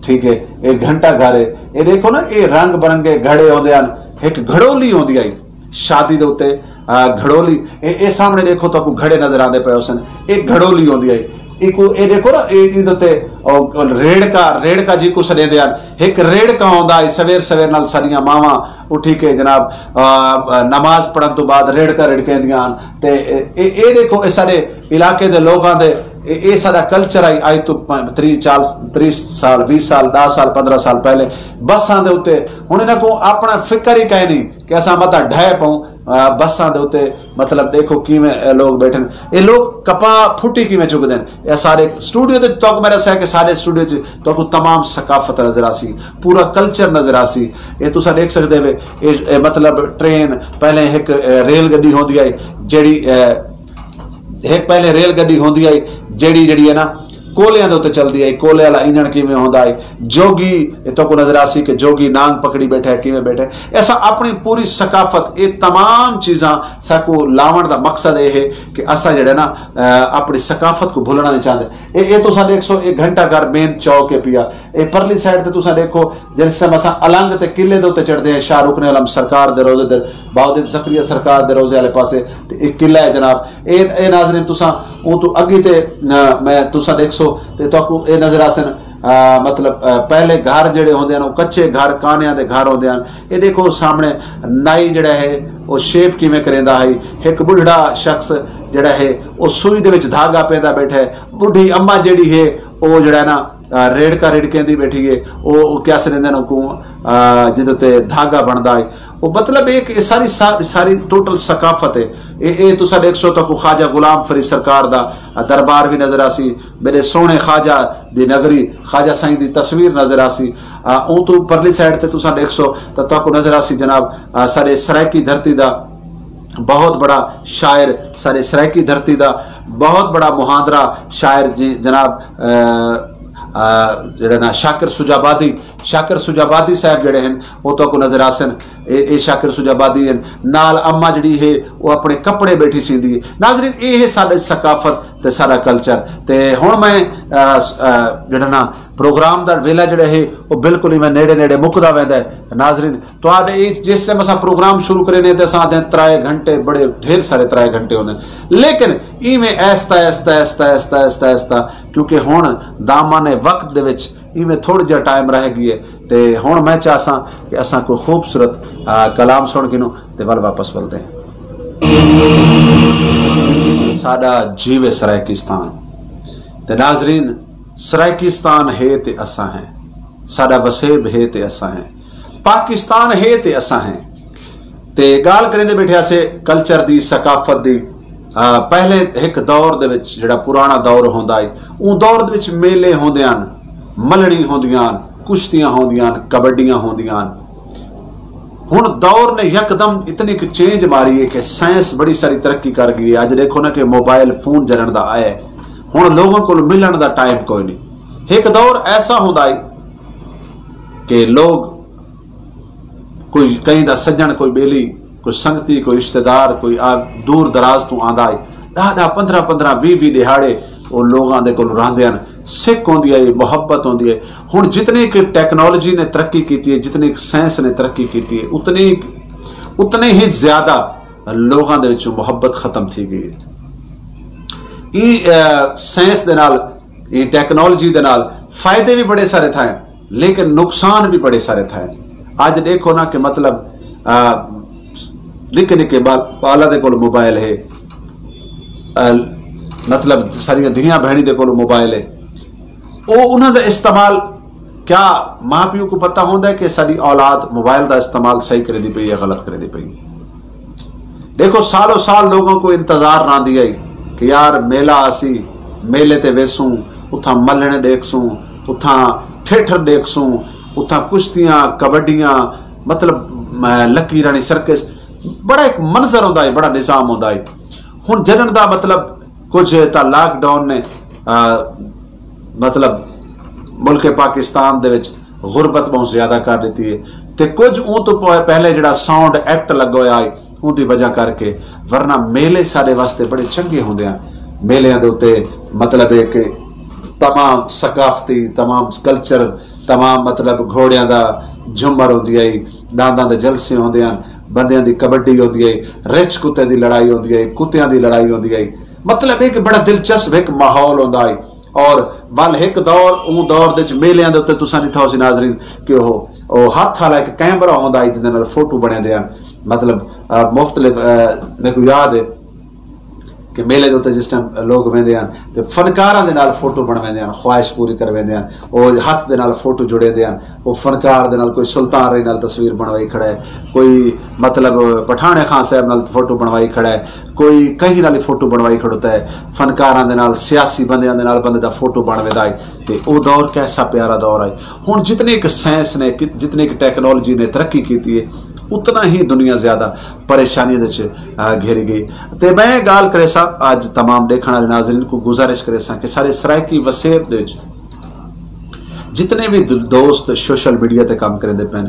ٹھیک ہے، اے گھنٹہ گھر ہے۔ اے ݙیکھو نا، اے رنگ برنگے گھڑے ہوندے ہن، ہک گھڑولی ہوندی ہئی شادی دے اتے، گھڑولی۔ اے اے سامݨے ݙیکھو تہاکوں گھڑے نظر آندے پئے ہوسن، اے گھڑولی ہوندی ہئی۔ ایکوں اے ݙیکھو نا، اے ایندے اتے او ریڑکا، ریڑکا جیکوں سݙیندے ہن، ہک ریڑکا ہوندا ہئی۔ سویر سویر نال ساݙیاں ماواں اٹھی کے جناب نماز پڑھݨ توں بعد ریڑکا رڑکیندیاں ہن۔ تے اے اے ݙیکھو، اے ساݙے علاقے دے لوگاں دے، اے اے ساݙا کلچر ہئی۔ اڄ توں تریہہ چال تریہہ سال، ویہہ سال، ݙاہ سال، پندرہ سال پہلے بساں دے اتے، ہݨ انہاں کوں اپݨا فکر ہی کائنی کہ اساں متاں ڈھہہ پئوں بساں دے اتے۔ مطلب ݙیکھو کیویں لوگ ٻیٹھن، اے لوگ کپاہ پھٹی کیویں چڳدن۔ اے سارے اسٹوڈیو دے تہاکوں میݙا سہ کہ سارے اسٹوڈیو چ تہاکوں تمام ثقافت نظر آسی، پورا کلچر نظر آسی۔ اے تساں ݙیکھ سڳدے وے، اے اے مطلب ٹرین پہلے ہک ریل گݙی ہوندی ہئی جیڑھی ہک پہلے ریل گݙی ہوندی ہئی جیڑھی جیڑھی ہے نا کولیاں دے اتے چلدی آئی، کولے والا انجن کیویں ہوندا ہے، جوگی، اے تہاکوں نظر آسی کہ جوگی نانگ پکڑی بیٹھا ہے، کیویں بیٹھا ہے۔ اساں اپݨی پوری ثقافت، اے تمام چیزاں ساکوں لاوݨ دا مقصد اے ہے کہ اساں جیڑھا نا، آ، اپݨی ثقافت کوں بھلݨا نہیں چاہندے۔ اے، اے تساں ݙیکھسو، اے گھنٹہ گھر مین چوک ہے پیا۔ اے پرلی سائیڈ تے تساں ݙیکھو، جس ٹائم اساں النگ تے قلعے دے اتے چڑھدے ہیں، شاہ رکن علم سرکار دے روضے دے، بہاؤالدین زکریا سرکار دے روضے والے پاسے، تے اے قلعہ ہے جناب۔ اے، اے ناظرین، تساں اوں توں اگی تے، آ، میں تساں ݙیکھسو تے تہاکوں اے نظر آسن، آ، مطلب، آ، پہلے گھر جیڑھے ہوندے ہن، او کچے گھر، کانیاں دے گھر ہوندے ہن۔ اے ݙیکھو سامݨے نائی جیڑھا ہے، او شیپ کیویں کریندا ہئی۔ ہک ٻڈھڑا شخص جیڑھا ہے، او سوئی دے وچ دھاڳا پیندا بیٹھا ہے۔ ٻڈھی اماں جیڑھی ہے، او جیڑھا ہے نا، آ، ریڑکا رڑکیندی بیٹھی ہے۔ او، او کیا سݙیندے ہن اوکوں، آ، جیندے تے دھاڳا بݨدا ہے۔ او مطلب اے کہ اے ساری سا-، ساری ٹوٹل ثقافت ہے۔ اے، اے تساں ݙیکھسو تہاکوں خواجہ غلام فرید سرکار دا، آ، دربار وی نظر آسی۔ میݙے سوہݨے خواجہ دی نگری، خواجہ سائیں دی تصویر نظر آسی۔ آ، اوں توں پرلی سائیڈ تے تساں ݙیکھسو تاں تہاکوں نظر آسی جناب، آ، ساݙے سرائیکی دھرتی دا بہت بڑا شاعر، ساݙے سرائیکی دھرتی دا بہت بڑا مہاندرا شاعر جی جناب، آ، آ، جیڑھے نا شاکر سجابادی، شاکر سجابادی صاحب جیڑھے ہن، او تہاکوں نظر آسن۔ اے، اے شاکر سجابادی ہن۔ نال اماں جیڑھی ہے، او اپݨے کپڑے بیٹھی سیندی ہے۔ ناظرین، اے ہے ساݙی ثقافت تے ساݙا کلچر۔ تے ہݨ میں، آ، س-، آ، جیڑھا نا پروگرام دا ویلا جیڑھا ہے، او بالکل ہی میں نیڑے نیڑے مکدا ویندا ہے۔ ناظرین، تہاݙے اچ جس ٹائم اساں پروگرام شروع کرینے تے اساں آہدے ہیں ترائے گھنٹے، بڑے ڈھیر سارے ترائے گھنٹے ہوندے ہیں۔ لیکن ایویں آہستہ، آہستہ، آہستہ، آہستہ، آہستہ، آہستہ، کیونکہ ہݨ دامن وقت دے وچ ایویں تھوڑا جہا ٹائم رہ ڳئے۔ تے ہݨ میں چاہساں کہ اساں کوئی خوبصورت، آ، کلام سݨ گھنوں تے ول واپس ولدے ہیں۔ ساݙا جیوے سرائیکستان۔ تے ناظرین، سرائیکستان ہے تے اساں ہیں، ساݙا وسیب ہے تے اساں ہیں، پاکستان ہے تے اساں ہیں۔ تے ڳالھ کریندے بیٹھے ہاسے کلچر دی، ثقافت دی۔ آ، پہلے ہک دور دے وچ جیڑھا پراݨا دور ہوندا ہے، اوں دور دے وچ میلے ہوندے ہن، ملڑی ہوندیاں ہن، کشتیاں ہوندیاں ہن، کبڈیاں ہوندیاں ہن۔ ہݨ دور نے یکدم اتنی کہ چینج ماری ہے کہ سائنس بڑی ساری ترقی کر ڳئی ہے۔ اڄ ݙیکھو نا کہ موبائل فون جلݨ دا آیا ہے، ہݨ لوگاں کول ملݨ دا ٹائم کوئی نہیں۔ ہک دور ایسا ہوندا ہے کہ لوگ کوئی کہیں دا سڄݨ، کوئی ٻیلی، کوئی سنگتی، کوئی رشتہ دار، کوئی آ-، دور دراز توں آندا ہے، ݙاہ ݙاہ، پندرہ پندرہ، ویہہ ویہہ ݙیہاڑے او لوگاں دے کول رہندے ہن، سک ہوندی ہے، محبت ہوندی ہے۔ ہݨ جتنی کہ ٹیکنالوجی نے ترقی کیتی ہے، جتنی کہ سائنس نے ترقی کیتی ہے، اتنی، اتنے ہی زیادہ لوگاں دے وچوں محبت ختم تھی ڳئی ہے۔ ایں، آ، سائنس دے نال، ایں ٹیکنالوجی دے نال فائدے وی بڑے سارے تھئے، لیکن نقصان وی بڑے سارے تھئے۔ اڄ ݙیکھو نا کہ مطلب، آ، نکے نکے با-، ٻالاں دے کول موبائل ہے، آ، مطلب ساݙیاں دھیاں بھیݨیں دے کول موبائل ہے، او انہاں دا استعمال، کیا ماں پیو کوں پتہ ہوندا ہے کہ ساݙی اولاد موبائل دا استعمال صحیح کریندی پئی ہے یا غلط کریندی پئی ہے؟ ݙیکھو، سالوں سال لوگاں کوں انتظار رہندی ہئی کہ یار میلہ آسی، میلے تے ویسوں، اتھاں ملھݨ ݙیکھسوں، اتھاں ٹھیٹھر ݙیکھسوں، اتھاں کشتیاں، کبڈیاں، مطلب، م-، لکی راݨی سرکس، بڑا ہک منظر ہوندا ہے، بڑا نظام ہوندا ہے۔ ہݨ جݙݨ دا مطلب کجھ تاں لاک ڈاؤن نے، آ، مطلب ملک پاکستان دے وچ غربت بہت زیادہ کر ݙتی ہے، تے کجھ اوں توں پ-، پہلے جڑا ساؤنڈ ایکٹ لڳا ہویا ہے، اوں دی وجہ کر کے، ورنہ میلے ساݙے واسطے بڑے چنڳے ہوندے ہن۔ میلیاں دے اتے مطلب ہے کہ تمام ثقافتی، تمام کلچر، تمام مطلب گھوڑیاں دا جھمر ہوندی ہے، ݙانداں دے جلسے ہوندے ہن، بندیاں دی کبڈی ہوندی ہے، رچھ کتے دی لڑائی ہوندی ہے، کتیاں دی لڑائی ہوندی ہے۔ مطلب ہے کہ بڑا دلچسپ ہک ماحول ہوندا ہے۔ اور ول ہک دور، اوں دور دے وچ میلیاں دے اتے تساں ݙٹھا ہوسی ناظرین کہ او، او ہتھ والا ہک کیمرہ ہوندا ہے جیندے نال فوٹو بݨیندے ہن۔ مطلب، آ، مختلف، آ، میکوں یاد ہے کہ میلے دے اتے جس ٹائم لوگ ویندے ہن تے فنکاراں دے نال فوٹو بݨویندے ہن، خواہش پوری کرویندے ہن، او ہتھ دے نال فوٹو جڑیندے ہن۔ او فنکار دے نال کوئی سلطان رئی نال تصویر بݨوائی کھڑا ہے، کوئی مطلب پٹھاݨے خان صاحب نال فوٹو بݨوائی کھڑا ہے، کوئی کہیں نال فوٹو بݨوائی کھڑوتا ہے، فنکاراں دے نال، سیاسی بندیاں دے نال بندے دا فوٹو بݨ ویندا ہے۔ تے او دور کیسا پیارا دور ہے۔ ہݨ جتنی کہ سائنس نے، جتنی کہ ٹیکنالوجی نے ترقی کیتی ہے، اتنا ہی دنیا زیادہ پریشانی دے وچ گھری گئی۔ تے میں گال کریساں، اج تمام ڈیکھن والے ناظرین کو گزارش کریساں کہ سارے سرائیکی وسیب دے وچ جتنے بھی دوست سوشل میڈیا تے کام کریندے پین،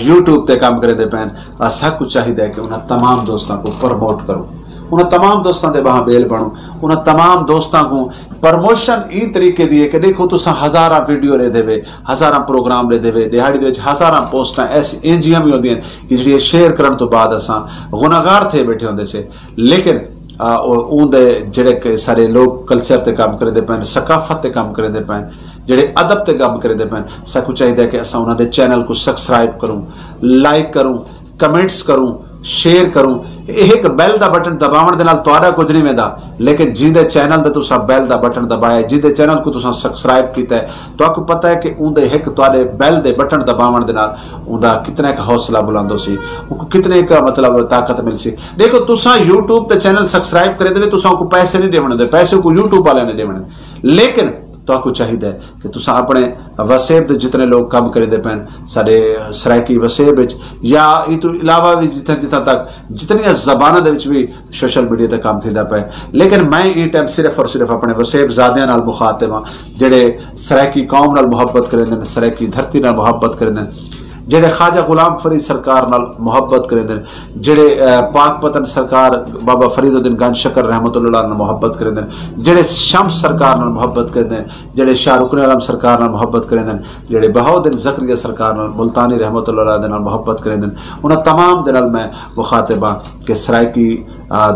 یوٹیوب تے کام کریندے پین، ساکوں چاہیدا ہے کہ انہاں تمام دوستاں کو پروموٹ کروں، انہاں تمام دوستاں دے باہاں بیل بنوں، انہاں تمام دوستاں کو پروموشن ایں طریقے دی ہے کہ ڈیکھو تساں ہزاراں ویڈیو ڈیدھے وے، ہزاراں پروگرام ڈیدھے وے، ڈیہاڑی دے وچ ہزاراں پوسٹاں ایسی اینجیاں بھی ہوندیاں کہ جڑی شیئر کرن تو بعد اساں گناہگار تھے بیٹھے ہوندے سے۔ لیکن اون دے جڑے کہ سارے لوگ کلچر تے کام کریندے پین، ثقافت تے کام کریندے پین، جڑے ادب تے کام کریندے پین، ساکوں چاہیدا ہے کہ اساں انہاں دے چینل کو سبسکرائب کروں، لائک کروں، کمنٹس کروں، شیئر کروں۔ ایک بیل دا بٹن دباون دے نال تہاڈا کچھ نہیں ویندا، لیکن جیندے چینل دا تساں بیل دا بٹن دبایا، جیندے چینل کو تساں سبسکرائب کیتا ہے، تہاکوں پتہ ہے کہ اون دے ایک تہاڈے بیل دے بٹن دباون دے نال اون دا کتنا ایک حوصلہ بلند ہو سی، اون کو کتنے ایک مطلب طاقت مل سی۔ ڈیکھو تساں یوٹیوب تے چینل سبسکرائب کرے دے، تساں کو پیسے نہیں دیونے دے، پیسے کو یوٹیوب والے نے دیونے، لیکن تہاکوں چاہیدا ہے کہ تساں اپنے وسیب دے جتنے لوگ کم کریندے پین ساڈے سرائیکی وسیب وچ یا ایں توں علاوہ بھی جتھاں جتھاں تک جتنیاں زباناں دے وچ بھی سوشل میڈیا تے کم تھیندا پئے، لیکن میں ایں ٹائم صرف اور صرف اپنے وسیب زادیاں نال مخاطب ہاں، جڑے سرائیکی قوم نال محبت کریندے نے، سرائیکی دھرتی نال محبت کریندے نے، جڑے خواجہ غلام فرید سرکار نال محبت کریندے نے، جڑے پاک پتن سرکار بابا فرید الدین گنج شکر رحمۃ اللہ نال محبت کریندے نے، جڑے شمس سرکار نال محبت کریندے نے، جڑے شاہ رکن عالم سرکار نال محبت کریندے نے، جڑے بہاؤالدین زکریا سرکار نال ملتانی رحمۃ اللہ علیہ دے نال محبت کریندے نے، انہاں تمام دے نال میں مخاطب ہاں کہ سرائیکی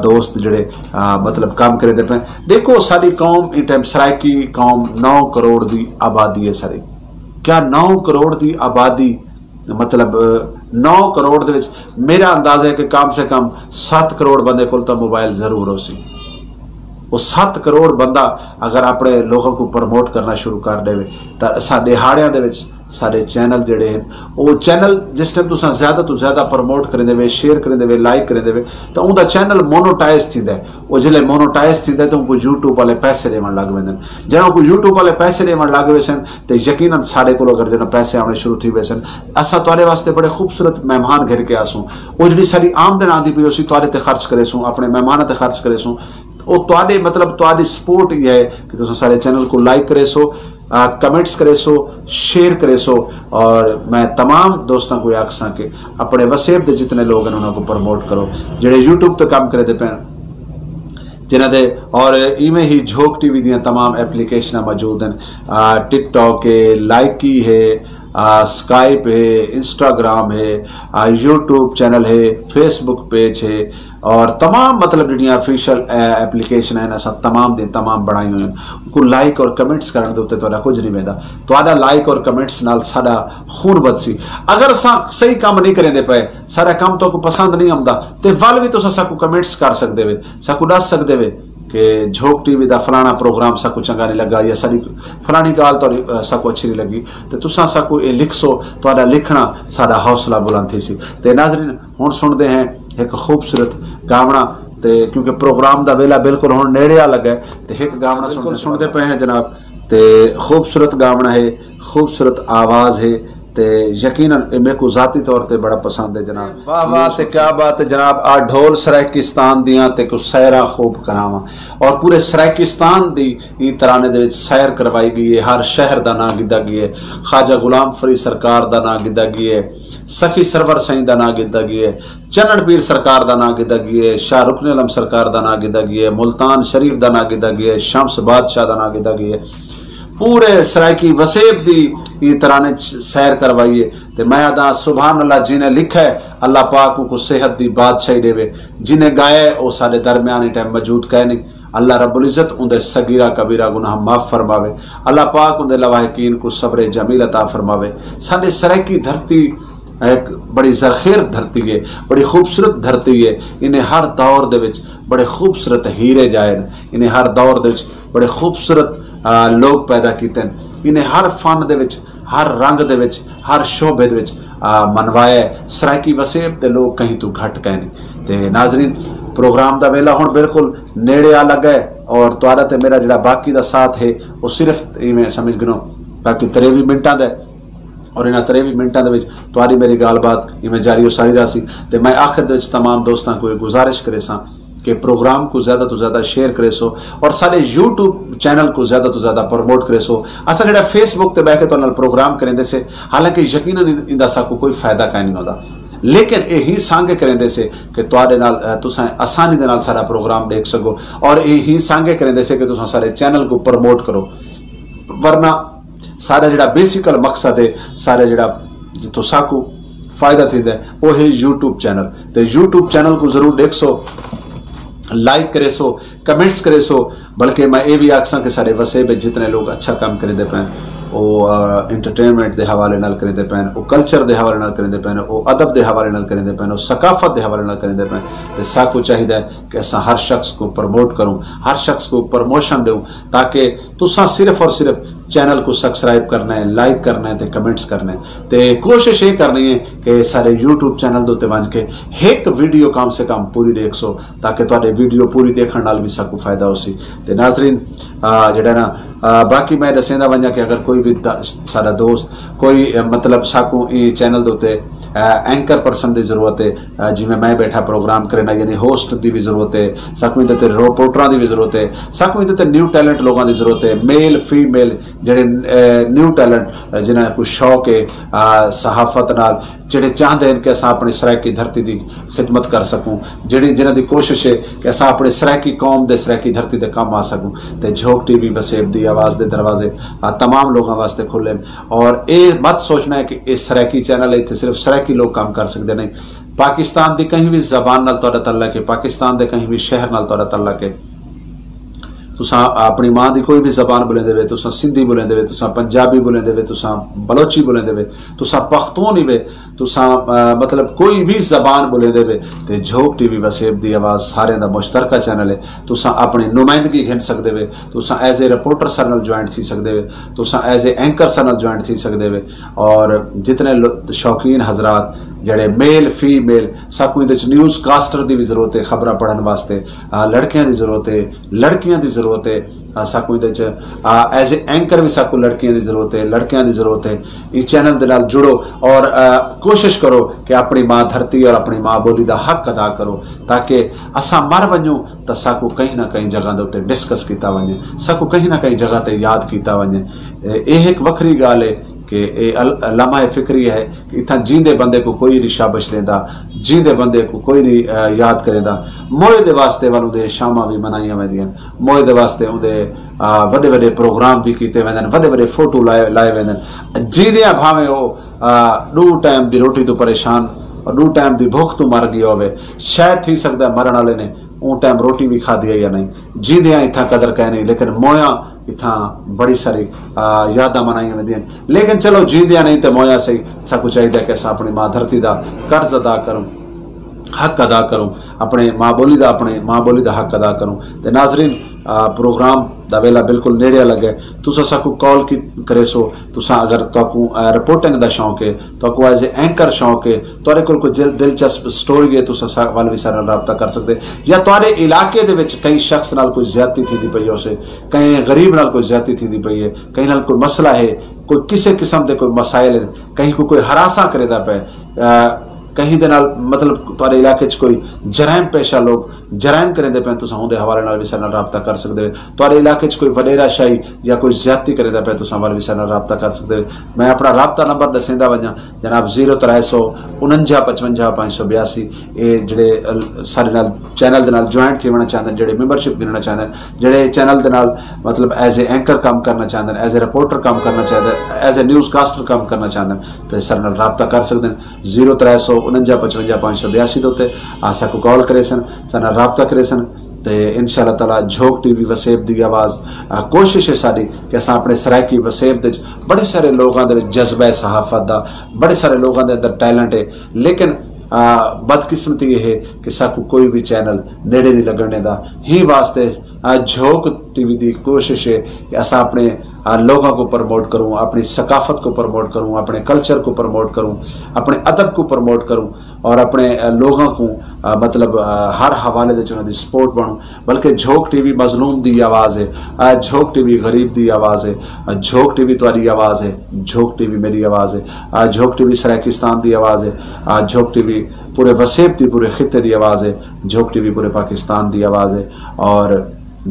دوست جڑے مطلب کم کریندے پئے۔ ڈیکھو ساڈی قوم ایں ٹائم سرائیکی قوم نو کروڑ دی آبادی ہے ساری۔ کیا نو کروڑ دی آبادی مطلب نو کروڑ دے وچ میرا اندازہ ہے کہ کم سے کم ست کروڑ بندے کول تاں موبائل ضرور ہو سی۔ وہ ست کروڑ بندہ اگر اپنے لوگوں کو پروموٹ کرنا شروع کر دے تو اساں دیہاڑیاں دے وچ سارے چینل جڑے ہیں وہ چینل جس ٹائم تساں زیادہ تو زیادہ پروموٹ کریں دے وے، شیئر کریں دے وے، لائک کریں دے وے تو اون دا چینل مونوٹائز تھی دے۔ وہ جلے مونوٹائز تھی دے تو ان کو یوٹیوب والے پیسے دیون لگ ویندے ہیں۔ جہاں کو یوٹیوب والے پیسے دیون لگ ویسن تے یقیناً ساڈے کولو اگر جنہاں پیسے آونے شروع تھی ویسن۔ اساں تہاڈے واسطے بڑے خوبصورت مہمان گھر کے آسوں۔ او جڑی ساڈی آمدن آندی پئی ہوسی تہاڈے تے خرچ کریسوں، اپنے مہماناں تے خرچ کریسوں۔ او تہاڈے مطلب تہاڈی سپورٹ ہی ہے کہ تساں سارے چینل کو لائک کریسو، کمنٹس کریسو، شیئر کریسو۔ اور میں تمام دوستاں کو یہ آکھساں کہ اپنے وسیب دے جتنے لوگ ہیں انہاں کو پروموٹ کرو، جڑے یوٹیوب تے کام کرے دے پین۔ جنہاں دے اور ایویں ہی جھوک ٹی وی دیاں تمام اپلیکیشناں موجود ہیں، ٹک ٹاک ہے، لائکی ہے، اسکائپ ہے، انسٹاگرام ہے، یوٹیوب چینل ہے، فیس بک پیج ہے، اور تمام مطلب جڑیاں آفیشل اپلیکیشن ہیں اساں تمام دے تمام بنائی ہوئی ہیں۔ کو لائک اور کمنٹس کرن دے تے تہاڈا کچھ نہیں ویندا، تہاڈا لائک اور کمنٹس نال ساڈا خون ودسی۔ اگر اساں صحیح کام نہیں کریں دے پئے، ساڈا کام تو کو پسند نہیں آمدا، تے ول بھی تساں ساکو کمنٹس کر سکدے وے، ساکو دس سکدے وے کہ جھوک ٹی وی دا فلانا پروگرام ساکو چنگا نہیں لگا یا ساڈی فلانی گال تو ساکو اچھی نہیں لگی، تے تساں ساکو اے لکھسو، تہاڈا لکھنا ساڈا حوصلہ بلند تھی سی۔ تے ناظرین، ہن سنڑدے ہیں ہک خوبصورت گاونا، تے کیونکہ پروگرام دا ویلا بالکل ہن نیڑے آ لگا ہے، تے ہک گاونا سنڑدے پئے ہیں جناب۔ تے خوبصورت گاونا ہے، خوبصورت آواز ہے، تے یقیناً اے میکوں ذاتی طور تے بڑا پسند ہے جناب۔ واہ واہ تے کیا بات ہے جناب، آ ڈھول سرائیکستان دیاں تے کو سیراں خوب کراواں، اور پورے سرائیکستان دی ایں ترانے دے وچ سیر کروائی گئی ہے، ہر شہر دا ناں گھدا گیا ہے، خواجہ غلام فرید سرکار دا ناں گھدا گیا ہے، سخی سرور سائیں دا ناں گھدا گیا ہے، چنڑ پیر سرکار دا ناں گھدا گیا ہے، شاہ رکن علم سرکار دا ناں گھدا گیا ہے، ملتان شریف دا ناں گھدا گیا ہے، شمس بادشاہ دا ناں گھدا گیا ہے۔ پورے سرائیکی وسیب دی ایں ترانے سیر کروائی ہے۔ تے میں آدھاں سبحان اللہ، جنہیں لکھا ہے اللہ پاک اونکوں صحت دی بادشاہی ڈیوے، جنہیں گایا ہے او ساڈے درمیان ایں ٹائم موجود کائنی۔ اللہ رب العزت اوندے صغیرہ کبیرہ گناہ معاف فرماوے۔ اللہ پاک اوندے لواحقین کوں صبر جمیل عطا فرماوے۔ ساڈے سرائیکی دھرتی ہک بڑی زرخیر دھرتی ہے، بڑی خوبصورت دھرتی ہے۔ انہیں ہر دور دے وچ بڑے خوبصورت ہیرے جائے نے۔ انہیں ہر دور دے وچ بڑے خوبصورت لوگ پیدا کیتے ہیں۔ انہیں ہر فن دے وچ، ہر رنگ دے وچ، ہر شعبے دے وچ منوایا ہے۔ سرائیکی وسیب دے لوگ کہیں توں گھٹ کائنی۔ تے ناظرین، پروگرام دا ویلا ہن بالکل نیڑے آ لگا ہے اور تہاڈا تے میرا جڑا باقی دا ساتھ ہے وہ صرف ایویں سمجھ گھنو باقی تریوی منٹاں دا ہے۔ اور انہاں تریوی منٹاں دے وچ تہاݙی میری ڳالھ بات ایویں جاری و ساری رہسی۔ تے میں آخر دے وچ تمام دوستاں کوں اے گزارش کریساں کہ پروگرام کوں زیادہ توں زیادہ شیئر کریسو، اور ساݙے یوٹیوب چینل کوں زیادہ توں زیادہ پروموٹ کریسو۔ اساں جیڑھا فیس بک تے ٻہہ کے تہاݙے نال پروگرام کریندے سے، حالانکہ یقیناً ایندا ساکوں کوئی فائدہ کائنی ہوندا، لیکن اے ہی سانگے کریندے سے کہ تہاݙے نال، اے، تساں آسانی دے نال ساݙا پروگرام ݙیکھ سڳو، اور اے ہی سانگے کریندے سے کہ تساں ساݙے چینل کوں پروموٹ کرو۔ ورنہ ساݙا جیڑھا بیسیکل مقصد ہے، ساݙا جیڑھا جتھوں ساکوں فائدہ تھیندا ہے، او ہے یوٹیوب چینل۔ تے یوٹیوب چینل کوں ضرور ݙیکھسو، لائک کریسو، کمنٹس کریسو۔ بلکہ میں اے وی آکھساں کہ ساݙے وسیب وچ جتنے لوگ اچھا کم کریندے پئن، او، آ، انٹرٹینمنٹ دے حوالے نال کریندے پئن، او کلچر دے حوالے نال کریندے پئن، او ادب دے حوالے نال کریندے پئن، او ثقافت دے حوالے نال کریندے پئن، تے ساکوں چاہیدا ہے کہ اساں ہر شخص کوں پروموٹ کروں، ہر شخص کوں پروموشن ݙیوں، تاکہ تساں صرف اور صرف چینل کوں سبسکرائب کرنا ہے، لائک کرنا ہے تے کمنٹس کرنا ہے۔ تے کوشش اے کرنی ہے کہ ساݙے یوٹیوب چینل دے اُتے ونڄ کے ہک ویڈیو کم سے کم پوری ݙیکھسو، تاکہ تہاݙے ویڈیو پوری ݙیکھݨ نال وی ساکوں فائدہ ہوسی۔ تے ناظرین، آ، جیڑھا نا، آ، باقی میں ݙسیندا ونڄاں کہ اگر کوئی وی دا-، ساݙا دوست کوئی، آ، مطلب ساکوں ایں چینل دے اُتے، آ، اینکر پرسن دی ضرورت ہے، آ، جیویں میں ٻیٹھا پروگرام کرینا، یعنی ہوسٹ دی وی ضرورت ہے، ساکوں ایندے تے رپورٹراں دی وی ضرورت ہے، ساکوں ایندے تے نیو ٹیلنٹ لوگاں دی ضرورت ہے، میل، فیمیل، جیڑھے، آ، نیو ٹیلنٹ، آ، جنہاں کوں شوق ہے، آ، صحافت نال، جیڑھے چاہندے ہن کہ اساں اپݨی سرائیکی دھرتی دی خدمت کر سڳوں، جیڑھی، جنہاں دی کوشش ہے کہ اساں اپݨی سرائیکی قوم دے، سرائیکی دھرتی دے کم آ سڳوں، تے جھوک ٹی وی وسیب دی آواز دے دروازے، آ، تمام لوگاں واسطے کھلے ہن۔ اور اے مت سوچنا ہے کہ اے سرائیکی چینل ہے، اتھے صرف سرائیکی لوگ کم کر سڳدے، نہیں۔ پاکستان دی کہیں وی زبان نال تہاݙا تعلق ہے، پاکستان دے کہیں وی شہر نال تہاݙا تعلق ہے، تساں اپݨی ماں دی کوئی وی زبان ٻولیندے وے، تساں سندھی ٻولیندے وے، تساں پنجابی ٻولیندے وے، تساں بلوچی ٻولیندے وے، تساں پختون ہی وے، تساں، آ، مطلب کوئی وی زبان ٻولیندے وے، تے جھوک ٹی وی وسیب دی آواز ساریاں دا مشترکہ چینل ہے۔ تساں اپݨی نمائندگی گھن سڳدے وے، تساں ایز اے رپورٹر ساݙے نال جوائنٹ تھی سڳدے وے، تساں ایز اے اینکر ساݙے نال جوائنٹ تھی سڳدے وے۔ اور جتنے لو-، شوقین حضرات جیڑھے میل، فیمیل، ساکوں ایندے وچ نیوز کاسٹر دی وی ضرورت ہے، خبراں پڑھݨ واسطے، آ، لڑکیاں دی ضرورت ہے، لڑکیاں دی ضرورت ہے، آ، ساکوں ایندے وچ، آ، ایز اے اینکر وی ساکوں لڑکیاں دی ضرورت ہے، لڑکیاں دی ضرورت ہے۔ ایں چینل دے نال جڑو اور، آ، کوشش کرو کہ اپݨی ماں دھرتی اور اپݨی ماں ٻولی دا حق ادا کرو، تاکہ اساں مر ونڄوں تاں ساکوں کہیں نہ کہیں جگہ دے اُتے ڈسکس کیتا ونڄے، ساکوں کہیں نہ کہیں جگہ تے یاد کیتا ونڄے۔ اے، اے ہک وکھری ڳالھ ہے کہ اے ال-، لمحہ فکری ہے کہ اتھاں جیندے بندے کوں کوئی نہیں شابش ݙیندا، جیندے بندے کوں کوئی نہیں، آ، یاد کریندا۔ موئے دے واسطے ول اوندے شاماں وی منائیاں ویندیاں، موئے دے واسطے اوندے، آ، وݙے وݙے پروگرام وی کیتے ویندن، وݙے وݙے فوٹو لائے، لائے ویندن۔ جیندیاں بھاویں او، آ، ݙو ٹائم دی روٹی توں پریشان، ݙو ٹائم دی بھکھ توں مر ڳیا ہووے، شاید تھی سڳدا ہے مرݨ والے نے اوں ٹائم روٹی وی کھادی ہے یا نہیں، جیندیاں اتھاں قدر کائے نہیں، لیکن مویاں اتھاں بڑی ساری، آ، یاداں منائیاں ویندیاں۔ لیکن چلو، جیندیاں نہیں تے مویاں صحیح، ساکوں چاہیدا کہ اساں اپݨی ماں دھرتی دا قرض ادا کروں، حق ادا کروں، اپݨے ماں ٻولی دا، اپݨے ماں ٻولی دا حق ادا کروں۔ تے ناظرین، آ، پروگرام دا ویلا بالکل نیڑے لڳے، تساں ساکوں کال کی کریسو، تساں اگر تہاکوں، آ، رپورٹنگ دا شوق ہے، تہاکوں ایز اے اینکر شوق ہے، تہاݙے کول کوئی دل-، دلچسپ سٹوری ہے، تساں سا-، ول وی ساݙے نال رابطہ کر سڳدے، یا تہاݙے علاقے دے وچ کہیں شخص نال کوئی زیادتی تھیندی پئی ہوسے، کہیں غریب نال کوئی زیادتی تھیندی پئی ہے، کہیں نال کوئی مسئلہ ہے، کوئی کسے قسم دے کوئی مسائل ہیں، کہیں کوں کوئی ہراساں کریندا پئے، آ، کہیں دے نال، مطلب، تہاݙے علاقے 'چ کوئی جرائم پیشہ لوگ جرائم کریندے پئے، تساں اوندے حوالے نال وی ساݙے نال رابطہ کر سڳدے۔ تہاݙے علاقے 'چ کوئی وݙیرا شاہی یا کوئی زیادتی کریندا پئے، تساں ول وی ساݙے نال رابطہ کر سڳدے۔ میں اپݨا رابطہ نمبر ݙسیندا ونڄاں، جناب، زیرو ترے سو انجا پچونجا پنج سو بیاسی۔ اے جیڑھے ال-، ساݙے نال چینل دے نال جوائنٹ تھیوݨا چاہندے، جیڑھے ممبرشپ گھنݨا چاہندے، جیڑھے چینل دے نال، مطلب، ایز اے اینکر کم کرݨا چاہندے، ایز اے رپورٹر کم کرݨا چاہندے، ایز اے نیوز کاسٹر کم کرݨا چاہندے، تے ساݙے نال رابطہ کر سڳدے۔ زیرو ترے سو انجا پچونجا پنج سو بیاسی دے اُتے آ ساکوں کال کریسن، ساݙے نال رابطہ کریسن۔ تے انشاءاللہ تعالیٰ جھوک ٹی وی وسیب دی آواز، آ، کوشش ہے ساݙی کہ اساں اپݨے سرائیکی وسیب دے وچ بڑے سارے لوگاں دے وچ جذبہ صحافت دا، بڑے سارے لوگاں دے اندر ٹیلنٹ ہے، لیکن، آ، بدقسمتی یہ ہے کہ ساکوں کوئی وی چینل نیڑے نہیں لڳݨ ݙیندا۔ ہی واسطے آ، جھوک ٹی وی دی کوشش ہے کہ اساں اپنے، آ، لوگاں کو پروموٹ کروں، اپنی ثقافت کو پروموٹ کروں، اپنے کلچر کو پروموٹ کروں، اپنے ادب کو پروموٹ کروں، اور اپنے، آ، لوگاں کو، آ، مطلب، آ، ہر حوالے دے انہاں دی سپورٹ بنوں۔ بلکہ جھوک ٹی وی مظلوم دی آواز ہے، آ، جھوک ٹی وی غریب دی آواز ہے، آ، جھوک ٹی وی تہاڈی آواز ہے، جھوک ٹی وی میری آواز ہے، آ، جھوک ٹی وی سرائیکستان دی آواز ہے، آ، جھوک ٹی وی پورے وسیب دی، پورے خطے دی آواز ہے، جھوک ٹی وی پورے پاکستان دی آواز ہے۔ اور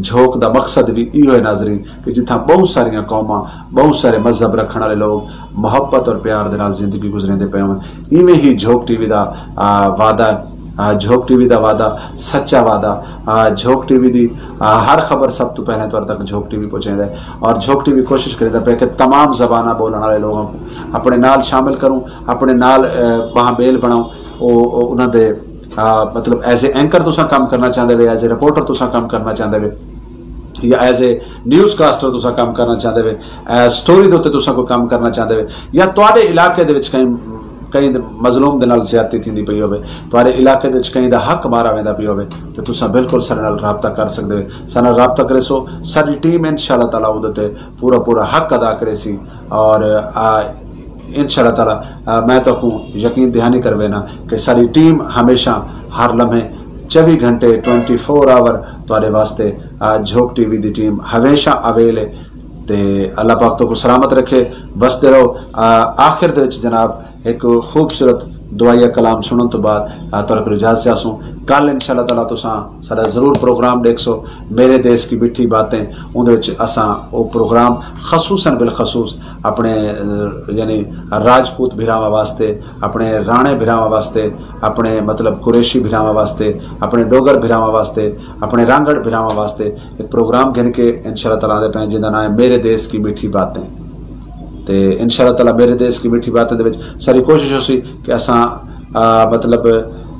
جھوک دا مقصد وی ایہو ہے ناظرین، کہ جتھاں بہت ساریاں قوماں، بہت سارے مذہب رکھن والے لوگ محبت اور پیار دے نال زندگی گزریندے پئے ہون، ایویں ہی جھوک ٹی وی دا، آ، وعدہ، آ، جھوک ٹی وی دا وعدہ، سچا وعدہ، آ، جھوک ٹی وی دی، آ، ہر خبر سب تو پہلے تہاڈے تک جھوک ٹی وی پہنچیندا ہے۔ اور جھوک ٹی وی کوشش کریندا پئے کہ تمام زباناں بولن والے لوگاں کو اپنے نال شامل کروں، اپنے نال، آ، باہم بیل بناؤں۔ او، او انہاں دے، آ، مطلب، ایز اے اینکر تساں کم کرنا چاہندے وے، ایز اے رپورٹر تساں کم کرنا چاہندے وے، یا ایز اے نیوز کاسٹر تساں کم کرنا چاہندے وے، آ، سٹوری دے اُتے تساں کوئی کم کرنا چاہندے وے، یا تہاڈے علاقے دے وچ کہیں، کہیں دے مظلوم دے نال زیادتی تھیندی پئی ہووے، تہاڈے علاقے دے وچ کہیں دا حق مارا ویندا پیا ہووے، تے تساں بالکل ساڈے نال رابطہ کر سکدے وے۔ ساڈے نال رابطہ کریسو، ساڈی ٹیم انشاءاللہ تعالیٰ اودے تے پورا پورا حق ادا کریسی۔ اور، آ، انشاءاللہ تعالیٰ، آ، میں تہاکوں یقین دہانی کروینا کہ ساڈی ٹیم ہمیشہ، ہر لمحے، چوی گھنٹے، ٹوئنٹی فور آور تہاڈے واسطے، آ، جھوک ٹی وی دی ٹیم ہمیشہ اویل ہے۔ تے اللہ پاک تہاکوں سلامت رکھے، وسدے رہو۔ آ، آخر دے وچ جناب، ہک خوبصورت دعائیہ کلام سنڑن توں بعد، آ، تہاڈے کولوں اجازت چاہسوں۔ کل انشاءاللہ تعالیٰ تساں ساڈا ضرور پروگرام ڈیکھسو، میرے دیس کی میٹھی باتیں۔ اوندے وچ اساں او پروگرام خصوصاً بالخصوص اپنے، آ، یعنی راجپوت بھراواں واسطے، اپنے رانے بھراواں واسطے، اپنے، مطلب، قریشی بھراواں واسطے، اپنے ڈوگر بھراواں واسطے، اپنے رانگڑ بھراواں واسطے ہک پروگرام گھن کے انشاءاللہ تعالیٰ آندے پئے ہیں، جیندا ناں ہے میرے دیس کی میٹھی باتیں۔ تے انشاءاللہ تعالیٰ میرے دیس کی میٹھی باتیں دے وچ ساڈی کوشش ہوسی کہ اساں، آ، مطلب،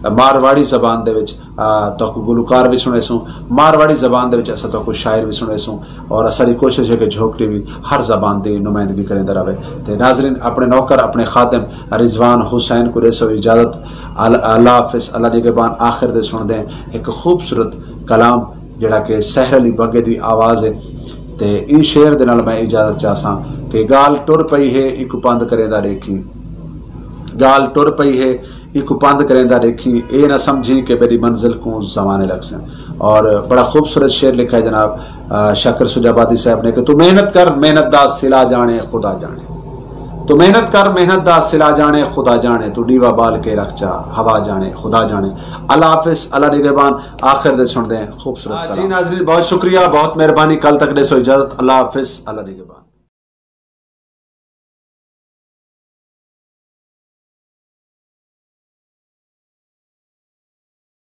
مارواڑی زبان دے وچ، آ، تہاکوں گلوکار وی سنڑیسوں، مارواڑی زبان دے وچ اساں تہاکوں شاعر وی سنڑیسوں، اور اساڈی کوشش ہے کہ جھوک ٹی وی ہر زبان دی نمائندگی کریندا رہے۔ تے ناظرین، اپنے نوکر، اپنے خادم رضوان حسین کوں ڈیسو اجازت۔ ال-، اللہ حافظ، اللہ نگہبان۔ آخر دے سنڑدے ہیں ہک خوبصورت کلام، جیڑھا کہ سحر علی بگے دی آواز ہے۔ تے ایں شعر دے نال میں اجازت چاہساں کہ گالھ ٹر پئی ہے، ایکوں پندھ کریندا ڈیکھیں۔ گالھ ٹر پئی ہے، ایکوں پندھ کریندا ڈیکھیں، اے نہ سمجھیں کہ میݙی منزل کوں زمانے لڳسن۔ اور بڑا خوبصورت شعر لکھا ہے جناب، آ، شاکر سجھ آبادی صاحب نے کہ تو محنت کر، محنت دا صلہ ڄاݨے خدا ڄاݨے۔ تو محنت کر، محنت دا صلہ ڄاݨے خدا ڄاݨے، تو ݙیوا ٻال کے رکھ چا، ہوا ڄاݨے خدا ڄاݨے۔ اللہ حافظ، اللہ نگہبان۔ آخر دے سݨدے ہیں خوبصورت، آ، جی کلام۔ ناظرین، بہت شکریہ، بہت مہربانی۔ کل تک ݙیسو اجازت۔ اللہ حافظ، اللہ نگہبان۔